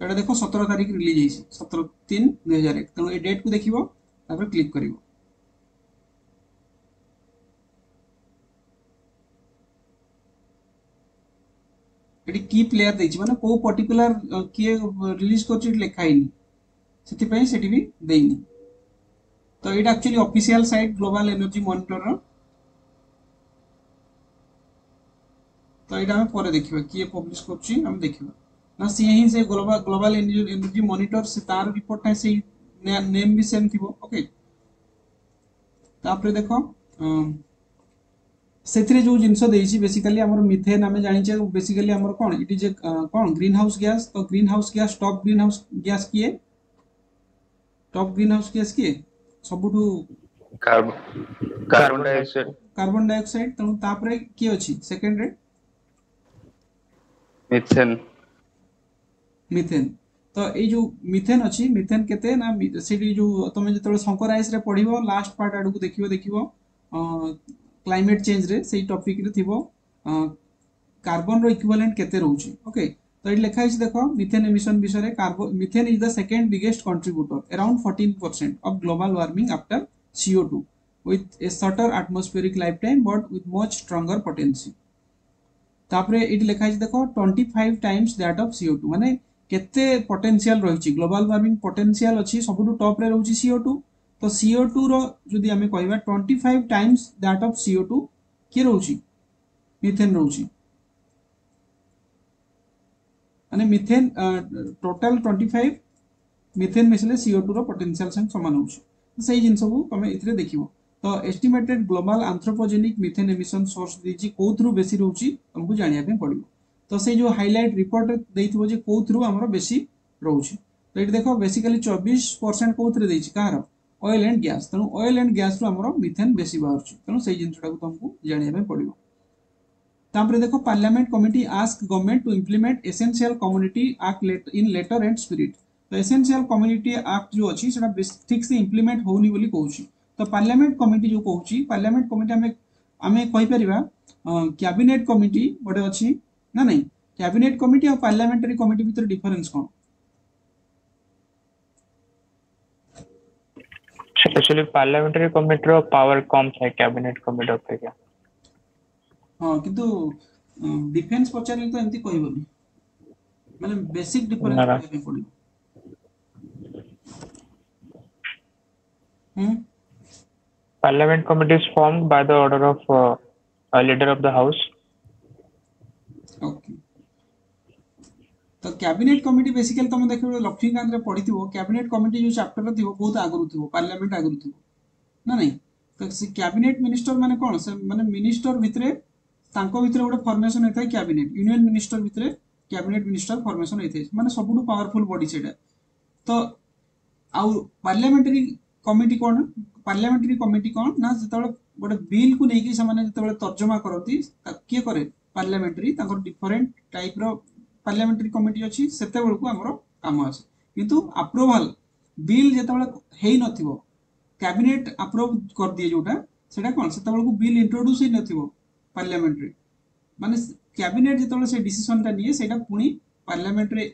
ତ ଏଇଟା ଦେଖ ସତର ତାରିଖ ରିଲିଜ ହେଇଛି ସତର ତିନି ଦୁଇ ହଜାର ଏକ ତେଣୁ ଏଇ ଡେଟ୍କୁ ଦେଖିବ ତାପରେ କ୍ଲିକ୍ କରିବ ଏଠି କି ପ୍ଲେୟାର ଦେଇଛି ମାନେ କୋଉ ପର୍ଟିକୁଲାର କିଏ ରିଲିଜ କରୁଛି ଏଠି ଲେଖା ହେଇନି ସେଥିପାଇଁ ସେଠି ବି ଦେଇନି ତ ଏଇଟା actually official site global energy ମନିଟରର ତ ଏଇଟା ଆମେ ପରେ ଦେଖିବା କିଏ ପବ୍ଲିଶ କରୁଛି ଆମେ ଦେଖିବା ନା ସିଏ ହିଁ ସେ ଗ୍ଲୋବାଲ ଗ୍ଲୋବାଲ ଏନର୍ଜି ମନିଟର ସେ ତାର ରିପୋର୍ଟଟା ସେଇ ନେମ୍ ବି ସେମ୍ ଥିବ ଓକେ ତାପରେ ଦେଖ ସେଥିରେ ଯୋଉ ଜିନିଷ ଦେଇଛି ବେସିକାଲି ଆମର ମିଥେନ୍ ଆମେ ଜାଣିଛେ ବେସିକାଲି ଆମର କ'ଣ ଇଟ୍ is କ'ଣ ଗ୍ରୀନ୍ ହାଉସ୍ ଗ୍ୟାସ୍ ତ green house gas top green house gas କିଏ ଟପ୍ ଗ୍ରୀନ୍ ହାଉସ୍ ଗ୍ୟାସ୍ କିଏ ସବୁଠୁ carbon carbon dioxide carbon dioxide ତେଣୁ ତାପରେ କିଏ ଅଛି ସେକେଣ୍ଡରେ ମିଥେନ୍ ମିଥେନ୍। ତ ଏଇ ଯୋଉ ମିଥେନ୍ ଅଛି, ମିଥେନ୍ କେତେ ନା ସେଠି ଯୋଉ ତମେ ଯେତେବେଳେ ଶଙ୍କର ଆଇଏଏସ୍ ରେ ପଢିବ, ଲାଷ୍ଟ ପାର୍ଟ ଆଡକୁ ଦେଖିବ ଦେଖିବ କ୍ଲାଇମେଟ୍ ଚେଞ୍ଜରେ ସେଇ ଟପିକରେ ଥିବ କାର୍ବନର ଇକ୍ୱିଭାଲେଣ୍ଟ କେତେ ରହୁଛି। ଓକେ, ତ ଏଠି ଲେଖା ହେଇଛି ଦେଖ ମିଥେନ୍ ଏମିସନ ବିଷୟରେ, carbo methane is the second biggest contributor, around fourteen percent of global warming after C O two, with a shorter atmospheric lifetime but with much stronger potency। ତାପରେ ଏଇଠି ଲେଖା ହେଇଛି ଦେଖ, twenty five times that of C O two। ମାନେ କେତେ ପଟେନ୍ସିଆଲ ରହିଛି, global warming ପଟେନ୍ସିଆଲ ଅଛି, ସବୁଠୁ ଟପରେ ରହୁଛି ସିଓ ଟୁ। ତ ସିଓ ଟୁ ର ଯଦି ଆମେ କହିବା, twenty five times that of C O two କିଏ ରହୁଛି? ମିଥେନ୍ ରହୁଛି। ମାନେ methane total twenty five methane ମିଶିଲେ ସିଓ ଟୁ ର ପଟେନ୍ସିଆଲ ସାଙ୍ଗେ ସମାନ ହେଉଛି। ସେଇ ଜିନିଷକୁ ତମେ ଏଥିରେ ଦେଖିବ। ତ estimated global anthropogenic methane emission source ଦେଇଛି, କୋଉଥିରୁ ବେଶୀ ରହୁଛି ତମକୁ ଜାଣିବା ପାଇଁ ପଡିବ। ତ ସେଇ ଯୋଉ ହାଇଲାଇଟ୍ ରିପୋର୍ଟରେ ଦେଇଥିବ ଯେ କୋଉଥିରୁ ଆମର ବେଶୀ ରହୁଛି। ତ ଏଠି ଦେଖ, ବେସିକାଲି ଚବିଶ ପରସେଣ୍ଟ କୋଉଥିରେ ଦେଇଛି, କାହାର? Oil and gas. ତେଣୁ ଅଏଲ୍ ଆଣ୍ଡ ଗ୍ୟାସ୍ରୁ ଆମର ମିଥେନ୍ ବେଶୀ ବାହାରୁଛି। ତେଣୁ ସେଇ ଜିନିଷଟାକୁ ତମକୁ ଜାଣିବା ପାଇଁ ପଡିବ। ତାପରେ ଦେଖ, Parliament committee ask government to implement Essential Commodity Act in letter and spirit। ତ ଏସେନ୍ସିଆଲ କମୋଡିଟି ଆକ୍ଟ ଯୋଉ ଅଛି, ସେଟା ଠିକ ସେ ଇମ୍ପ୍ଲିମେଣ୍ଟ ହଉନି ବୋଲି କହୁଛି। ତ ପାର୍ଲାମେଣ୍ଟ କମିଟି ଯୋଉ କହୁଛି, ପାର୍ଲାମେଣ୍ଟ କମିଟି ଆମେ ଆମେ କହିପାରିବା କ୍ୟାବିନେଟ କମିଟି ଗୋଟେ ଅଛି ନା ନାଇଁ? କ୍ୟାବିନେଟ କମିଟି ଆଉ ପାର୍ଲାମେଣ୍ଟାରୀ କମିଟି ଭିତରେ ଡିଫରେନ୍ସ କଣ? ଆକ୍ଚୁଆଲି ପାର୍ଲାମେଣ୍ଟାରୀ କମିଟିର ପାୱାର କମ ଥାଏ କ୍ୟାବିନେଟ କମିଟି ଅପେକ୍ଷା। ହଁ, କିନ୍ତୁ ଡିଫେନ୍ସ ପଚାରିଲେ ତ ଏମିତି କହିବନି। ମାନେ ବେସିକ ଡିଫରେନ୍ସ ନା ନା। କହିବା ପାଇଁ ପଡିବ। ହୁଁ। Parliament committee is formed by the order of uh, a leader of the house. Okay, ତ କ୍ୟାବିନେଟ କମିଟି ବେସିକାଲି ତମେ ଦେଖିବ, ଲକ୍ଷ୍ମୀକାନ୍ତରେ ପଢିଥିବ, କ୍ୟାବିନେଟ କମିଟି ଯୋଉ ଚାପ୍ଟର ଥିବ ବହୁତ ଆଗରୁ ଥିବ, ପାର୍ଲାମେଣ୍ଟ ଆଗରୁ ଥିବ ନା ନାଇଁ? ତ ସେ କ୍ୟାବିନେଟ ମିନିଷ୍ଟର ମାନେ କଣ? ସେ ମାନେ ମିନିଷ୍ଟର ଭିତରେ, ତାଙ୍କ ଭିତରେ ଗୋଟେ ଫର୍ମେସନ ହେଇଥାଏ କ୍ୟାବିନେଟ। ୟୁନିୟନ ମିନିଷ୍ଟର ଭିତରେ କ୍ୟାବିନେଟ ମିନିଷ୍ଟର ଫର୍ମେସନ ହେଇଥାଏ, ମାନେ ସବୁଠୁ ପାୱାରଫୁଲ ବଡି ସେଇଟା। ତ ଆଉ ପାର୍ଲାମେଣ୍ଟାରୀ କମିଟି କଣ? ପାର୍ଲାମେଣ୍ଟାରୀ କମିଟି କଣ ନା ଯେତେବେଳେ ଗୋଟେ ବିଲ୍ କୁ ନେଇକି ସେମାନେ ଯେତେବେଳେ ତର୍ଜମା କରନ୍ତି, କିଏ କରେ? ପାର୍ଲାମେଣ୍ଟାରୀ, ତାଙ୍କର ଡିଫରେଣ୍ଟ ଟାଇପର ପାର୍ଲାମେଣ୍ଟାରୀ କମିଟି ଅଛି, ସେତେବେଳକୁ ଆମର କାମ ଆସେ। କିନ୍ତୁ ଆପ୍ରୁଭାଲ ବିଲ୍ ଯେତେବେଳେ ହେଇନଥିବ, କ୍ୟାବିନେଟ ଆପ୍ରୁଭ କରିଦିଏ ଯୋଉଟା, ସେଟା କଣ? ସେତେବେଳକୁ ବିଲ୍ ଇଣ୍ଟ୍ରୋଡ୍ୟୁସ ହେଇନଥିବ ପାର୍ଲାମେଣ୍ଟରେ। ମାନେ କ୍ୟାବିନେଟ ଯେତେବେଳେ ସେ ଡିସିସନଟା ନିଏ, ସେଇଟା ପୁଣି ପାର୍ଲାମେଣ୍ଟରେ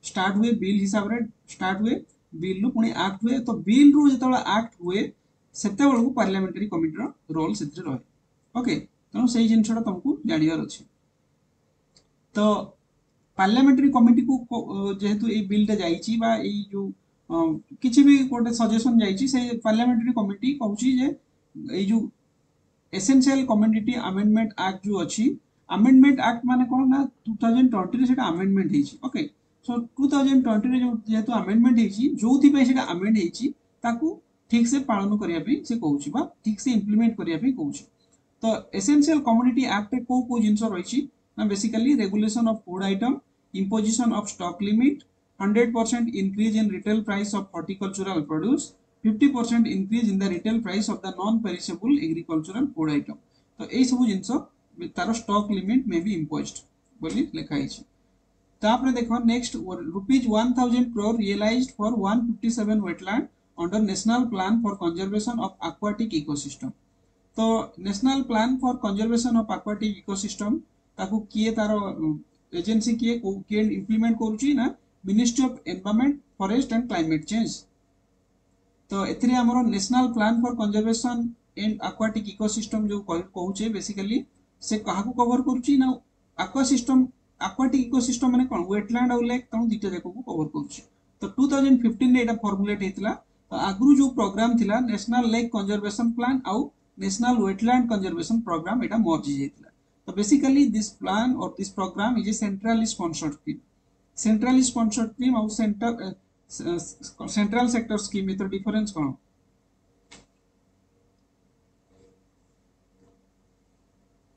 ଷ୍ଟାର୍ଟ ହୁଏ, ବିଲ୍ ହିସାବରେ ଷ୍ଟାର୍ଟ ହୁଏ, ବିଲ୍ରୁ ପୁଣି ଆକ୍ଟ ହୁଏ। ତ ବିଲ୍ରୁ ଯେତେବେଳେ ଆକ୍ଟ ହୁଏ, ସେତେବେଳକୁ ପାର୍ଲାମେଣ୍ଟାରୀ କମିଟିର ରୋଲ ସେଥିରେ ରହେ। ଓକେ, ତେଣୁ ସେଇ ଜିନିଷଟା ତମକୁ ଜାଣିବାର ଅଛି। ତ ପାର୍ଲାମେଣ୍ଟାରୀ କମିଟିକୁ ଯେହେତୁ ଏଇ ବିଲ୍ଟା ଯାଇଛି ବା ଏଇ ଯୋଉ କିଛି ବି ଗୋଟେ ସଜେସନ ଯାଇଛି, ସେଇ ପାର୍ଲାମେଣ୍ଟାରୀ କମିଟି କହୁଛି ଯେ ଏଇ ଯୋଉ ଏସେନ୍ସିଆଲ କମୋଡିଟି ଆମେଣ୍ଡମେଣ୍ଟ ଆକ୍ଟ ଯୋଉ ଅଛି, ଆମେଣ୍ଡମେଣ୍ଟ ଆକ୍ଟ ମାନେ କଣ ନା ଟୁ ଥାଉଜେଣ୍ଡ ଟ୍ୱେଣ୍ଟିରେ ସେଇଟା ଆମେଣ୍ଡମେଣ୍ଟ ହେଇଛି। ଓକେ, ସୋ ଟୁ ଥାଉଜେଣ୍ଡ ଟ୍ୱେଣ୍ଟିରେ ଯୋଉ ଯେହେତୁ ଆମେଣ୍ଡମେଣ୍ଟ ହେଇଛି, ଯୋଉଥିପାଇଁ ସେଇଟା ଆମେଣ୍ଡ ହେଇଛି, ତାକୁ ଠିକ ସେ ପାଳନ କରିବା ପାଇଁ ସେ କହୁଛି ବା ଠିକ ସେ ଇମ୍ପ୍ଲିମେଣ୍ଟ କରିବା ପାଇଁ କହୁଛି। ତ ଏସେନ୍ସିଆଲ କମୋଡିଟି ଆକ୍ଟରେ କୋଉ କୋଉ ଜିନିଷ ରହିଛି ନା basically regulation of food item, imposition of stock limit, hundred percent increase in retail price of horticultural produce, fifty percent increase in the retail price of the non-perishable agricultural food item। ତ ଏଇ ସବୁ ଜିନିଷ ତାର stock limit may be imposed ବୋଲି ଲେଖା ହେଇଛି। ତାପରେ ଦେଖ next, rupees one thousand crore realized for one fifty seven wetland under National Plan for Conservation of Aquatic Ecosystem। ତ National Plan for Conservation of Aquatic Ecosystem, ତାକୁ କିଏ, ତାର agency କିଏ, କିଏ ଇମ୍ପ୍ଲିମେଣ୍ଟ କରୁଛି ନା Ministry of Environment, Forest and Climate Change। ତ ଏଥିରେ ଆମର National Plan for Conservation and Aquatic Ecosystem ଯୋଉ କହୁଛେ, ବେସିକାଲି ସେ କାହାକୁ କଭର କରୁଛି ନା ଆକ୍ୱା ସିଷ୍ଟମ, ଆକ୍ୱାଟିକ୍ ଇକୋସିଷ୍ଟମ ମାନେ କଣ? ୱେଟଲ୍ୟାଣ୍ଡ ଆଉ ଲେକ୍। ତେଣୁ ଦୁଇଟା ଯାକକୁ କଭର କରୁଛି। ତ ଟୁ ଥାଉଜେଣ୍ଡ ଫିଫ୍ଟିନରେ ଏଇଟା ଫର୍ମୁଲେଟ୍ ହେଇଥିଲା। ତ ଆଗରୁ ଯୋଉ ପ୍ରୋଗ୍ରାମ ଥିଲା, ନ୍ୟାସନାଲ ଲେକ୍ କନଜରଭେସନ ପ୍ଲାନ୍ ଆଉ ନ୍ୟାସନାଲ ୱେଟଲ୍ୟାଣ୍ଡ କନଜରଭେସନ ପ୍ରୋଗ୍ରାମ, ଏଇଟା ମର୍ଜ ହେଇଯାଇଥିଲା। ତ basically this plan or this program is a centrally sponsored scheme। Centrally sponsored scheme ଆଉ ସେଣ୍ଟର ସେଣ୍ଟ୍ରାଲ ସେକ୍ଟର ସ୍କିମ୍ ଭିତରେ ଡିଫରେନ୍ସ କଣ?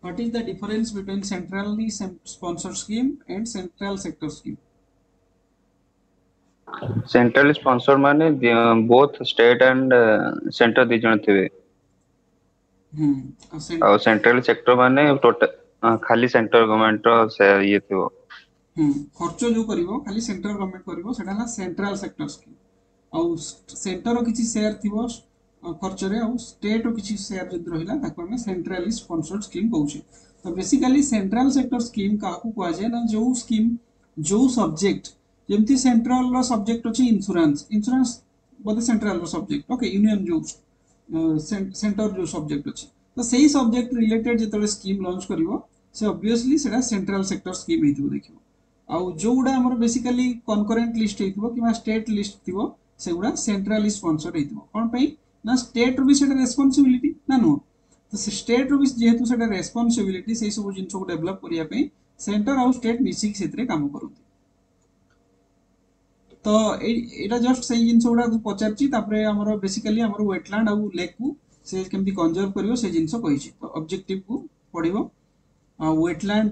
What is the difference between centrally sponsored scheme and central sector scheme? Centrally sponsored ମାନେ both state and centre ଦି ଜଣ ଥିବେ। ହୁଁ ଆଉ central sector ମାନେ total ଖାଲି ସେଣ୍ଟ୍ରାଲ ଗଭର୍ଣମେଣ୍ଟ ର ସେ ଇଏ ଥିବ। ହୁଁ ଖର୍ଚ୍ଚ ଯୋଉ କରିବ ଖାଲି ସେଣ୍ଟ୍ରାଲ ଗଭର୍ଣ୍ଣମେଣ୍ଟ କରିବ ସେଟା ହେଲା ସେଣ୍ଟ୍ରାଲ ସେକ୍ଟର ସ୍କିମ୍ ଆଉ ସେଣ୍ଟର କିଛି ସେୟାର ଥିବ ଅ, ଖର୍ଚ୍ଚରେ ଆଉ ଷ୍ଟେଟ୍ର କିଛି ସେୟାର ଯଦି ରହିଲା ତାକୁ ଆମେ ସେଣ୍ଟ୍ରାଲି ସ୍ପନ୍ସର୍ଡ ସ୍କିମ୍ କହୁଛେ ତ ବେସିକାଲି ସେଣ୍ଟ୍ରାଲ ସେକ୍ଟର ସ୍କିମ୍ କାହାକୁ କୁହାଯାଏ ନା ଯୋଉ ସ୍କିମ୍ ଯୋଉ ସବଜେକ୍ଟ ଯେମିତି ସେଣ୍ଟ୍ରାଲର ସବଜେକ୍ଟ ଅଛି ଇନ୍ସୁରାନ୍ସ ଇନ୍ସୁରାନ୍ସ ବୋଧେ ସେଣ୍ଟ୍ରାଲର ସବଜେକ୍ଟ ଓକେ ୟୁନିୟନ ଯୋଉ ସେଣ୍ଟର ଯୋଉ ସବଜେକ୍ଟ ଅଛି ତ ସେଇ ସବଜେକ୍ଟ ରିଲେଟେଡ୍ ଯେତେବେଳେ ସ୍କିମ୍ ଲଞ୍ଚ କରିବ ସେ ଅବଭିୟସଲି ସେଟା ସେଣ୍ଟ୍ରାଲ ସେକ୍ଟର ସ୍କିମ୍ ହେଇଥିବ ଦେଖିବ ଆଉ ଯୋଉଗୁଡ଼ା ଆମର ବେସିକାଲି କନକରେଣ୍ଟ ଲିଷ୍ଟ ହେଇଥିବ କିମ୍ବା ଷ୍ଟେଟ୍ ଲିଷ୍ଟ ଥିବ ସେଗୁଡ଼ା ସେଣ୍ଟ୍ରାଲି ସ୍ପନ୍ସର୍ଡ ହେଇଥିବ କ'ଣ ପାଇଁ ନା ଷ୍ଟେଟ୍ର ବି ସେଟା ରେସ୍ପନ୍ସିବିଲିଟି ନା ନୁହଁ ତ ସେ ଷ୍ଟେଟ୍ର ବି ଯେହେତୁ ସେଟା ରେସ୍ପନ୍ସିବିଲିଟି ସେଇ ସବୁ ଜିନିଷକୁ ଡେଭଲପ୍ କରିବା ପାଇଁ ସେଣ୍ଟର ଆଉ ଷ୍ଟେଟ୍ ମିଶିକି ସେଥିରେ କାମ କରନ୍ତି ତ ଏଇ ଏଇଟା ଜଷ୍ଟ ସେଇ ଜିନିଷ ଗୁଡ଼ାକୁ ପଚାରିଛି ତାପରେ ଆମର ବେସିକାଲି ଆମର ୱେଟଲ୍ୟାଣ୍ଡ ଆଉ ଲେକ୍କୁ ସେ କେମିତି କନଜର୍ଭ କରିବ ସେ ଜିନିଷ କହିଛି ତ ଅବଜେକ୍ଟିଭକୁ ପଢ଼ିବ ଆଉ ୱେଟଲ୍ୟାଣ୍ଡ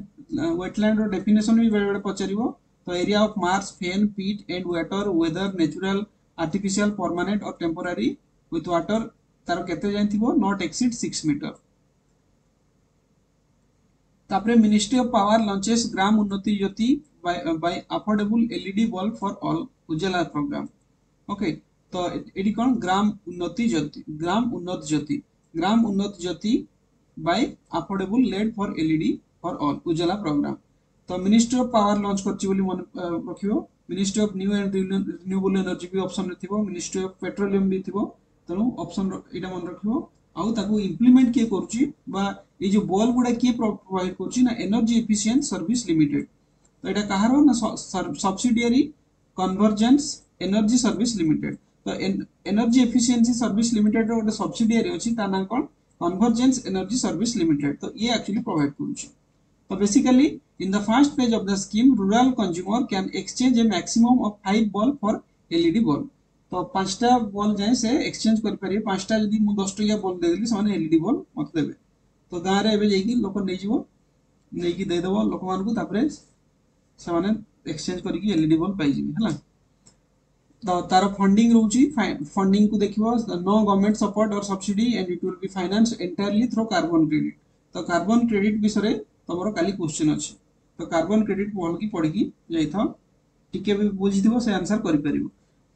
ୱେଟଲ୍ୟାଣ୍ଡର ଡେଫିନେସନ ବି ବେଳେବେଳେ ପଚାରିବ ତ area of marsh fen peat and water whether natural artificial permanent or temporary with water ତାର କେତେ ଯାଏଁ ଥିବ not exceed six metre ତାପରେ Ministry of Power launches Gram Unnati Jyoti by affordable LED bulb for all Ujjwala program okay ତ ଏଠି କ'ଣ ଗ୍ରାମ ଉନ୍ନତି ଜ୍ୟୋତି ଗ୍ରାମ ଉନ୍ନତ ଜ୍ୟୋତି ଗ୍ରାମ ଉନ୍ନତ Jyoti by affordable LED for LED for all Ujjwala program ତ ମିନିଷ୍ଟ୍ରି ଅଫ୍ ପାୱାର ଲଞ୍ଚ କରିଛି ବୋଲି ମନେ ଅ, ରଖିବ Ministry of New and Renewable Energy ବି ଅପସନରେ ଥିବ ମିନିଷ୍ଟ୍ରି ଅଫ୍ ପେଟ୍ରୋଲିୟମ ବି ଥିବ ତେଣୁ ଅପସନ ଏଇଟା ମନେ ରଖିବ ଆଉ ତାକୁ ଇମ୍ପ୍ଲିମେଣ୍ଟ କିଏ କରୁଛି ବା ଏଇ ଯୋଉ ବଲ୍ବ ଗୁଡ଼ା କିଏ ପ୍ରୋଭାଇଡ କରୁଛି ନା ଏନର୍ଜି ଏଫିସିଏଣ୍ଟ ସର୍ଭିସ ଲିମିଟେଡ ତ ଏଇଟା କାହାର ନା subsidiary convergence energy service limited ତ ଏନର୍ଜି ଏଫିସିଏନ୍ସି ସର୍ଭିସ ଲିମିଟେଡର ଗୋଟେ ସବସିଡିଆରୀ ଅଛି ତା ନାଁ କ'ଣ କନଭର୍ଜେନ୍ସ ଏନର୍ଜି ସର୍ଭିସ ଲିମିଟେଡ ତ ଇଏ ଆକ୍ଚୁଆଲି ପ୍ରୋଭାଇଡ କରୁଛି ତ basically in the first phase of the scheme rural consumer can exchange a maximum of five bulb for LED bulb ତ ପାଞ୍ଚଟା ବଲ୍ବ ଯାଏଁ ସେ ଏକ୍ସଚେଞ୍ଜ କରିପାରିବେ ପାଞ୍ଚଟା ଯଦି ମୁଁ ଦଶ ଟଙ୍କିଆ ବଲ୍ବ ଦେଇଦେଲି ସେମାନେ ଏଲଇଡି ବଲ୍ବ ମୋତେ ଦେବେ ତ ଗାଁରେ ଏବେ ଯାଇକି ଲୋକ ନେଇଯିବ ନେଇକି ଦେଇଦେବ ଲୋକମାନଙ୍କୁ ତାପରେ ସେମାନେ ଏକ୍ସଚେଞ୍ଜ କରିକି ଏଲଇଡି ବଲ୍ବ ପାଇଯିବେ ହେଲା ତ ତାର ଫଣ୍ଡିଂ ରହୁଛି ଫଣ୍ଡିଂକୁ ଦେଖିବ no government support or subsidy and it will be finance entirely through carbon credit ତ କାର୍ବନ କ୍ରେଡିଟ୍ ବିଷୟରେ ତମର କାଲି କ୍ୱେଶ୍ଚନ୍ ଅଛି ତ କାର୍ବନ କ୍ରେଡିଟ୍ ଭଲକି ପଢ଼ିକି ଯାଇଥାଅ ଟିକେ ବି ବୁଝିଥିବ ସେ ଆନ୍ସର କରିପାରିବ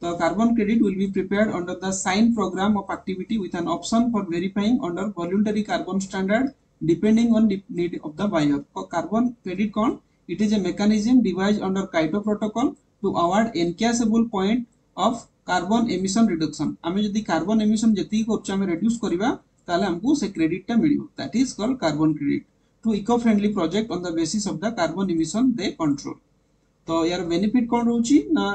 ତ carbon credit will be prepared under the SIGN program of activity with an option for verifying under voluntary carbon standard depending on the need of the buyer. Carbon credit କ'ଣ It is a mechanism devised under Kyoto Protocol to award encashable point of carbon emission reduction. ଆମେ ଯଦି carbon emission ଯେତିକି କରୁଛେ ଆମେ ରେଡ୍ୟୁସ କରିବା ତାହେଲେ ଆମକୁ ସେ କ୍ରେଡିଟଟା ମିଳିବ that is called carbon credit to eco friendly project on the basis of the carbon emission they control. ତ ୟାର ବେନିଫିଟ କ'ଣ ରହୁଛି ନା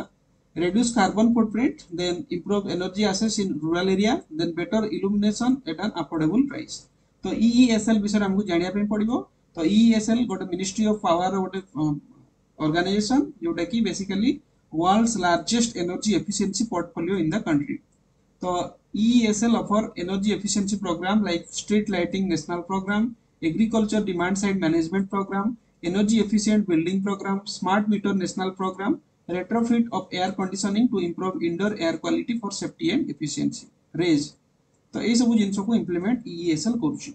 reduce carbon footprint then improve energy access in rural area then better illumination at an affordable price ତ EESL ବିଷୟରେ ଆମକୁ ଜାଣିବା ପାଇଁ ପଡ଼ିବ ତ ଇଇଏସଏଲ ଗୋଟେ ମିନିଷ୍ଟ୍ରି ଅଫ ପାୱାର ଗୋଟେ ଅର୍ଗାନାଇଜେସନ ଯୋଉଟା କି basically world's largest energy efficiency portfolio in the country ତ EESL offer energy efficiency program like street lighting national program, agriculture demand side management program, energy efficient building program, smart meter national program, retrofit of air conditioning to improve indoor air quality for safety and efficiency. RAISE ତ ଏଇ ସବୁ ଜିନିଷକୁ implement EESL କରୁଛି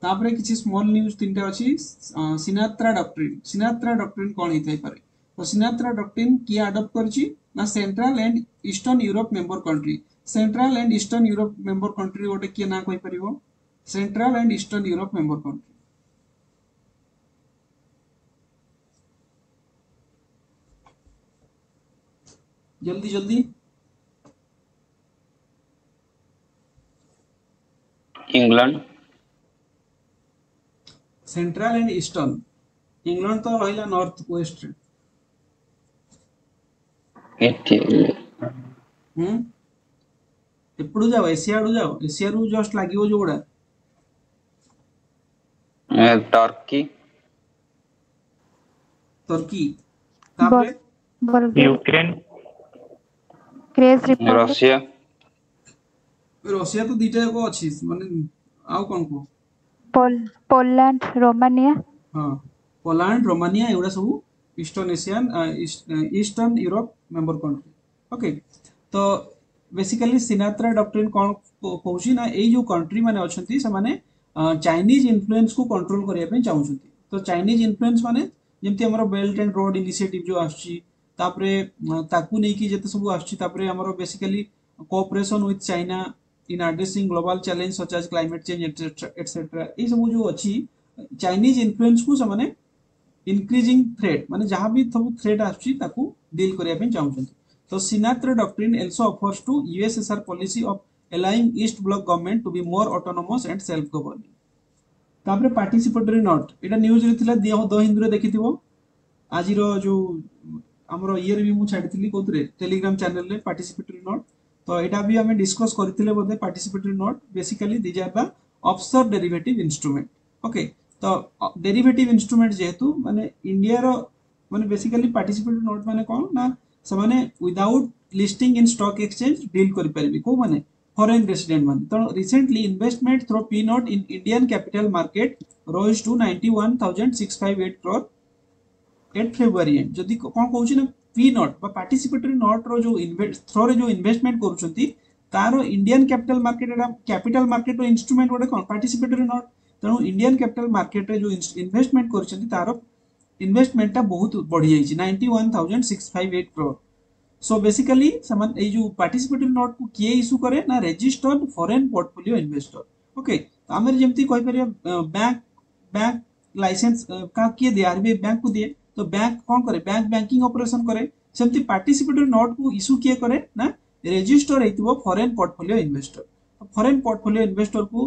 ତାପରେ କିଛି small news ତିନିଟା ଅଛି ସିନାତ୍ରା doctrine ସିନାତ୍ରା doctrine କ'ଣ ହେଇଥାଇପାରେ ତ ସିନାତ୍ରା ଡକ୍ଟ୍ରିନ୍ କିଏ ଆଡପ୍ଟ କରିଛି ନା Central and Eastern Europe member country Central and Eastern Europe member country ଗୋଟେ କିଏ ନାଁ କହିପାରିବ Central and Eastern Europe member country ଜଲ୍ଦି ଜଲ୍ଦି England central and eastern England ତ ରହିଲା ନର୍ଥ ୱେଷ୍ଟରେ ଇଟାଲୀ ହୁଁ ଏପଟୁ ଯାଅ ଏସିଆ ଆଡୁ ଯାଅ ଏସିଆରୁ ଜଷ୍ଟ ଲାଗିବ ଯୋଉଗୁଡା ଟର୍କି ଟର୍କି ତାପରେ Bulgaria, Ukraine Czech Republic, Russia Russia ତ ଦିଟା ଯାକ ଅଛି ମାନେ ଆଉ କଣ କୁହ Pol- Poland, Romania, ହଁ ପୋଲାଣ୍ଡ ରୋମାନିଆ ଏଗୁଡ଼ା ସବୁ Eastern Asian Eastern Europe member country okay ତ ବେସିକାଲି ସିନାତ୍ରା ଡକ୍ଟ୍ରିନ୍ କ'ଣ କହୁଛି ନା ଏଇ ଯୋଉ କଣ୍ଟ୍ରି ମାନେ ଅଛନ୍ତି ସେମାନେ ଚାଇନିଜ ଇନଫ୍ଲୁଏନ୍ସକୁ କଣ୍ଟ୍ରୋଲ କରିବା ପାଇଁ ଚାହୁଁଛନ୍ତି ତ ଚାଇନିଜ ଇନଫ୍ଲୁଏନ୍ସ ମାନେ ଯେମିତି ଆମର ବେଲ୍ଟ ଆଣ୍ଡ ରୋଡ୍ ଇନିସିଏଟିଭ୍ ଯେଉଁ ଆସୁଛି ତାପରେ ତାକୁ ନେଇକି ଯେତେ ସବୁ ଆସୁଛି ତାପରେ ଆମର basically cooperation with China in addressing global challenge such as climate change etcetera ଏଇ ସବୁ ଯେଉଁ ଅଛି ଚାଇନିଜ ଇନଫ୍ଲୁଏନ୍ସକୁ ସେମାନେ ଇନକ୍ରିଜିଂ ଥ୍ରେଟ୍ ମାନେ ଯାହା ବି ସବୁ ଥ୍ରେଟ୍ ଆସୁଛି ତାକୁ ଡିଲ୍ କରିବା ପାଇଁ ଚାହୁଁଛନ୍ତି ତ Sinatra doctrine also refers to USSR policy of allowing East Bloc government to be more autonomous and self governing ତାପରେ ପାର୍ଟିସିପେଟରୀ ନୋଟ୍ ଏଇଟା ନ୍ୟୁଜରେ ଥିଲା ଦ ହିନ୍ଦୁରେ ଦେଖିଥିବ ଆଜିର ଯୋଉ ଆମର ଇଏରେ ବି ମୁଁ ଛାଡ଼ିଥିଲି କୋଉଥିରେ ଟେଲିଗ୍ରାମ ଚ୍ୟାନେଲରେ ପାର୍ଟିସିପେଟରୀ ନୋଟ୍ ତ ଏଇଟା ବି ଆମେ ଡିସ୍କସ୍ କରିଥିଲେ ବୋଧେ participatory note basically these are the offshore derivative instrument okay ତ ଡେରିଭେଟିଭ ଇନଷ୍ଟ୍ରୁମେଣ୍ଟ ଯେହେତୁ ମାନେ ଇଣ୍ଡିଆର ମାନେ ବେସିକାଲି ପାର୍ଟିସିପେଟରୀ ନୋଟ୍ ମାନେ କ'ଣ ନା ସେମାନେ without listing in stock exchange deal କରିପାରିବେ କୋଉମାନେ ଫରେନ୍ ରେସିଡେଣ୍ଟ ମାନେ ତେଣୁ recently investment through P note in Indian capital market rose to ninety one thousand six five eight crore at February end ଯଦି କ'ଣ କହୁଛି ନା ପି ନୋଟ୍ ବା ପାର୍ଟିସିପେଟରୀ ନୋଟ୍ର ଯୋଉ ଥ୍ରୋରେ ଯୋଉ ଇନଭେଷ୍ଟମେଣ୍ଟ କରୁଛନ୍ତି ତାର ଇଣ୍ଡିଆନ୍ କ୍ୟାପିଟାଲ ମାର୍କେଟ ଏଟା କ୍ୟାପିଟାଲ ମାର୍କେଟର ଇନଷ୍ଟ୍ରୁମେଣ୍ଟ ଗୋଟେ କ'ଣ ପାର୍ଟିସିପେଟରୀ ନୋଟ୍ ତେଣୁ ଇଣ୍ଡିଆନ୍ କ୍ୟାପିଟାଲ ମାର୍କେଟରେ ଯୋଉ ଇନଭେଷ୍ଟମେଣ୍ଟ କରିଛନ୍ତି ତାର ଇନଭେଷ୍ଟମେଣ୍ଟଟା ବହୁତ ବଢ଼ିଯାଇଛି ninety one thousand six five eight crore so basically ସେମାନେ ଏଇ ଯୋଉ ପାର୍ଟିସିପେଟରୀ ନୋଟ୍କୁ କିଏ ଇସ୍ୟୁ କରେ ନା registered foreign portfolio investor okay ତ ଆମେ ଯେମିତି କହିପାରିବା ବ୍ୟାଙ୍କ ବ୍ୟାଙ୍କ ଲାଇସେନ୍ସ କାହା କିଏ ଦିଏ ଆରବିଆଇ ବ୍ୟାଙ୍କକୁ ଦିଏ ତ ବ୍ୟାଙ୍କ କ'ଣ କରେ ବ୍ୟାଙ୍କ ବ୍ୟାଙ୍କିଂ ଅପରେସନ କରେ ସେମିତି ପାର୍ଟିସିପେଟରୀ ନୋଟ୍କୁ ଇସ୍ୟୁ କିଏ କରେ ନା ରେଜିଷ୍ଟର ହେଇଥିବ foreign portfolio investor foreign portfolio ଇନଭେଷ୍ଟରକୁ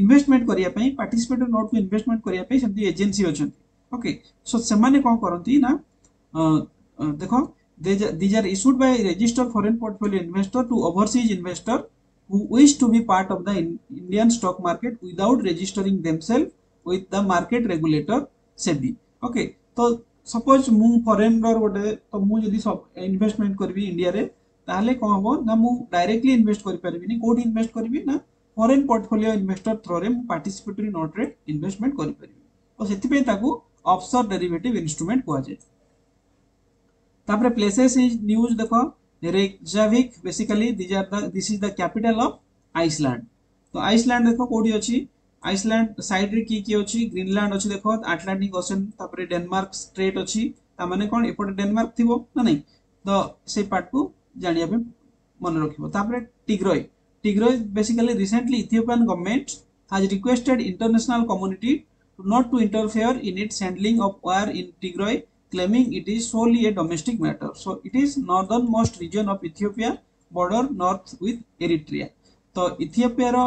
investment କରିବା ପାଇଁ ପାର୍ଟିସିପେଟରୀ ନୋଟ୍କୁ ଇନଭେଷ୍ଟମେଣ୍ଟ କରିବା ପାଇଁ ସେମିତି ଏଜେନ୍ସି ଅଛନ୍ତି ଓକେ ସୋ ସେମାନେ କ'ଣ କରନ୍ତି ନା ଦେଖ these are issued by registered foreign portfolio investor to overseas investor who wish to be part of the Indian stock market without registering themselves with the market regulator SEBI. Okay, ତ suppose ମୁଁ foreigner ଗୋଟେ ତ ମୁଁ ଯଦି investment କରିବି ଇଣ୍ଡିଆରେ ତାହେଲେ କ'ଣ ହବ ନା ମୁଁ ଡାଇରେକ୍ଟଲି ଇନଭେଷ୍ଟ କରିପାରିବିନି କୋଉଠି ଇନଭେଷ୍ଟ କରିବି ନା ଫରେନ୍ ପୋର୍ଟଫୋଲିଓ ଇନଭେଷ୍ଟର ଥ୍ରୋରେ ମୁଁ ପାର୍ଟିସିପେଟରୀ ନୋଟ୍ରେ ଇନଭେଷ୍ଟମେଣ୍ଟ କରିପାରିବି ଓ ସେଥିପାଇଁ ତାକୁ ଅଫସୋର ଡେରିଭେଟିଭ ଇନଷ୍ଟ୍ରୁମେଣ୍ଟ କୁହାଯାଏ ତାପରେ ପ୍ଲେସେସ୍ ଇନ୍ ନ୍ୟୁଜ୍ ଦେଖ ରେକଜାଭିକ୍ basically these are the this is the capital of Iceland ତ ଆଇସଲ୍ୟାଣ୍ଡ ଦେଖ କୋଉଠି ଅଛି ଆଇସଲ୍ୟାଣ୍ଡ ସାଇଡରେ କିଏ କିଏ ଅଛି ଗ୍ରୀନଲ୍ୟାଣ୍ଡ ଅଛି ଦେଖ ଆଟଲାଣ୍ଟିକ ଓସେନ ତାପରେ ଡେନମାର୍କ ଷ୍ଟ୍ରେଟ୍ ଅଛି ତାମାନେ କ'ଣ ଏପଟେ ଡେନମାର୍କ ଥିବ ନା ନାଇଁ ତ ସେଇ ପାର୍ଟକୁ ଜାଣିବା ପାଇଁ ମନେ ରଖିବ ତାପରେ ଟିଗ୍ରୟ ଟିଗ୍ରୟ basically recently Ethiopian government has requested international community to not to interfere in its handling of war in Tigray, claiming it is solely a domestic matter. So it is northernmost region of Ethiopia, border north with Eritrea. ତ ଇଥିଓପିଆର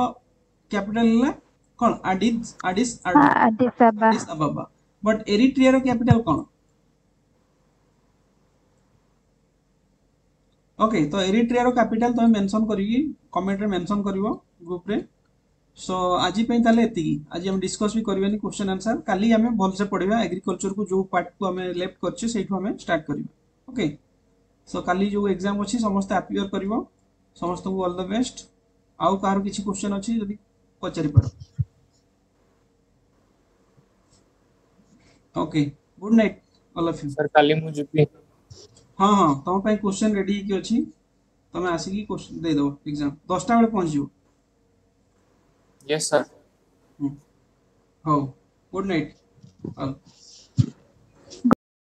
capital ହେଲା କ'ଣ Addis Addis Addis Ababa Addis Ababa but ଏରିଟ୍ରିଆର capital କ'ଣ okay ତ ଏରିଟ୍ରିଆର capital ତମେ mention କରିକି କମେଣ୍ଟରେ ମେନସନ କରିବ ଗ୍ରୁପରେ ସୋ ଆଜି ପାଇଁ ତାହେଲେ ଏତିକି ଆଜି ଆମେ ଡିସ୍କସ୍ ବି କରିବାନି କ୍ୱେଶ୍ଚନ ଆନ୍ସର କାଲି ଆମେ ଭଲସେ ପଢିବା ଏଗ୍ରିକଲଚରକୁ ଯୋଉ ପାର୍ଟକୁ ଆମେ ଲେଫ୍ଟ କରିଛେ ସେଇଠୁ ଆମେ ଷ୍ଟାର୍ଟ କରିବା ଓକେ ସୋ କାଲି ଯୋଉ ଏକ୍ଜାମ ଅଛି ସମସ୍ତେ ଆପିୟର କରିବ ସମସ୍ତଙ୍କୁ ଅଲ୍ the best ଆଉ କାହାର କିଛି କ୍ୱେଶ୍ଚନ ଅଛି ଯଦି ପଚାରିପାର okay good night all of you sir କାଲି ମୁଁ ଯିବି ହଁ ହଁ ତମ ପାଇଁ କ୍ୱେଶ୍ଚନ ରେଡି ହେଇକି ଅଛି ତମେ ଆସିକି କ୍ୱେଶ୍ଚନ ଦେଇଦେବ ଏକ୍ଜାମ ଦଶଟା ବେଳେ ପହଞ୍ଚିଯିବ ୟେସ୍ ସାର୍ ହୁଁ ହଉ ଗୁଡ୍ ନାଇଟ୍ ଅଲ୍